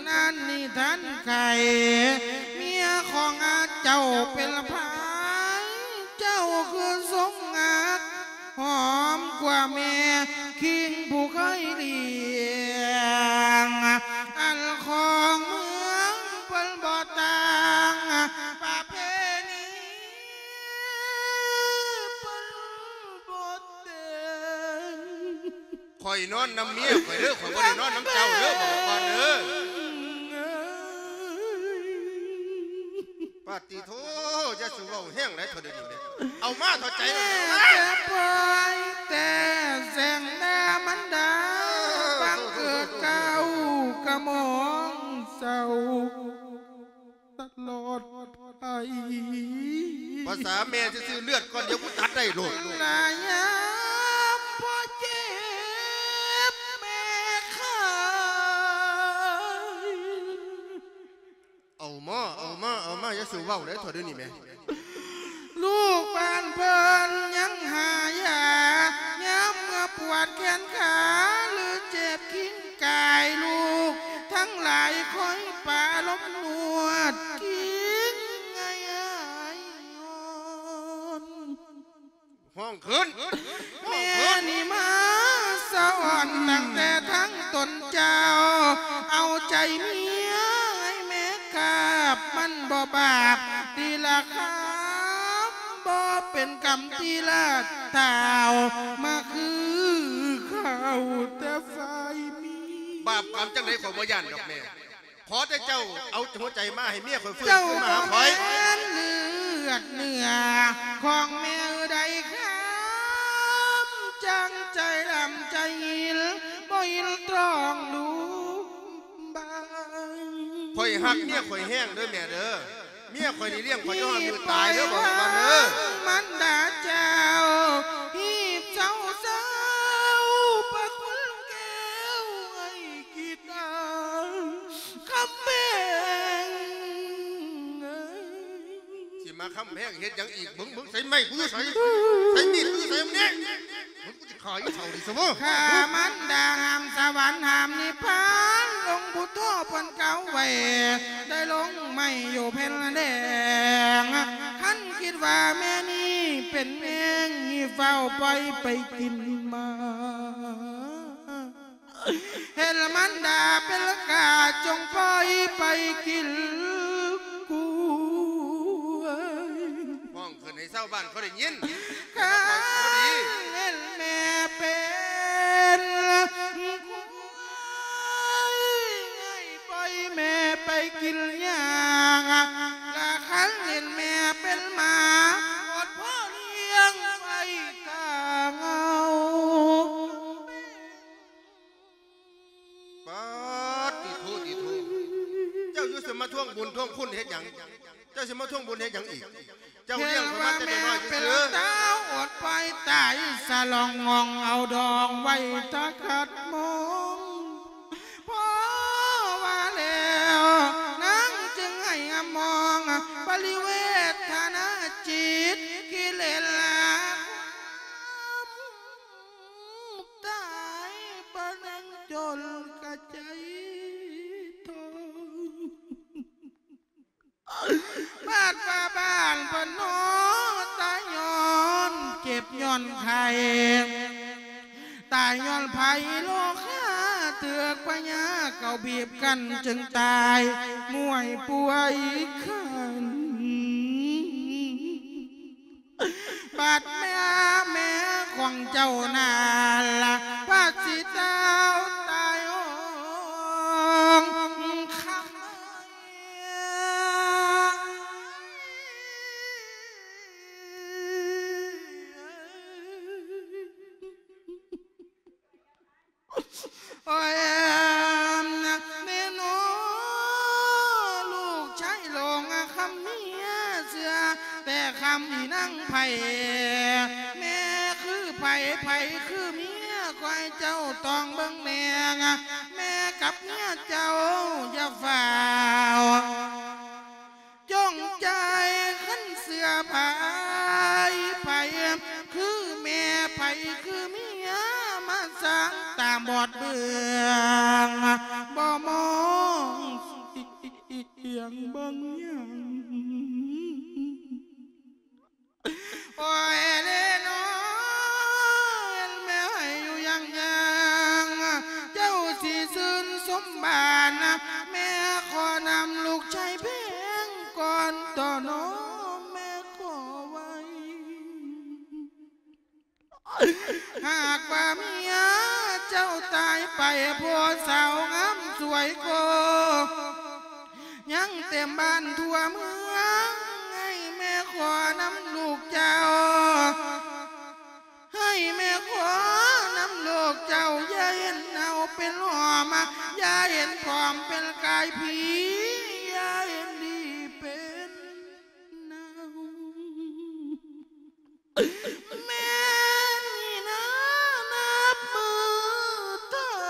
ນັ້ນນີ້ທ່ານໄຂ ເມຍຂອງອາເຈົ້າເປັນໃຜ ເຈົ້າຄືຊົງຮັກ ຫອມກວ່າແມ່ຄິງຜູ້ເຄີຍລ້ຽງ ອັນຂອງເມືອງເພິ່ນບໍ່ຕ່າງ ປະເພນີເພິ່ນບໍ່ແຕ່ງ. ຂ້ອຍນອນນຳເມຍຂ້ອຍເດີ້ ຂ້ອຍບໍ່ໄດ້ນອນນຳເຈົ້າເດີ້ ບອກກ່ອນເດີ້. ປາດຕິໂທ ຢ່າສູ່ເວົ້າແຮງຫຼາຍເທື່ອດຽວນີ້ແມ່ ເອົາມາເທົ່າໃຈ ແຕ່ປ່ອຍແຕ່ແສງດາມັນດາ ບັງເກີດກ້າວກະໝອງເສົ້າຕະຫຼອດໄພ ພາສາແມ່ຊື່ໆ ເລືອດກ້ອນດຽວກູຕັດໄດ້ໂລດ ລະຍາມພໍ່ເຈັບແມ່ຂາຍ. ເອົາມາ ເອົາມາ ເອົາມາ ຢ່າສູ່ເວົ້າຫຼາຍເທື່ອດຽວນີ້ແມ່ ລູກບ້ານເພິ່ນຍັງຫາຢາ ຍາມເມື່ອປວດແຂນຂາ ຫຼືເຈັບກິນກາຍ ລູກທັງຫຼາຍຄອຍປະລົມນວດກິນໃຫ້ຫາຍຮ້ອນ. ຮ້ອງຂຶ້ນ ແມ່ນີ້ມາສະອອນຕັ້ງແຕ່ທັງຕົນເຈົ້າ ເອົາໃຈເມຍໃຫ້ແມ່ກາບ ມັນບໍ່ບາບຕິລະຄຳ ບໍ່ເປັນກຳຕິລະທ້າວ ມາຄືເຂົາແຕ່ຝ່າຍມີ ບາບກຳຈັ່ງໃດຂ້ອຍບໍ່ຢ້ານດອກແມ່. ຂໍແຕ່ເຈົ້າເອົາຫົວໃຈມາໃຫ້ເມຍຂ້ອຍຟື້ນຄືນມາຫາຂ້ອຍ ເຈົ້າບໍ່ແມ່ນເລືອດເນື້ອຂອງແມ່ໃດຄຳ ຈັ່ງໃຈດຳໃຈຫິນ ບໍ່ຫິນຕອງດູບາງ. ຂ້ອຍຮັກເມຍຂ້ອຍແຮງເດີ້ແມ່ເດີ້ ເມຍຂ້ອຍນີ້ລ້ຽງຂ້ອຍຈົນຮອດມື້ຕາຍເດີ້ ບອກກ່ອນເດີ້ ມັນດາເຈົ້າ ຮີບເຊົາໆ ພະຄຸນແກ້ວ ໄອ້ກິດອາ ຄຳແພງເອີຍ ຊິມາຄຳແພງເຮັດຫຍັງອີກ? ເບິ່ງ ເບິ່ງ ໃສໄມ້ກູຢູ່ໃສ? ໃສມີດກູຢູ່ໃສ? ເບິ່ງ ກູຊິຂ້າອີ່ເຖົ້ານີ້ຊະເວີ້ຍ ຂ້າມັນດາຫ້າມສະຫວັນຫ້າມນິບພານ ອົງພຸດໂທເພິ່ນກ່າວໄວ້ ໄດ້ລົງໄມ້ຢູ່ແຜ່ນແດງ ຄັນຄິດວ່າແມ່ນີ້ເປັນແມງ ໃຫ້ຟ້າວປ່ອຍໄປກິນໝາກ ເຫັນມັນດາເປັນກາ ຈົ່ງປ່ອຍໄປກິນກ້ວຍ. ຮ້ອງຂຶ້ນໃຫ້ຊາວບ້ານເຂົາໄດ້ຍິນ. ຄັນເຫັນແມ່ເປັນຄວາຍ ໃຫ້ປ່ອຍແມ່ໄປກິນຫຍ້າ ລະຄັນເຫັນແມ່ເປັນໝາ ອົດພໍ່ລ້ຽງໄວ້ຖ້າເຫງົາ. ປາດຕິໂທ ຕິໂທ ເຈົ້າຢູ່ຊິມາທວງບຸນທວງຄຸນເຮັດຫຍັງ? ເຈົ້າຊິມາທວງບຸນເຮັດຫຍັງອີກ? ເຈົ້າລ້ຽງຂ້ອຍມາແຕ່ນ້ອຍໆຊື່ໆ. ເຫັນວ່າແມ່ເປັນລະຕາ ອົດປ່ອຍຕາຍສະຫຼອງງອງ ເອົາດອງໄວ້ຖ້າຂັດໝອງ. ພໍວ່າແລ້ວນາງຈຶ່ງໃຫ້ອະມອງ ປະລິເວທະນາຈິດ ກິເລດລະຄວາມ ຕາຍບໍ່ນັ່ງຈົນກະໃຈທໍ້ ບາດວ່າບ້ານເພິ່ນເນາະ ຕາຍຍ້ອນເຈັບຍ້ອນໄຂ້ ຕາຍຍ້ອນໄພໂລຄາ ຖືກພະຍາເຂົາບີບກັ້ນຈຶ່ງຕາຍ ມວຍປ່ວຍຄັນ. ບາດແມ່ ແມ່ຂອງເຈົ້ານັ້ນລະ ພາດຊິເຕົ້າຕາຍໂອງຄະໄມ. ໂອ້ຍ ແມ່ນ້ອງ ລູກຊາຍຫຼວງຄຳເມຍ ເຊື່ອແຕ່ຄຳອີນາງໄພ ແມ່ຄືໃຜ ໃຜຄືເມຍ ຂໍໃຫ້ເຈົ້າຕ້ອງເບິ່ງແນງ ແມ່ກັບເມຍເຈົ້າຢ່າຟ້າວ ຈົ່ງໃຈຄັນເຊື່ອໃຜ ໃຜຄືແມ່ ໃຜຄືເມຍ ມາສ້າງຕາບອດເບື້ອງ ບໍ່ມອງ ງເບິ່ງຫຍັງ. ໂອ້ຍເດ້ນ້ອຍ ແມ່ໃຫ້ຢູ່ຢ່າງຫຍັງ ເຈົ້າຊິຊື່ນສົມບານ ແມ່ຂໍນຳລູກຊາຍແພງກ່ອນ ຕໍ່ນ້ອງແມ່ຂໍໄວ້. ຫາກວ່າເມຍເຈົ້າຕາຍໄປ ຜູ້ສາວງາມສວຍກໍຍັງເຕັມບ້ານທົ່ວເມືອງ ໃຫ້ແມ່ຂໍນຳລູກເຈົ້າ ໃຫ້ແມ່ຂໍນຳລູກເຈົ້າ ຢ່າເຫັນເນົ່າເປັນຫຼອມ ຢ່າເຫັນຜອມເປັນກາຍຜີ ຢ່າເຫັນດີເປັນໜາວ. ແມ່ນີ້ນານັບມື້ເທົ່າ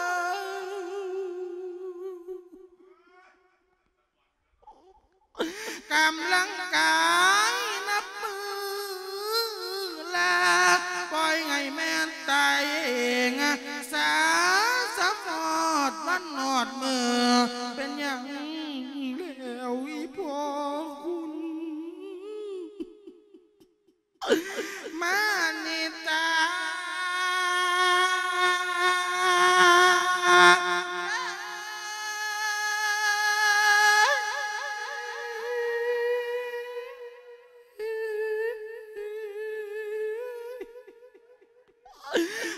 ກຳລັງກາຍນັບມື້ລາ ປ່ອຍໃຫ້ແມ່ຕາຍເອງ ສາສະຮອດວັນຮອດມື້ ເປັນຫຍັງແລ້ວອີ່ພໍ່ຄຸນ? ມານິຕາ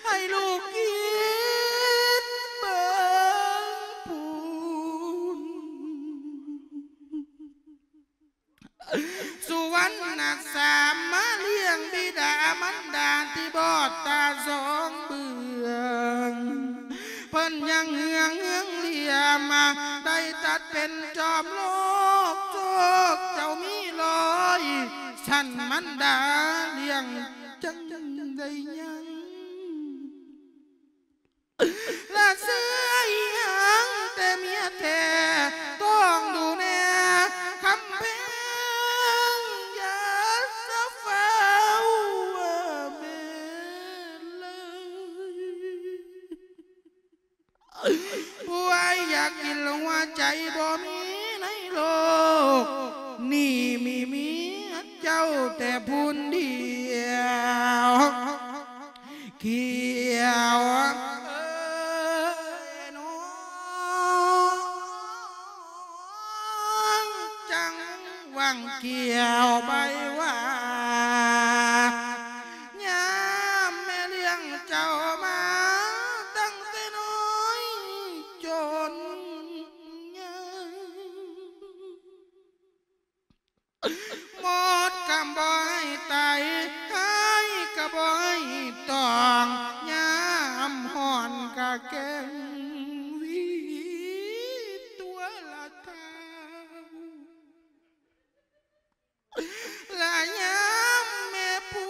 ໃຫ້ລູກຄິດເບິ່ງພຸ້ນ. ສຸວັນນະສາມມາລ້ຽງບິດາມັນດາທີ່ບອດຕາສອງເບື້ອງ ເພິ່ນຍັງເຮືອງເຮືອງຫຼຽມ ໄດ້ຕັດເປັນຈອມໂລກ ໂຊກເຈົ້າມີຮ້ອຍຊັ້ນ ມັນດາລ້ຽງຈັ່ງໄດ້ຍັງ. ລະເຊື່ອອີ່ຫຍັງແຕ່ເມຍແທ້ ຕ້ອງດູແນຄຳແພງ ຢ່າສະຟ້າວແມ່ເລີຍ. ຜູ້ອ້າຍຢາກກິນຫົວໃຈບໍ່ມີໃນໂລກນີ້ ມີເມຍເຈົ້າແຕ່ຜູ້ດຽວ. ຂຽວເອີຍນ້ອງ ຈັ່ງຫວັງຂຽວໃບຫວ້າ ຍາມແມ່ລ້ຽງເຈົ້າມາຕັ້ງແຕ່ນ້ອຍຈົນໃຫຍ່. ໝົດກຳບໍ່ໃຫ້ໄຕ ຫາຍກະບໍ່ໃຫ້ຕອງ ຍາມຮ້ອນກະແກງຫວີຕົວລະເທົາ ລະຍາມແມ່ປ່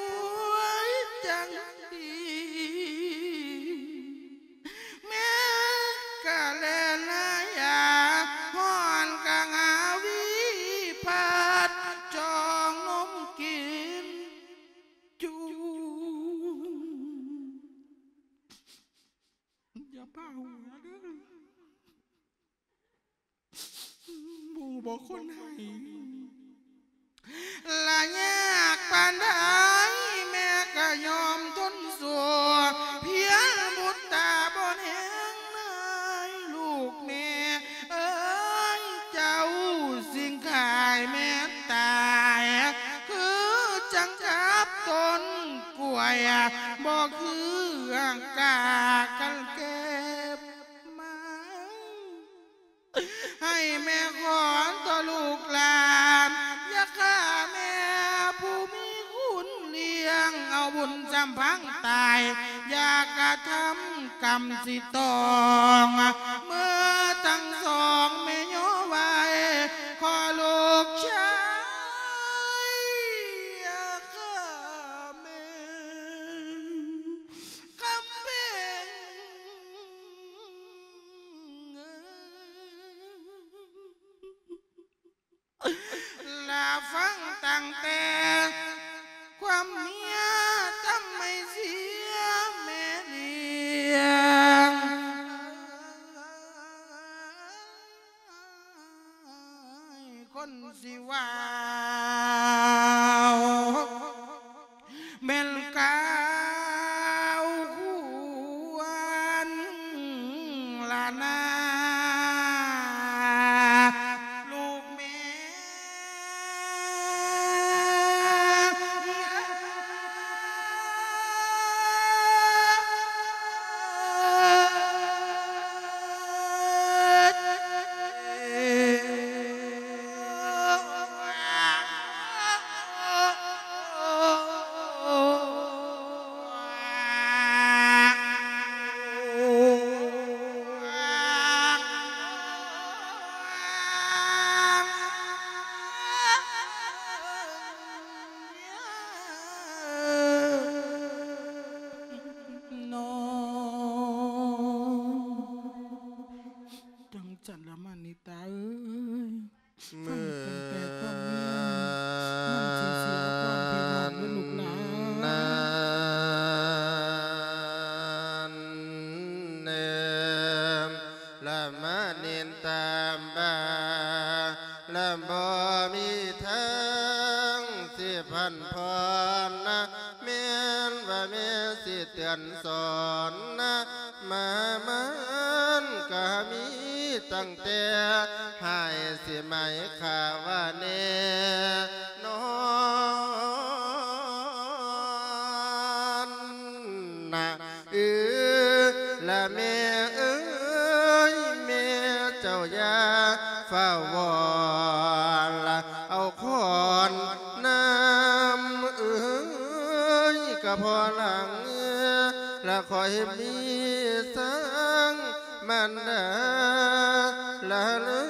ວຍຈັ່ງດີ ແມ່ກະແລ່ນຫາຢາ ຮ້ອນກະຫາຫວີ ພັດຈອງນົມກິນຈຸ່ມ. ຢ່າພາຫົວເດີ ຮູ້ບໍ່ຄົນໃຫ້ ລະຍາກປານໃດ ແມ່ກະຍອມທົນສູ້ ພຽງບຸດຕາບໍ່ແນງນາຍ ລູກແມ່ເອີຍ ເຈົ້າຊິງຂາຍແມ່ຕາຍ ຄືຈັ່ງກັບຕົ້ນກ້ວຍ ບໍ່ຄືກາກັນເກັບມາ. ໃຫ້ແມ່ຂອນຕໍ່ລູກຫຼານ ຢ່າຂ້າແມ່ຜູ້ມີຄຸນລ້ຽງ ເອົາບຸນສຳພັງຕາຍ ຢ່າກະທຳກຳຊິຕ້ອງ ເມື່ອທັງສອງແມ່ຍໍໄວ້ ຂໍລູກຊາຍ ຢ່າຂ້າແມ່ ຄຳເພັງ ລະຟັງຕັ້ງແຕ່ຄວາມເມຍ ທຳໃຫ້ເສຍແມ່ລ້ຽງ. ນຊິເວົ້າ ແມ່ນກ່າວຄວນລະນາ ລູກແມ່. ນອນ ຈັ່ງຊັ້ນລະມະນິຕາເອີຍ ຟັງຕັ້ງແຕ່ຄວາມເມຍ ມັນຊິເສຍຄວາມພິໂລດເດີລູກຫຼານ. ນານເນີມ ລະມະນິນຕາມບາ ລະບໍ່ມີທາງຊິພັນຜ່ອນນະ ແມ່ນວ່າແມ່ຊິເຕືອນສອນນະ ມາມັນກະມີຕັ້ງແຕ່ ຫາຍຊິໄໝຂ້າວ່າແນ່ນອນນະ. ເອີ ລະແມ່ເອີຍ ແມ່ເຈົ້າຢ່າຟ້າວວອນລະ ເອົາຂອນນຳເອີຍ ກະພໍຫຼັງລະຄ່ອຍມີສັງ ມັນດາລະເລີ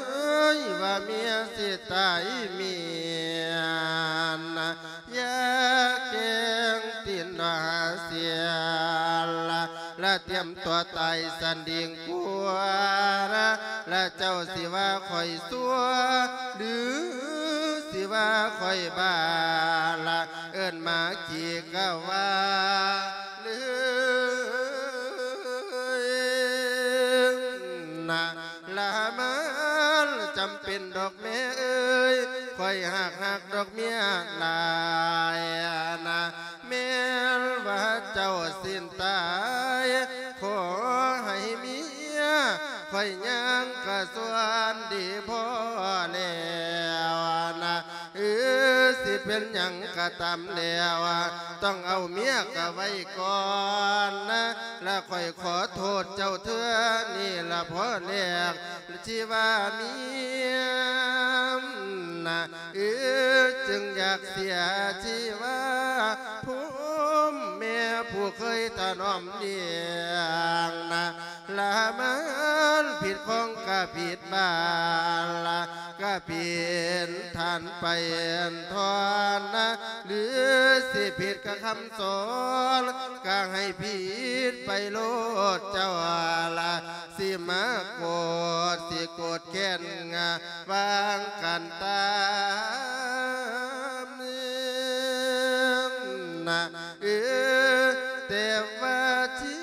ຍວ່າເມຍຊິຕາຍເມຍນະ ຢ່າແກງຕີນວ່າເສຍລະ ລະຕຽມຕົວຕາຍສັນດີງກົວລະ ລະເຈົ້າຊິວ່າຂ້ອຍຊົ່ວ ຫຼື ຊິວ່າຂ້ອຍບ້າລະ ເອີ້ນມາກີກະວ່າເລີຍນະ ລະມັນຈຳເປັນດອກແມ່ເອີຍ ຂ້ອຍຫາກຮັກດອກເມຍຫຼາຍນະ ແມ່ນວ່າເຈົ້າສິ້ນຕາຍ ຂໍໃຫ້ເມຍຂ້ອຍຍ່າງກະສ່ວນດີພໍແລ້ວນະ. ເອີ ຊິເປັນຫຍັງກະຕາມແລ້ວ ຕ້ອງເອົາເມຍກະໄວ້ກ່ອນນະ ລະຂ້ອຍຂໍໂທດເຈົ້າເທື່ອນີ້ລະພໍແລ້ວ ທີ່ວ່າເມຍນະ ເອີ ຈຶ່ງຢາກເສຍທີ່ວ່າພູມແມ່ຜູ້ເຄີຍຖະໜອມລ້ຽງນະ ລະມັນຜິດຂອງກະຜິດບາລະ ກະເປັນທ່ານໄປທອນນະ ຫຼື ຊິຜິດກະຄຳສອນ ກະໃຫ້ຜິດໄປໂລດເຈົ້າລະ ຊິມາໂກດ ຊິໂກດແຄ້ນ ວາງກັນຕາມນະ ເອີ ແຕ່ວ່າຊີ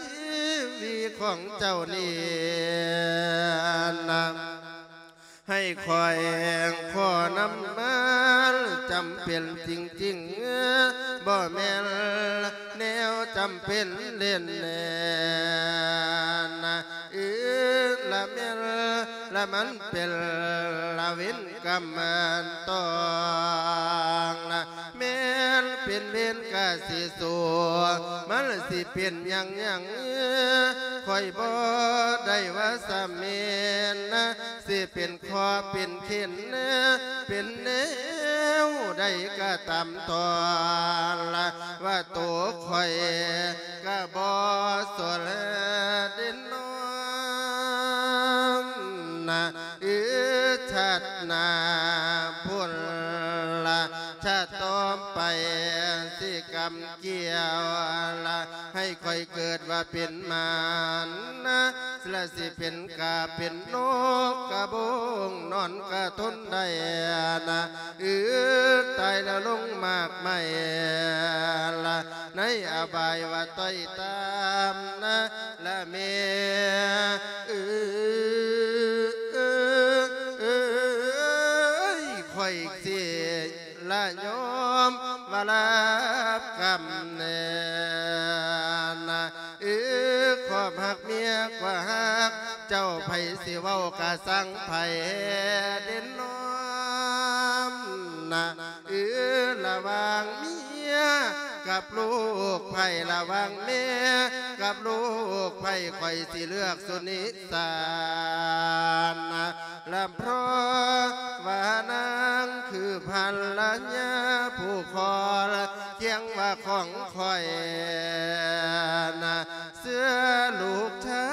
ວິດຂອງເຈົ້ານີ້ນະ ໃຫ້ຂ້ອຍຂໍນຳມາ ຈຳເປັນຈິງໆ ບໍ່ແມ່ນແນວຈຳເປັນເລ່ນແນນນະ ເອີ ລະແມ່ນ ລະມັນເປັນລະເວນກຳອັນຕ້ອງນະ ແມ່ນເປັນເວນກະຊິສູ້ ມັນຊິເປັນຫຍັງຫຍັງ ຂ້ອຍບໍ່ໄດ້ວ່າສະເໝນນະ ຊິເປັນຂໍເປັນເຂັນ ເປັນແນວໃດກະຕາມຕ້ອງລະ ວ່າໂຕຂ້ອຍກະບໍ່ສົນເດນອງນະ ເອີ ຊາດໜ້າພຸ້ນລະ ຊາດຕໍ່ໄປຊິກຳ ກ່ຽວລະ ໃຫ້ຂ້ອຍເກີດວ່າເປັນມານນະ ລະຊິເປັນກາເປັນນົກກະບົງ ນອນກະທົນໄດ້ນະ ອຶດຕາຍລະລົງໝາກໄມ້ລະ ໃນອະບາຍວ່າຕ້ອຍຕາມນະ ລະແມ່ເອີຍ ຂ້ອຍ ລັບກຳແໜ້ນ ເອີ ຄວາມຮັກເມຍກວ່າຮັກເຈົ້າ ໃຜຊິເວົ້າກະຊ່າງໃຜເດນອມນະ ເອີ ລະຫວ່າງເມຍກັບລູກ ໃຜລະຫວ່າງແມ່ກັບລູກ ໃຜຂ້ອຍຊິເລືອກສຸນິ ສານນະ ລະເພາະວ່ານາງຄືພັນລະຍາຜູ້ຄອງ ຄຽງວ່າຂອງຂ້ອຍນະ ເຊື່ອລູກຊາ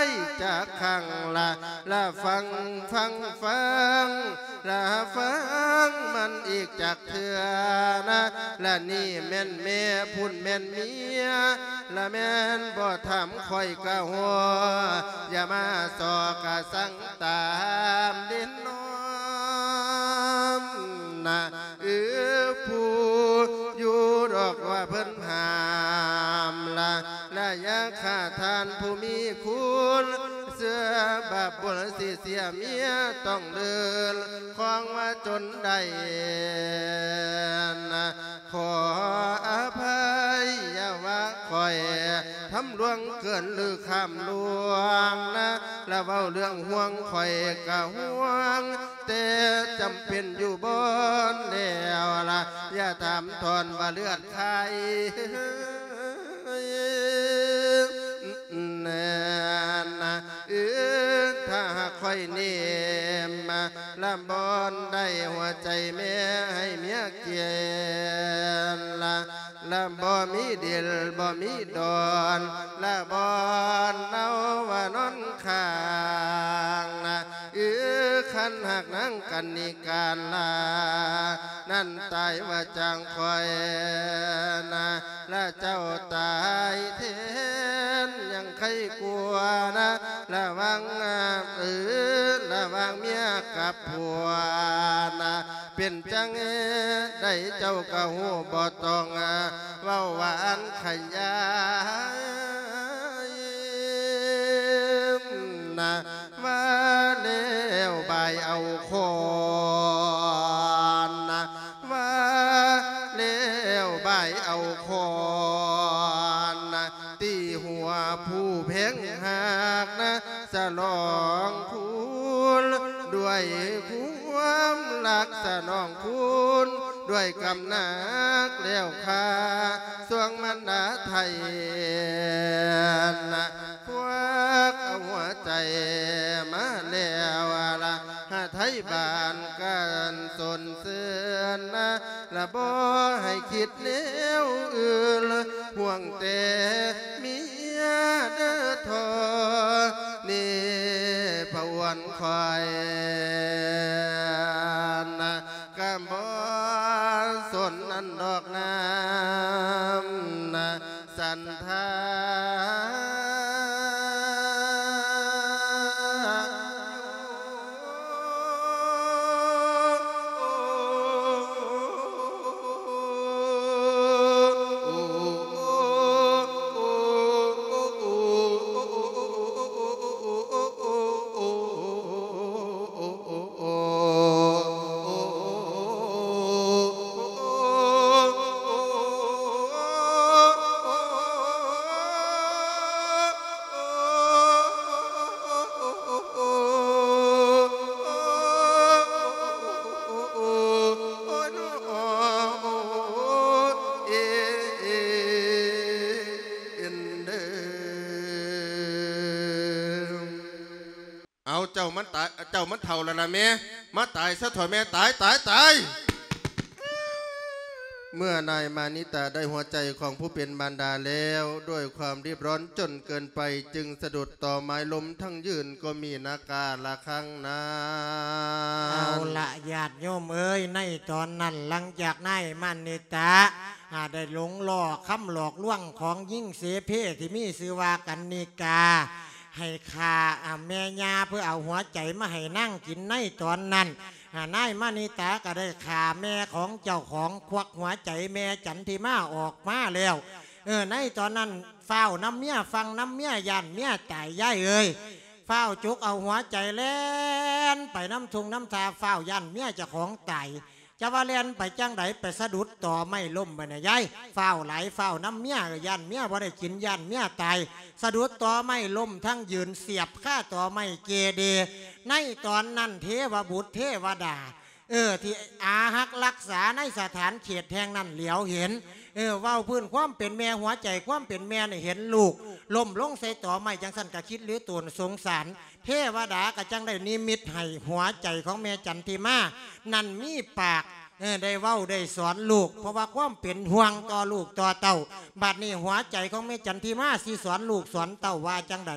ຍຈັກຄັ້ງລະ ລະຟັງ ຟັງ ຟັງ ລະຟັງມັນອີກຈັກເທື່ອນະ ລະນີ້ແມ່ນແມ່ ພຸ້ນແມ່ນເມຍ ລະແມ່ນບໍ່ຖາມຂ້ອຍກະຮູ້ ຢ່າມາຊອກກະສັ່ງຕາມເດນອມນະ ເອີ ຜູ້ຢູ່ດອກວ່າເພິ່ນຫ້າມລະ ລະຢ່າຂ້າທ່ານຜູ້ມີຄຸນ ເຊື່ອບາບບຸນຊິເສຍເມຍຕ້ອງເດີນ ຄອງວ່າຈົນໄດ້ນະ ຂໍອະໄພ ຢ່າວ່າຂ້ອຍທຳຫຼວງເກີນ ຫຼື ຂ້າມລ່ວງນະ ລະເວົ້າເລື່ອງຫ່ວງຂ້ອຍກະຫ່ວງ ແຕ່ຈຳເປັນຢູ່ບ່ອນແລ້ວລະ ຢ່າຖາມທ່ອນວ່າເລືອດໃຜ ແນ່ນນະ ເອີ ຖ້າຫາກຂ້ອຍເນມ ລະບ່ອນໃດຫົວໃຈແມ່ໃຫ້ເມຍກຽນລະ ລະບໍ່ມີດິນບໍ່ມີດອນ ລະບ່ອນເອົາວ່ານອນຂ້າງນະ ເອີ ຄັນຫາກນາງກັນນິກາລາ ນັ້ນຕາຍວ່າຈ້າງຂ້ອຍນະ ລະເຈົ້າຕາຍແທນຍັງໄຄກວ່ານະ ລະຫວ່າງ ເອີ ລະຫວ່າງເມຍກັບຜົວນະ ເປັນຈັ່ງໃດເຈົ້າກະຮູ້ ບໍ່ຕ້ອງເວົ້າວ່າອັນຂະຫຍາຍນະ ວ່າແລ້ວບາຍເອົາຄ້ອນນະ ວ່າແລ້ວບາຍເອົາຄ້ອນນະ ຕີຫົວຜູ້ແພງຮັກນະ ສະຫຼອງຄູນດ້ວຍຄວາມລັກ ສະໜອງຄູນດ້ວຍກຳໜັກ ແລ້ວຂ້າຊ່ວງມັນດາໄທນະ ຄວັກເອົາຫົວໃຈມາແລ້ວລະ ຫາໄທບ້ານກັນສົນເຊີນນະ ລະບໍ່ໃຫ້ຄິດແນວອື່ນ ຫ່ວງແຕ່ເມຍເດີ. ເທົ່ານີ້ພະອວນຂ້ອຍນະ ກະບໍ່ສົນອັນດອກນ້ຳນະ ສັນທາເອົາ ເຈົ້າມັນຕາຍ ເຈົ້າມັນເຖົ້າແລ້ວລະແມ່ ມາຕາຍຊະເຖາະແມ່ ຕາຍ ຕາຍ ຕາຍ. ເມື່ອນາຍມານິຕາໄດ້ຫົວໃຈຂອງຜູ້ເປັນມານດາແລ້ວ ດ້ວຍຄວາມຣີບຮ້ອນຈົນເກີນໄປ ຈຶ່ງສະດຸດຕໍ່ໄມ້ລົ້ມທັງຢືນ ກໍມີນາກາລະຄັງນັ້ນ. ເອົາລະ ຍາດໂຍມເອີຍ ໃນຕອນນັ້ນ ຫຼັງຈາກນາຍມານິຕາ ອາ ໄດ້ຫຼົງລໍ້ຄຳຫຼອກລວງຂອງຍິງເສເພທີ່ມີຊື່ວ່າກັນນິກາ ໃຫ້ຂ້າ ອາ ແມ່ຍ່າເພື່ອເອົາຫົວໃຈມາໃຫ້ນາງກິນ ໃນຕອນນັ້ນ ອາ ນາຍມະນິຕາກໍໄດ້ຂ້າແມ່ຂອງເຈົ້າຂອງ ຄວັກຫົວໃຈແມ່ຈັນທິມາອອກມາແລ້ວ. ເອີ ໃນຕອນນັ້ນຟ້າວນຳເມຍ ຟັ່ງນຳເມຍ ຢ້ານເມຍຕາຍ ຍາຍເອີຍ. ຟ້າວຈຸກເອົາຫົວໃຈແລ່ນໄປນຳທົ່ງນຳທ່າ ຟ້າວຢ້ານເມຍເຈົ້າຂອງຕາຍ. ຈະວ່າແລ່ນໄປຈັ່ງໃດ ໄປສະດຸດຕໍໄມ້ລົ້ມໄປນະຍາຍ. ຟ້າວຫຼາຍ ຟ້າວນຳເມຍ ຢ້ານເມຍບໍ່ໄດ້ກິນ ຢ້ານເມຍຕາຍ. ສະດຸດຕໍໄມ້ລົ້ມ ທັງຢືນສຽບຄາຕໍໄມ້ເກເດ. ໃນຕອນນັ້ນ ເທວະບຸດເທວະດາ ເອີ ທີ່ອາຮັກລັກສາໃນສະຖານເຂດແຫ່ງນັ້ນຫຼຽວເຫັນ ເອີ ເວົ້າພື້ນຄວາມເປັນແມ່ ຫົວໃຈຄວາມເປັນແມ່ນີ້ເຫັນລູກລົ້ມລົງໃສ່ຕໍໄມ້ຈັ່ງຊັ້ນ ກະຄິດຫຼືໂຕນສົງສານ. ເທວະດາກະຈັ່ງໄດ້ນິມິດໃຫ້ຫົວໃຈຂອງແມ່ຈັນທິມານັ້ນມີປາກ ເອີ ໄດ້ເວົ້າໄດ້ສອນລູກ ເພາະວ່າຄວາມເປັນຫ່ວງຕໍ່ລູກຕໍ່ເຕົ້າ. ບັດນີ້ຫົວໃຈຂອງແມ່ຈັນທິມາຊິສອນລູກສອນເຕົ້າວ່າຈັ່ງໃດ?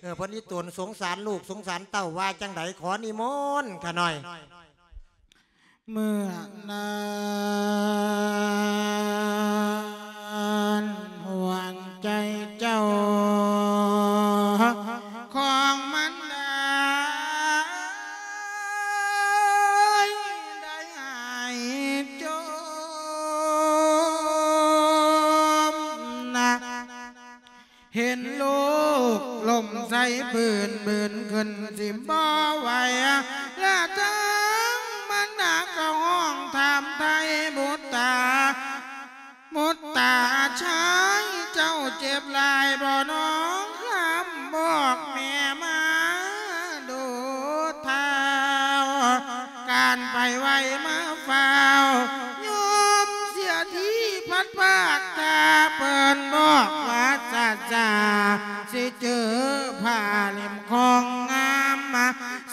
ເອີ ເພິ່ນອີ່ຕົນສົງສານລູກສົງສານເຕົ້າວ່າຈັ່ງໃດ? ຂໍນິມົນຂະໜ້ອຍ. ເມື່ອນັ້ນຫ່ວງໃຈເຈົ້າຂອງມັນໄດ້ ໄດ້ຫາຍຈົມນະ ເຫັນລູກລົ້ມໃສ່ພື້ນບືນຂຶ້ນຊິບໍ່ໄຫວ ແລະທັງບັນດາກໍຮ້ອງຖາມໄຖ່ບຸດຕາ ບຸດຕາຊາຍເຈົ້າເຈັບຫຼາຍບໍ່ນ້ອງ ຄຳບອກແມ່ມາດູດທ້າວ ການໄປໄວມາຟ້າວ ຍອມເສຍທີພັດພາກ ຖ້າເພິ່ນບອກວ່າຊາຊາ ຊິເຈີຜ້າເຫຼັ້ມຂອງງາມ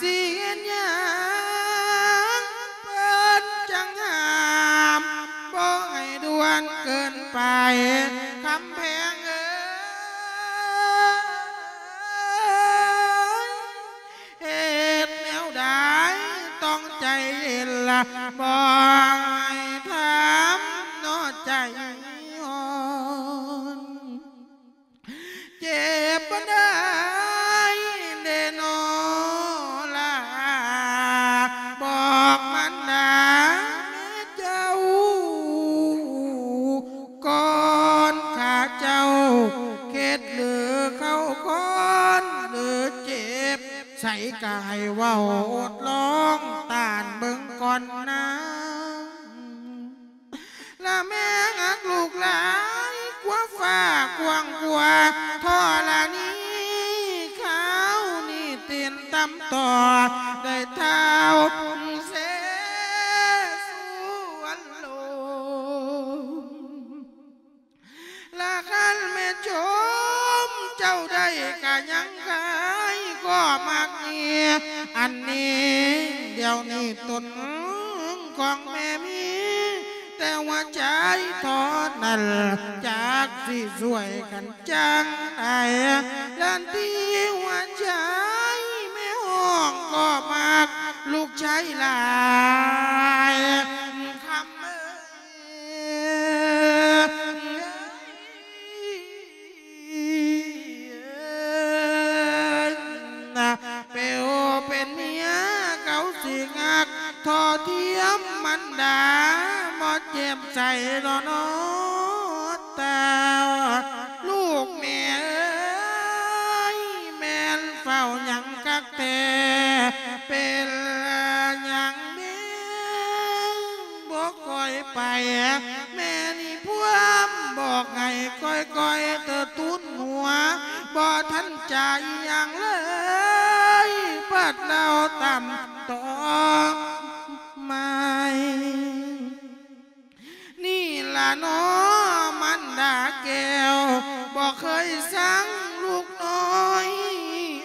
ຊິເຮັດຫຍັງເພິ່ນຈັ່ງຫ້າມ ບໍ່ໃຫ້ດ່ວນເກີນໄປ ຄຳແພງເອີຍ. ເຮັດແນວໃດຕ້ອງໃຈເຢັນລະ ບໍ່ໃຫ້ຖາມເນາະໃຈອ່ອນ ເຈັບປານໃດເດເນາະລະ ບອກມັນນາແມ່ເຈົ້າ ກ່ອນຂ້າເຈົ້າເຄັດຫຼືເຂົ້າຄອນຫຼືເຈັບ ໃສກະໃຫ້ເວົ້າອົດລອງຕ້ານເບິ່ງກ່ອນນາ ລະແມ່ຮັກລູກຫຼາຍກວ່າຟ້າກວ້າງກວ່າທໍລະນີ ຄາວນີ້ຕີນຕ່ຳຕໍ່ໄດ້ທ້າວເສສວນໂລມ ລະຄັນແມ່ຊົມເຈົ້າໄດ້ກະຍັງຂາຍກໍມັກເງຍ ອັນນີ້ດຽວນີ້ຕົນຂອງແມ່ມີແຕ່ຫົວໃຈເທົ່ານັ້ນ ຈັກຊິຊ່ວຍກັນຈັ່ງໃດ ລະທີ່ຫົວໃຈແມ່ຮ້ອງກໍມັກລູກຊາຍຫຼາຍ ຄຳເອີຍ ເປັນເມຍເຂົາຊິຮັກທໍ້ທຽມມັນດາ ບໍ່ເຈັບໃຈດອກເນາະຕາ ລູກແມ່ເອີຍ ແມ່ນເຝົ້າຫຍັງຄັກແທ້ ເປັນຫຍັງແມ່ ບໍ່ຄ່ອຍໄປ ແມ່ນີ້ພວມບອກໃຫ້ຄ່ອຍໆເຕີຕູນຫົວ ບໍ່ທັນຈະອີ່ຫຍັງເລີຍ ພັດເລົ່າຕຳຕໍ່ໃໝ່ ນີ້ລະເນາະ ມັນດາແກ້ວ ບໍ່ເຄີຍສັງລູກນ້ອຍ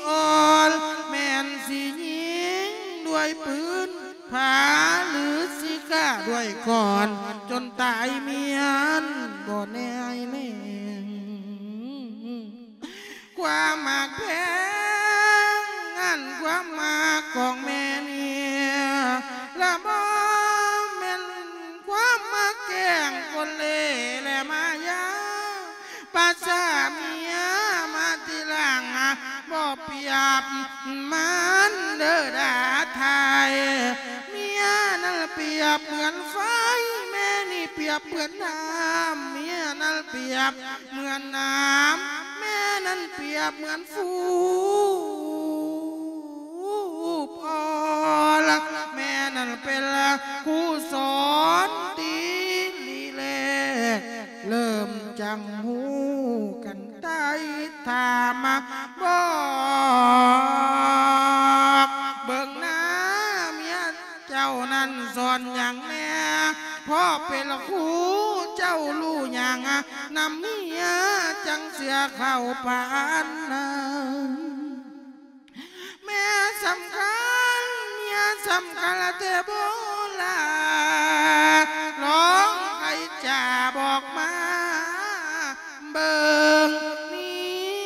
ອ່ອນ ແມ່ນຊິຍິງດ້ວຍປືນ ຜາຫຼືຊິຂ້າດ້ວຍຄ້ອນ ຈົນຕາຍມ້ຽນບໍ່ແນຍແລງ ຄວາມຮັກແພງ ອັນຄວາມຮັກຂອງແມ່ນີ້ ລະບໍ່ແມ່ນຄວາມມັກແກ້ງກົນເລ່ແລະມາຍາ ປາສາເມຍມາທີຫຼັງ ບໍ່ປຽບມັນເດີດາໄທ ເມຍນັ້ນປຽບເໝືອນໄຟ ແມ່ນີ້ປຽບເໝືອນນ້ຳ ເມຍນັ້ນປຽບເໝືອນນ້ຳ ແມ່ນັ້ນປຽບເໝືອນຟູ ຜູ້ພໍ່ ແມ່ນັ້ນເປັນຄູສອນ ເປັນຄູເຈົ້າຮູ້ຫຍັງ ນຳເມຍຈັ່ງເຊື່ອເຂົ້າປານນັ້ນ. ແມ່ສຳຄັນ ເມຍສຳຄັນແທ້ບໍ່ລະ ລອງໃຫ້ຈາບອກມາ ເບິ່ງເມ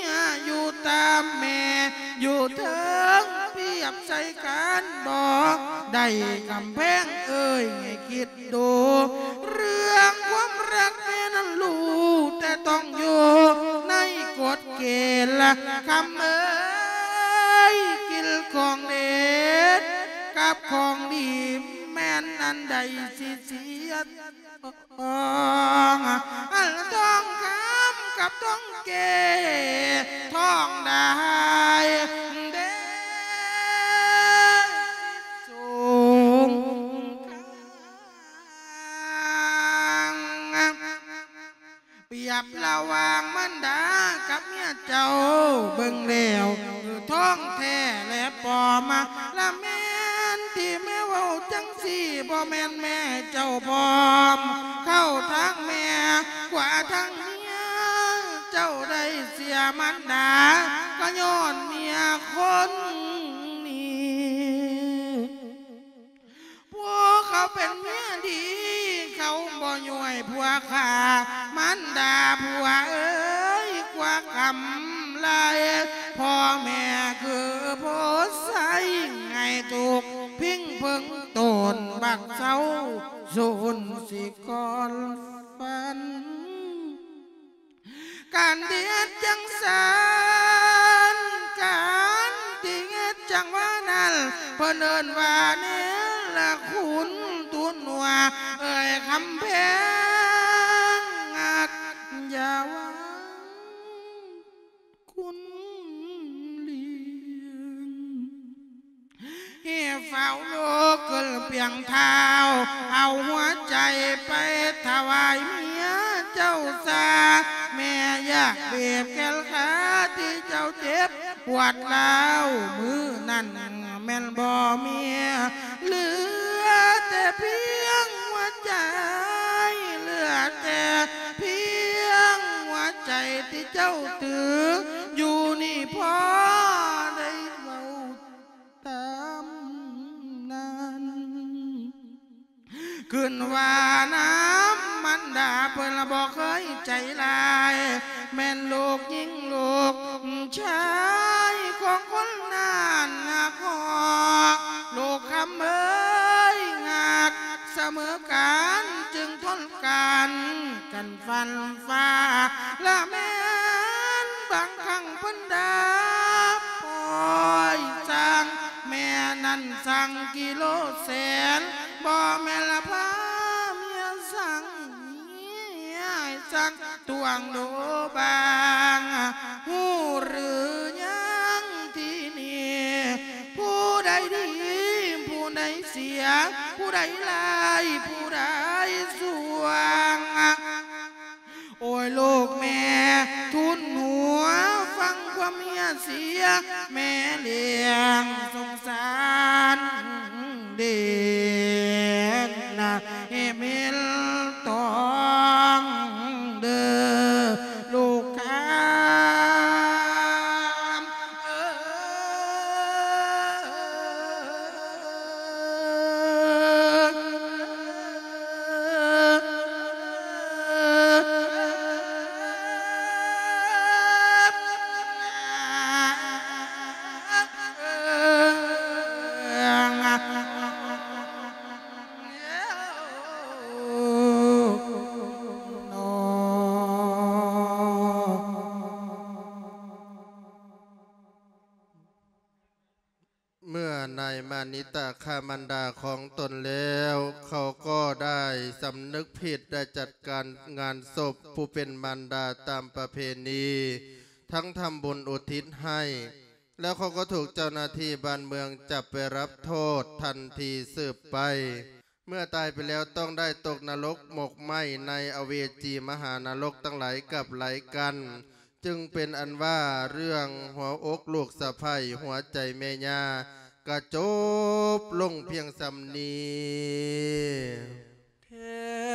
ຍຢູ່ຕາມແມ່ຢູ່ເທິງ ປຽບໃສ່ກັນບໍ່ໄດ້ ກຳແພງເອີຍ ໃຫ້ຄິດ ໂດ ເລື່ອງຄວາມຮັກແມ່ນັ້ນຮູ້ແຕ່ຕ້ອງຢູ່ໃນກົດເກນ ຄຳເອີຍ ກິນຂອງເດັດກັບຂອງດີ ແມ່ນອັນໃດຊິເສຍທອງ ອັນທອງຄຳກັບທອງແກ້ ທອງໄດ້ເດ ສົງຄາມ. ປຽບລະຫວ່າງມານດາກັບເມຍເຈົ້າເບິ່ງແລ້ວ ຄືທອງແທ້ແລະປອມ ລະແມ່ນທີ່ແມ່ເວົ້າຈັ່ງຊີ້ ບໍ່ແມ່ນແມ່ເຈົ້າພ້ອມ ເຂົ້າທາງແມ່ ຂວາທາງເມຍ ເຈົ້າໄດ້ເສຍມານດາ ກໍຍ້ອນເມຍຄົນນີ້. ຜູ້ເຂົາເປັນເມຍດີ ເຂົາບໍ່ຍ້ວຍຜົວຂ້າ ມານດາຜົວເອີຍ ກວ່າກຳໄລ ພໍ່ແມ່ຄືໂພໄຊ ໃຫ້ທຸກພິງເພິງຕົນ ບັກເຊົາສູນຊິກ່ອນຝັນ. ການທີ່ເຮັດຈັ່ງຊັ້ນ ການທີ່ເຮັດຈັ່ງວ່ານັ້ນ ເພິ່ນເອີ້ນວ່າເນລະຄຸນ ທູນຫົວເອີຍຄຳແພງ ຍາວັງຄຸນລ້ຽງ. ໃຫ້ຟ້າວລຸກຂຶ້ນປຽງທ້າວ ເອົາຫົວໃຈໄປຖວາຍເມຍເຈົ້າຊາ ແມ່ຢາກບີບແຂນຂາທີ່ເຈົ້າເຈັບປວດຮ້າວມື້ນັ້ນ ແມ່ນບໍ່ເມຍ ເຫຼືອແຕ່ພຽງຫົວໃຈ ເຫຼືອແຕ່ພຽງຫົວໃຈທີ່ເຈົ້າຖືຢູ່ນີ້ ພໍໄດ້ເວົ້າ ຕາມນັ້ນ ຂຶ້ນວ່ານຳມານດາເພິ່ນບໍ່ເຄີຍໃຈຮ້າຍ ແມ່ນລູກຍິງລູກຊາຍຂອງຄົນນັ້ນຮັກຮອ ລູກຄຳເອີຍ ຮັກສະເໝີກັນ ຈຶ່ງທົນກັນ ກັນຟັນ ຟ້າ ລະແມ່ນບາງຄັ້ງເພິ່ນດາບປ່ອຍຊ່າງ ແມ່ນັ້ນຊ່າງກິໂລແສນ ບໍ່ແມ່ນລະພາເມຍຊ່າງ ໃຫ້ຊ່າງຕວງໂດບາງ ຮູ້ຫຼືຍັງທີ່ນີ້ ຜູ້ໃດດີ ຜູ້ໃດເສຍ ຜູ້ໃດຮ້າຍ ຜູ້ໃດຊ່ວງ. ໂອ້ຍ ລູກແມ່ທູນຫົວ ຟັງຄວາມເມຍເສຍ ແມ່ລ້ຽງສົງສານເດນນະ ເອເມນຕອງເດີ ລູກຄາ. ເມື່ອນາຍມານິຕະຂ້າມານດາຂອງຕົນແລ້ວ ເຂົາກໍໄດ້ສຳນຶກຜິດ ໄດ້ຈັດການງານສົບຜູ້ເປັນມານດາຕາມປະເພນີ ທັງທຳບຸນອຸທິດໃຫ້ ແລ້ວເຂົາກໍຖືກເຈົ້າໜ້າທີ່ບ້ານເມືອງຈັບໄປຮັບໂທດທັນທີສືບໄປ. ເມື່ອຕາຍໄປແລ້ວຕ້ອງໄດ້ຕົກນະລົກໝົກໄໝ້ໃນອະເວຈີມະຫານະລົກທັງຫຼາຍກັບຫຼາຍກັນ ຈຶ່ງເປັນອັນວ່າເລື່ອງຫົວອົກລູກສະໃພ້ ຫົວໃຈແມ່ຍ່າກະຈົບລົງພຽງສ່ຳນີ້.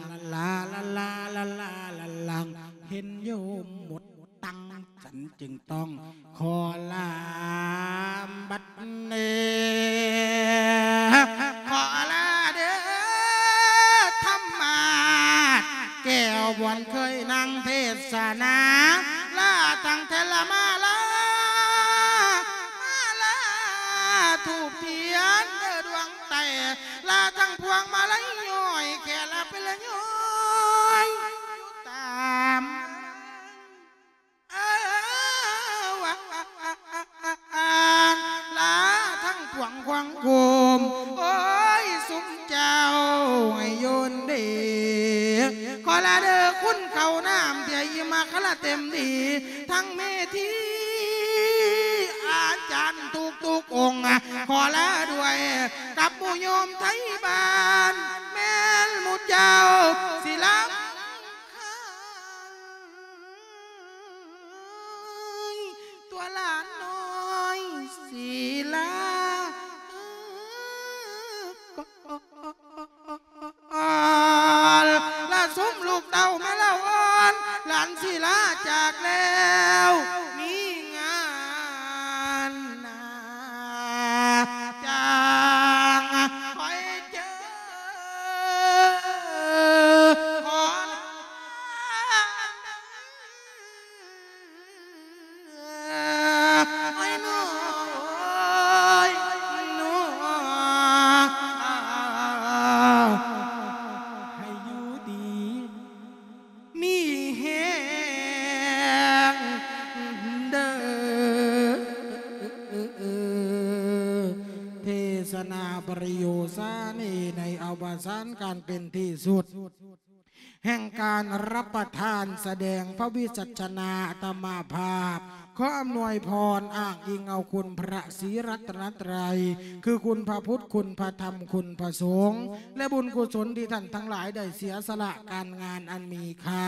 ລາລາ ລາລາ ລາລາ ລາລາ ເຫັນໂຍມໝົດຕັງ ສັນຈຶ່ງຕ້ອງຂໍລາບັດນີ້ ຂໍລາເດີທຳມາດແກ້ວ ບ່ອນເຄີຍນັ່ງເທດສະນາ ລາທັງແທ່ນລະມາລາ ມາລາທູບທຽນເດີດວງໃຕ້ ລາທັງພວງມາໄລຍ້ອຍ ແຄ່ລາເປັນລະຍ້ອຍຢູ່ຕາມ ເອີ ວານ ລາທັງພວງຄວາງໂຄມ ໂອ້ຍ ຊຸມເຈົ້າໃຫ້ໂຍນດີ ຂໍລາເດີຄຸນເຂົ້ານ້ຳ ທີ່ໃຫ້ອີ່ມາຄະລະເຕັມດີ ທັງເມທີອາຈານທຸກໆອົງ ຂໍລາດ້ວຍກັບໝູ່ໂຍມໄທບ້ານ ແມ່ນໝູ່ເຈົ້າສິລາ ຕົວຫຼານນ້ອຍສີລາ ລະຊຸມລູກເຕົ້າແມ່ລາວອ່ອນ ຫຼານສີລາຈາກແລ້ວ ມີງານໜ້າ ຈາງຄ່ອຍເຈີ ຂໍລາ ໂອ້ຍ ນ້ອຍ ນ້ອຍ ໃຫ້ຢູ່ດີມີແຮງເດີ ເທສະນາປະໂຍຊານີ ໃນອະວະສານການເປັນທີ່ສຸດ ແຫ່ງການຮັບປະທານສະແດງພະວິສັດຊະນາອາດຕະມາພາບ ຂໍອຳນວຍພອນອ້າງອີງເອົາຄຸນພະສີລັດຕະນະໄຕ ຄືຄຸນພະພຸດ ຄຸນພະທຳ ຄຸນພະສົງ ແລະ ບຸນກຸສົນທີ່ທ່ານທັງຫຼາຍໄດ້ເສຍສະຫຼະການງານອັນມີຄ່າ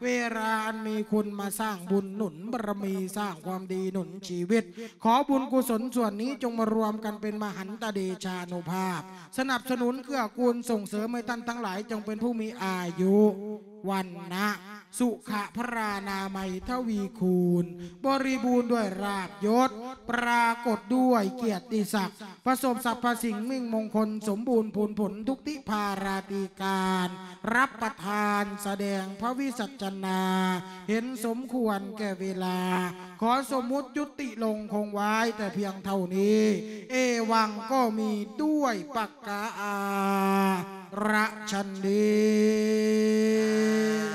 ເວລາອັນມີຄຸນມາສ້າງບຸນໜູນບາລະມີ ສ້າງຄວາມດີໜູນຊີວິດ ຂໍບຸນກຸສົນສ່ວນນີ້ຈົ່ງມາລວມກັນເປັນມະຫັນຕະເດຊານຸພາບ ສະໜັບສະໜູນເກື້ອກູນສົ່ງເສີມໃຫ້ທ່ານທັງຫຼາຍຈົ່ງເປັນຜູ້ມີອາຍຸ ວັນນະ สุขะพรานามัยทวีคูณ บริบูรณ์ด้วยลาภยศ ปรากฏด้วยเกียรติศักดิ์ ประสบสรรพสิ่งมิ่งมงคล สมบูรณ์พูนผลทุกทิพาราตีการ รับประทานแสดงพระวิสัชนา เห็นสมควรแก่เวลา ขอสมมุติยุติลงคงไว้แต่เพียงเท่านี้ เอวังก็มีด้วยประการฉะนี้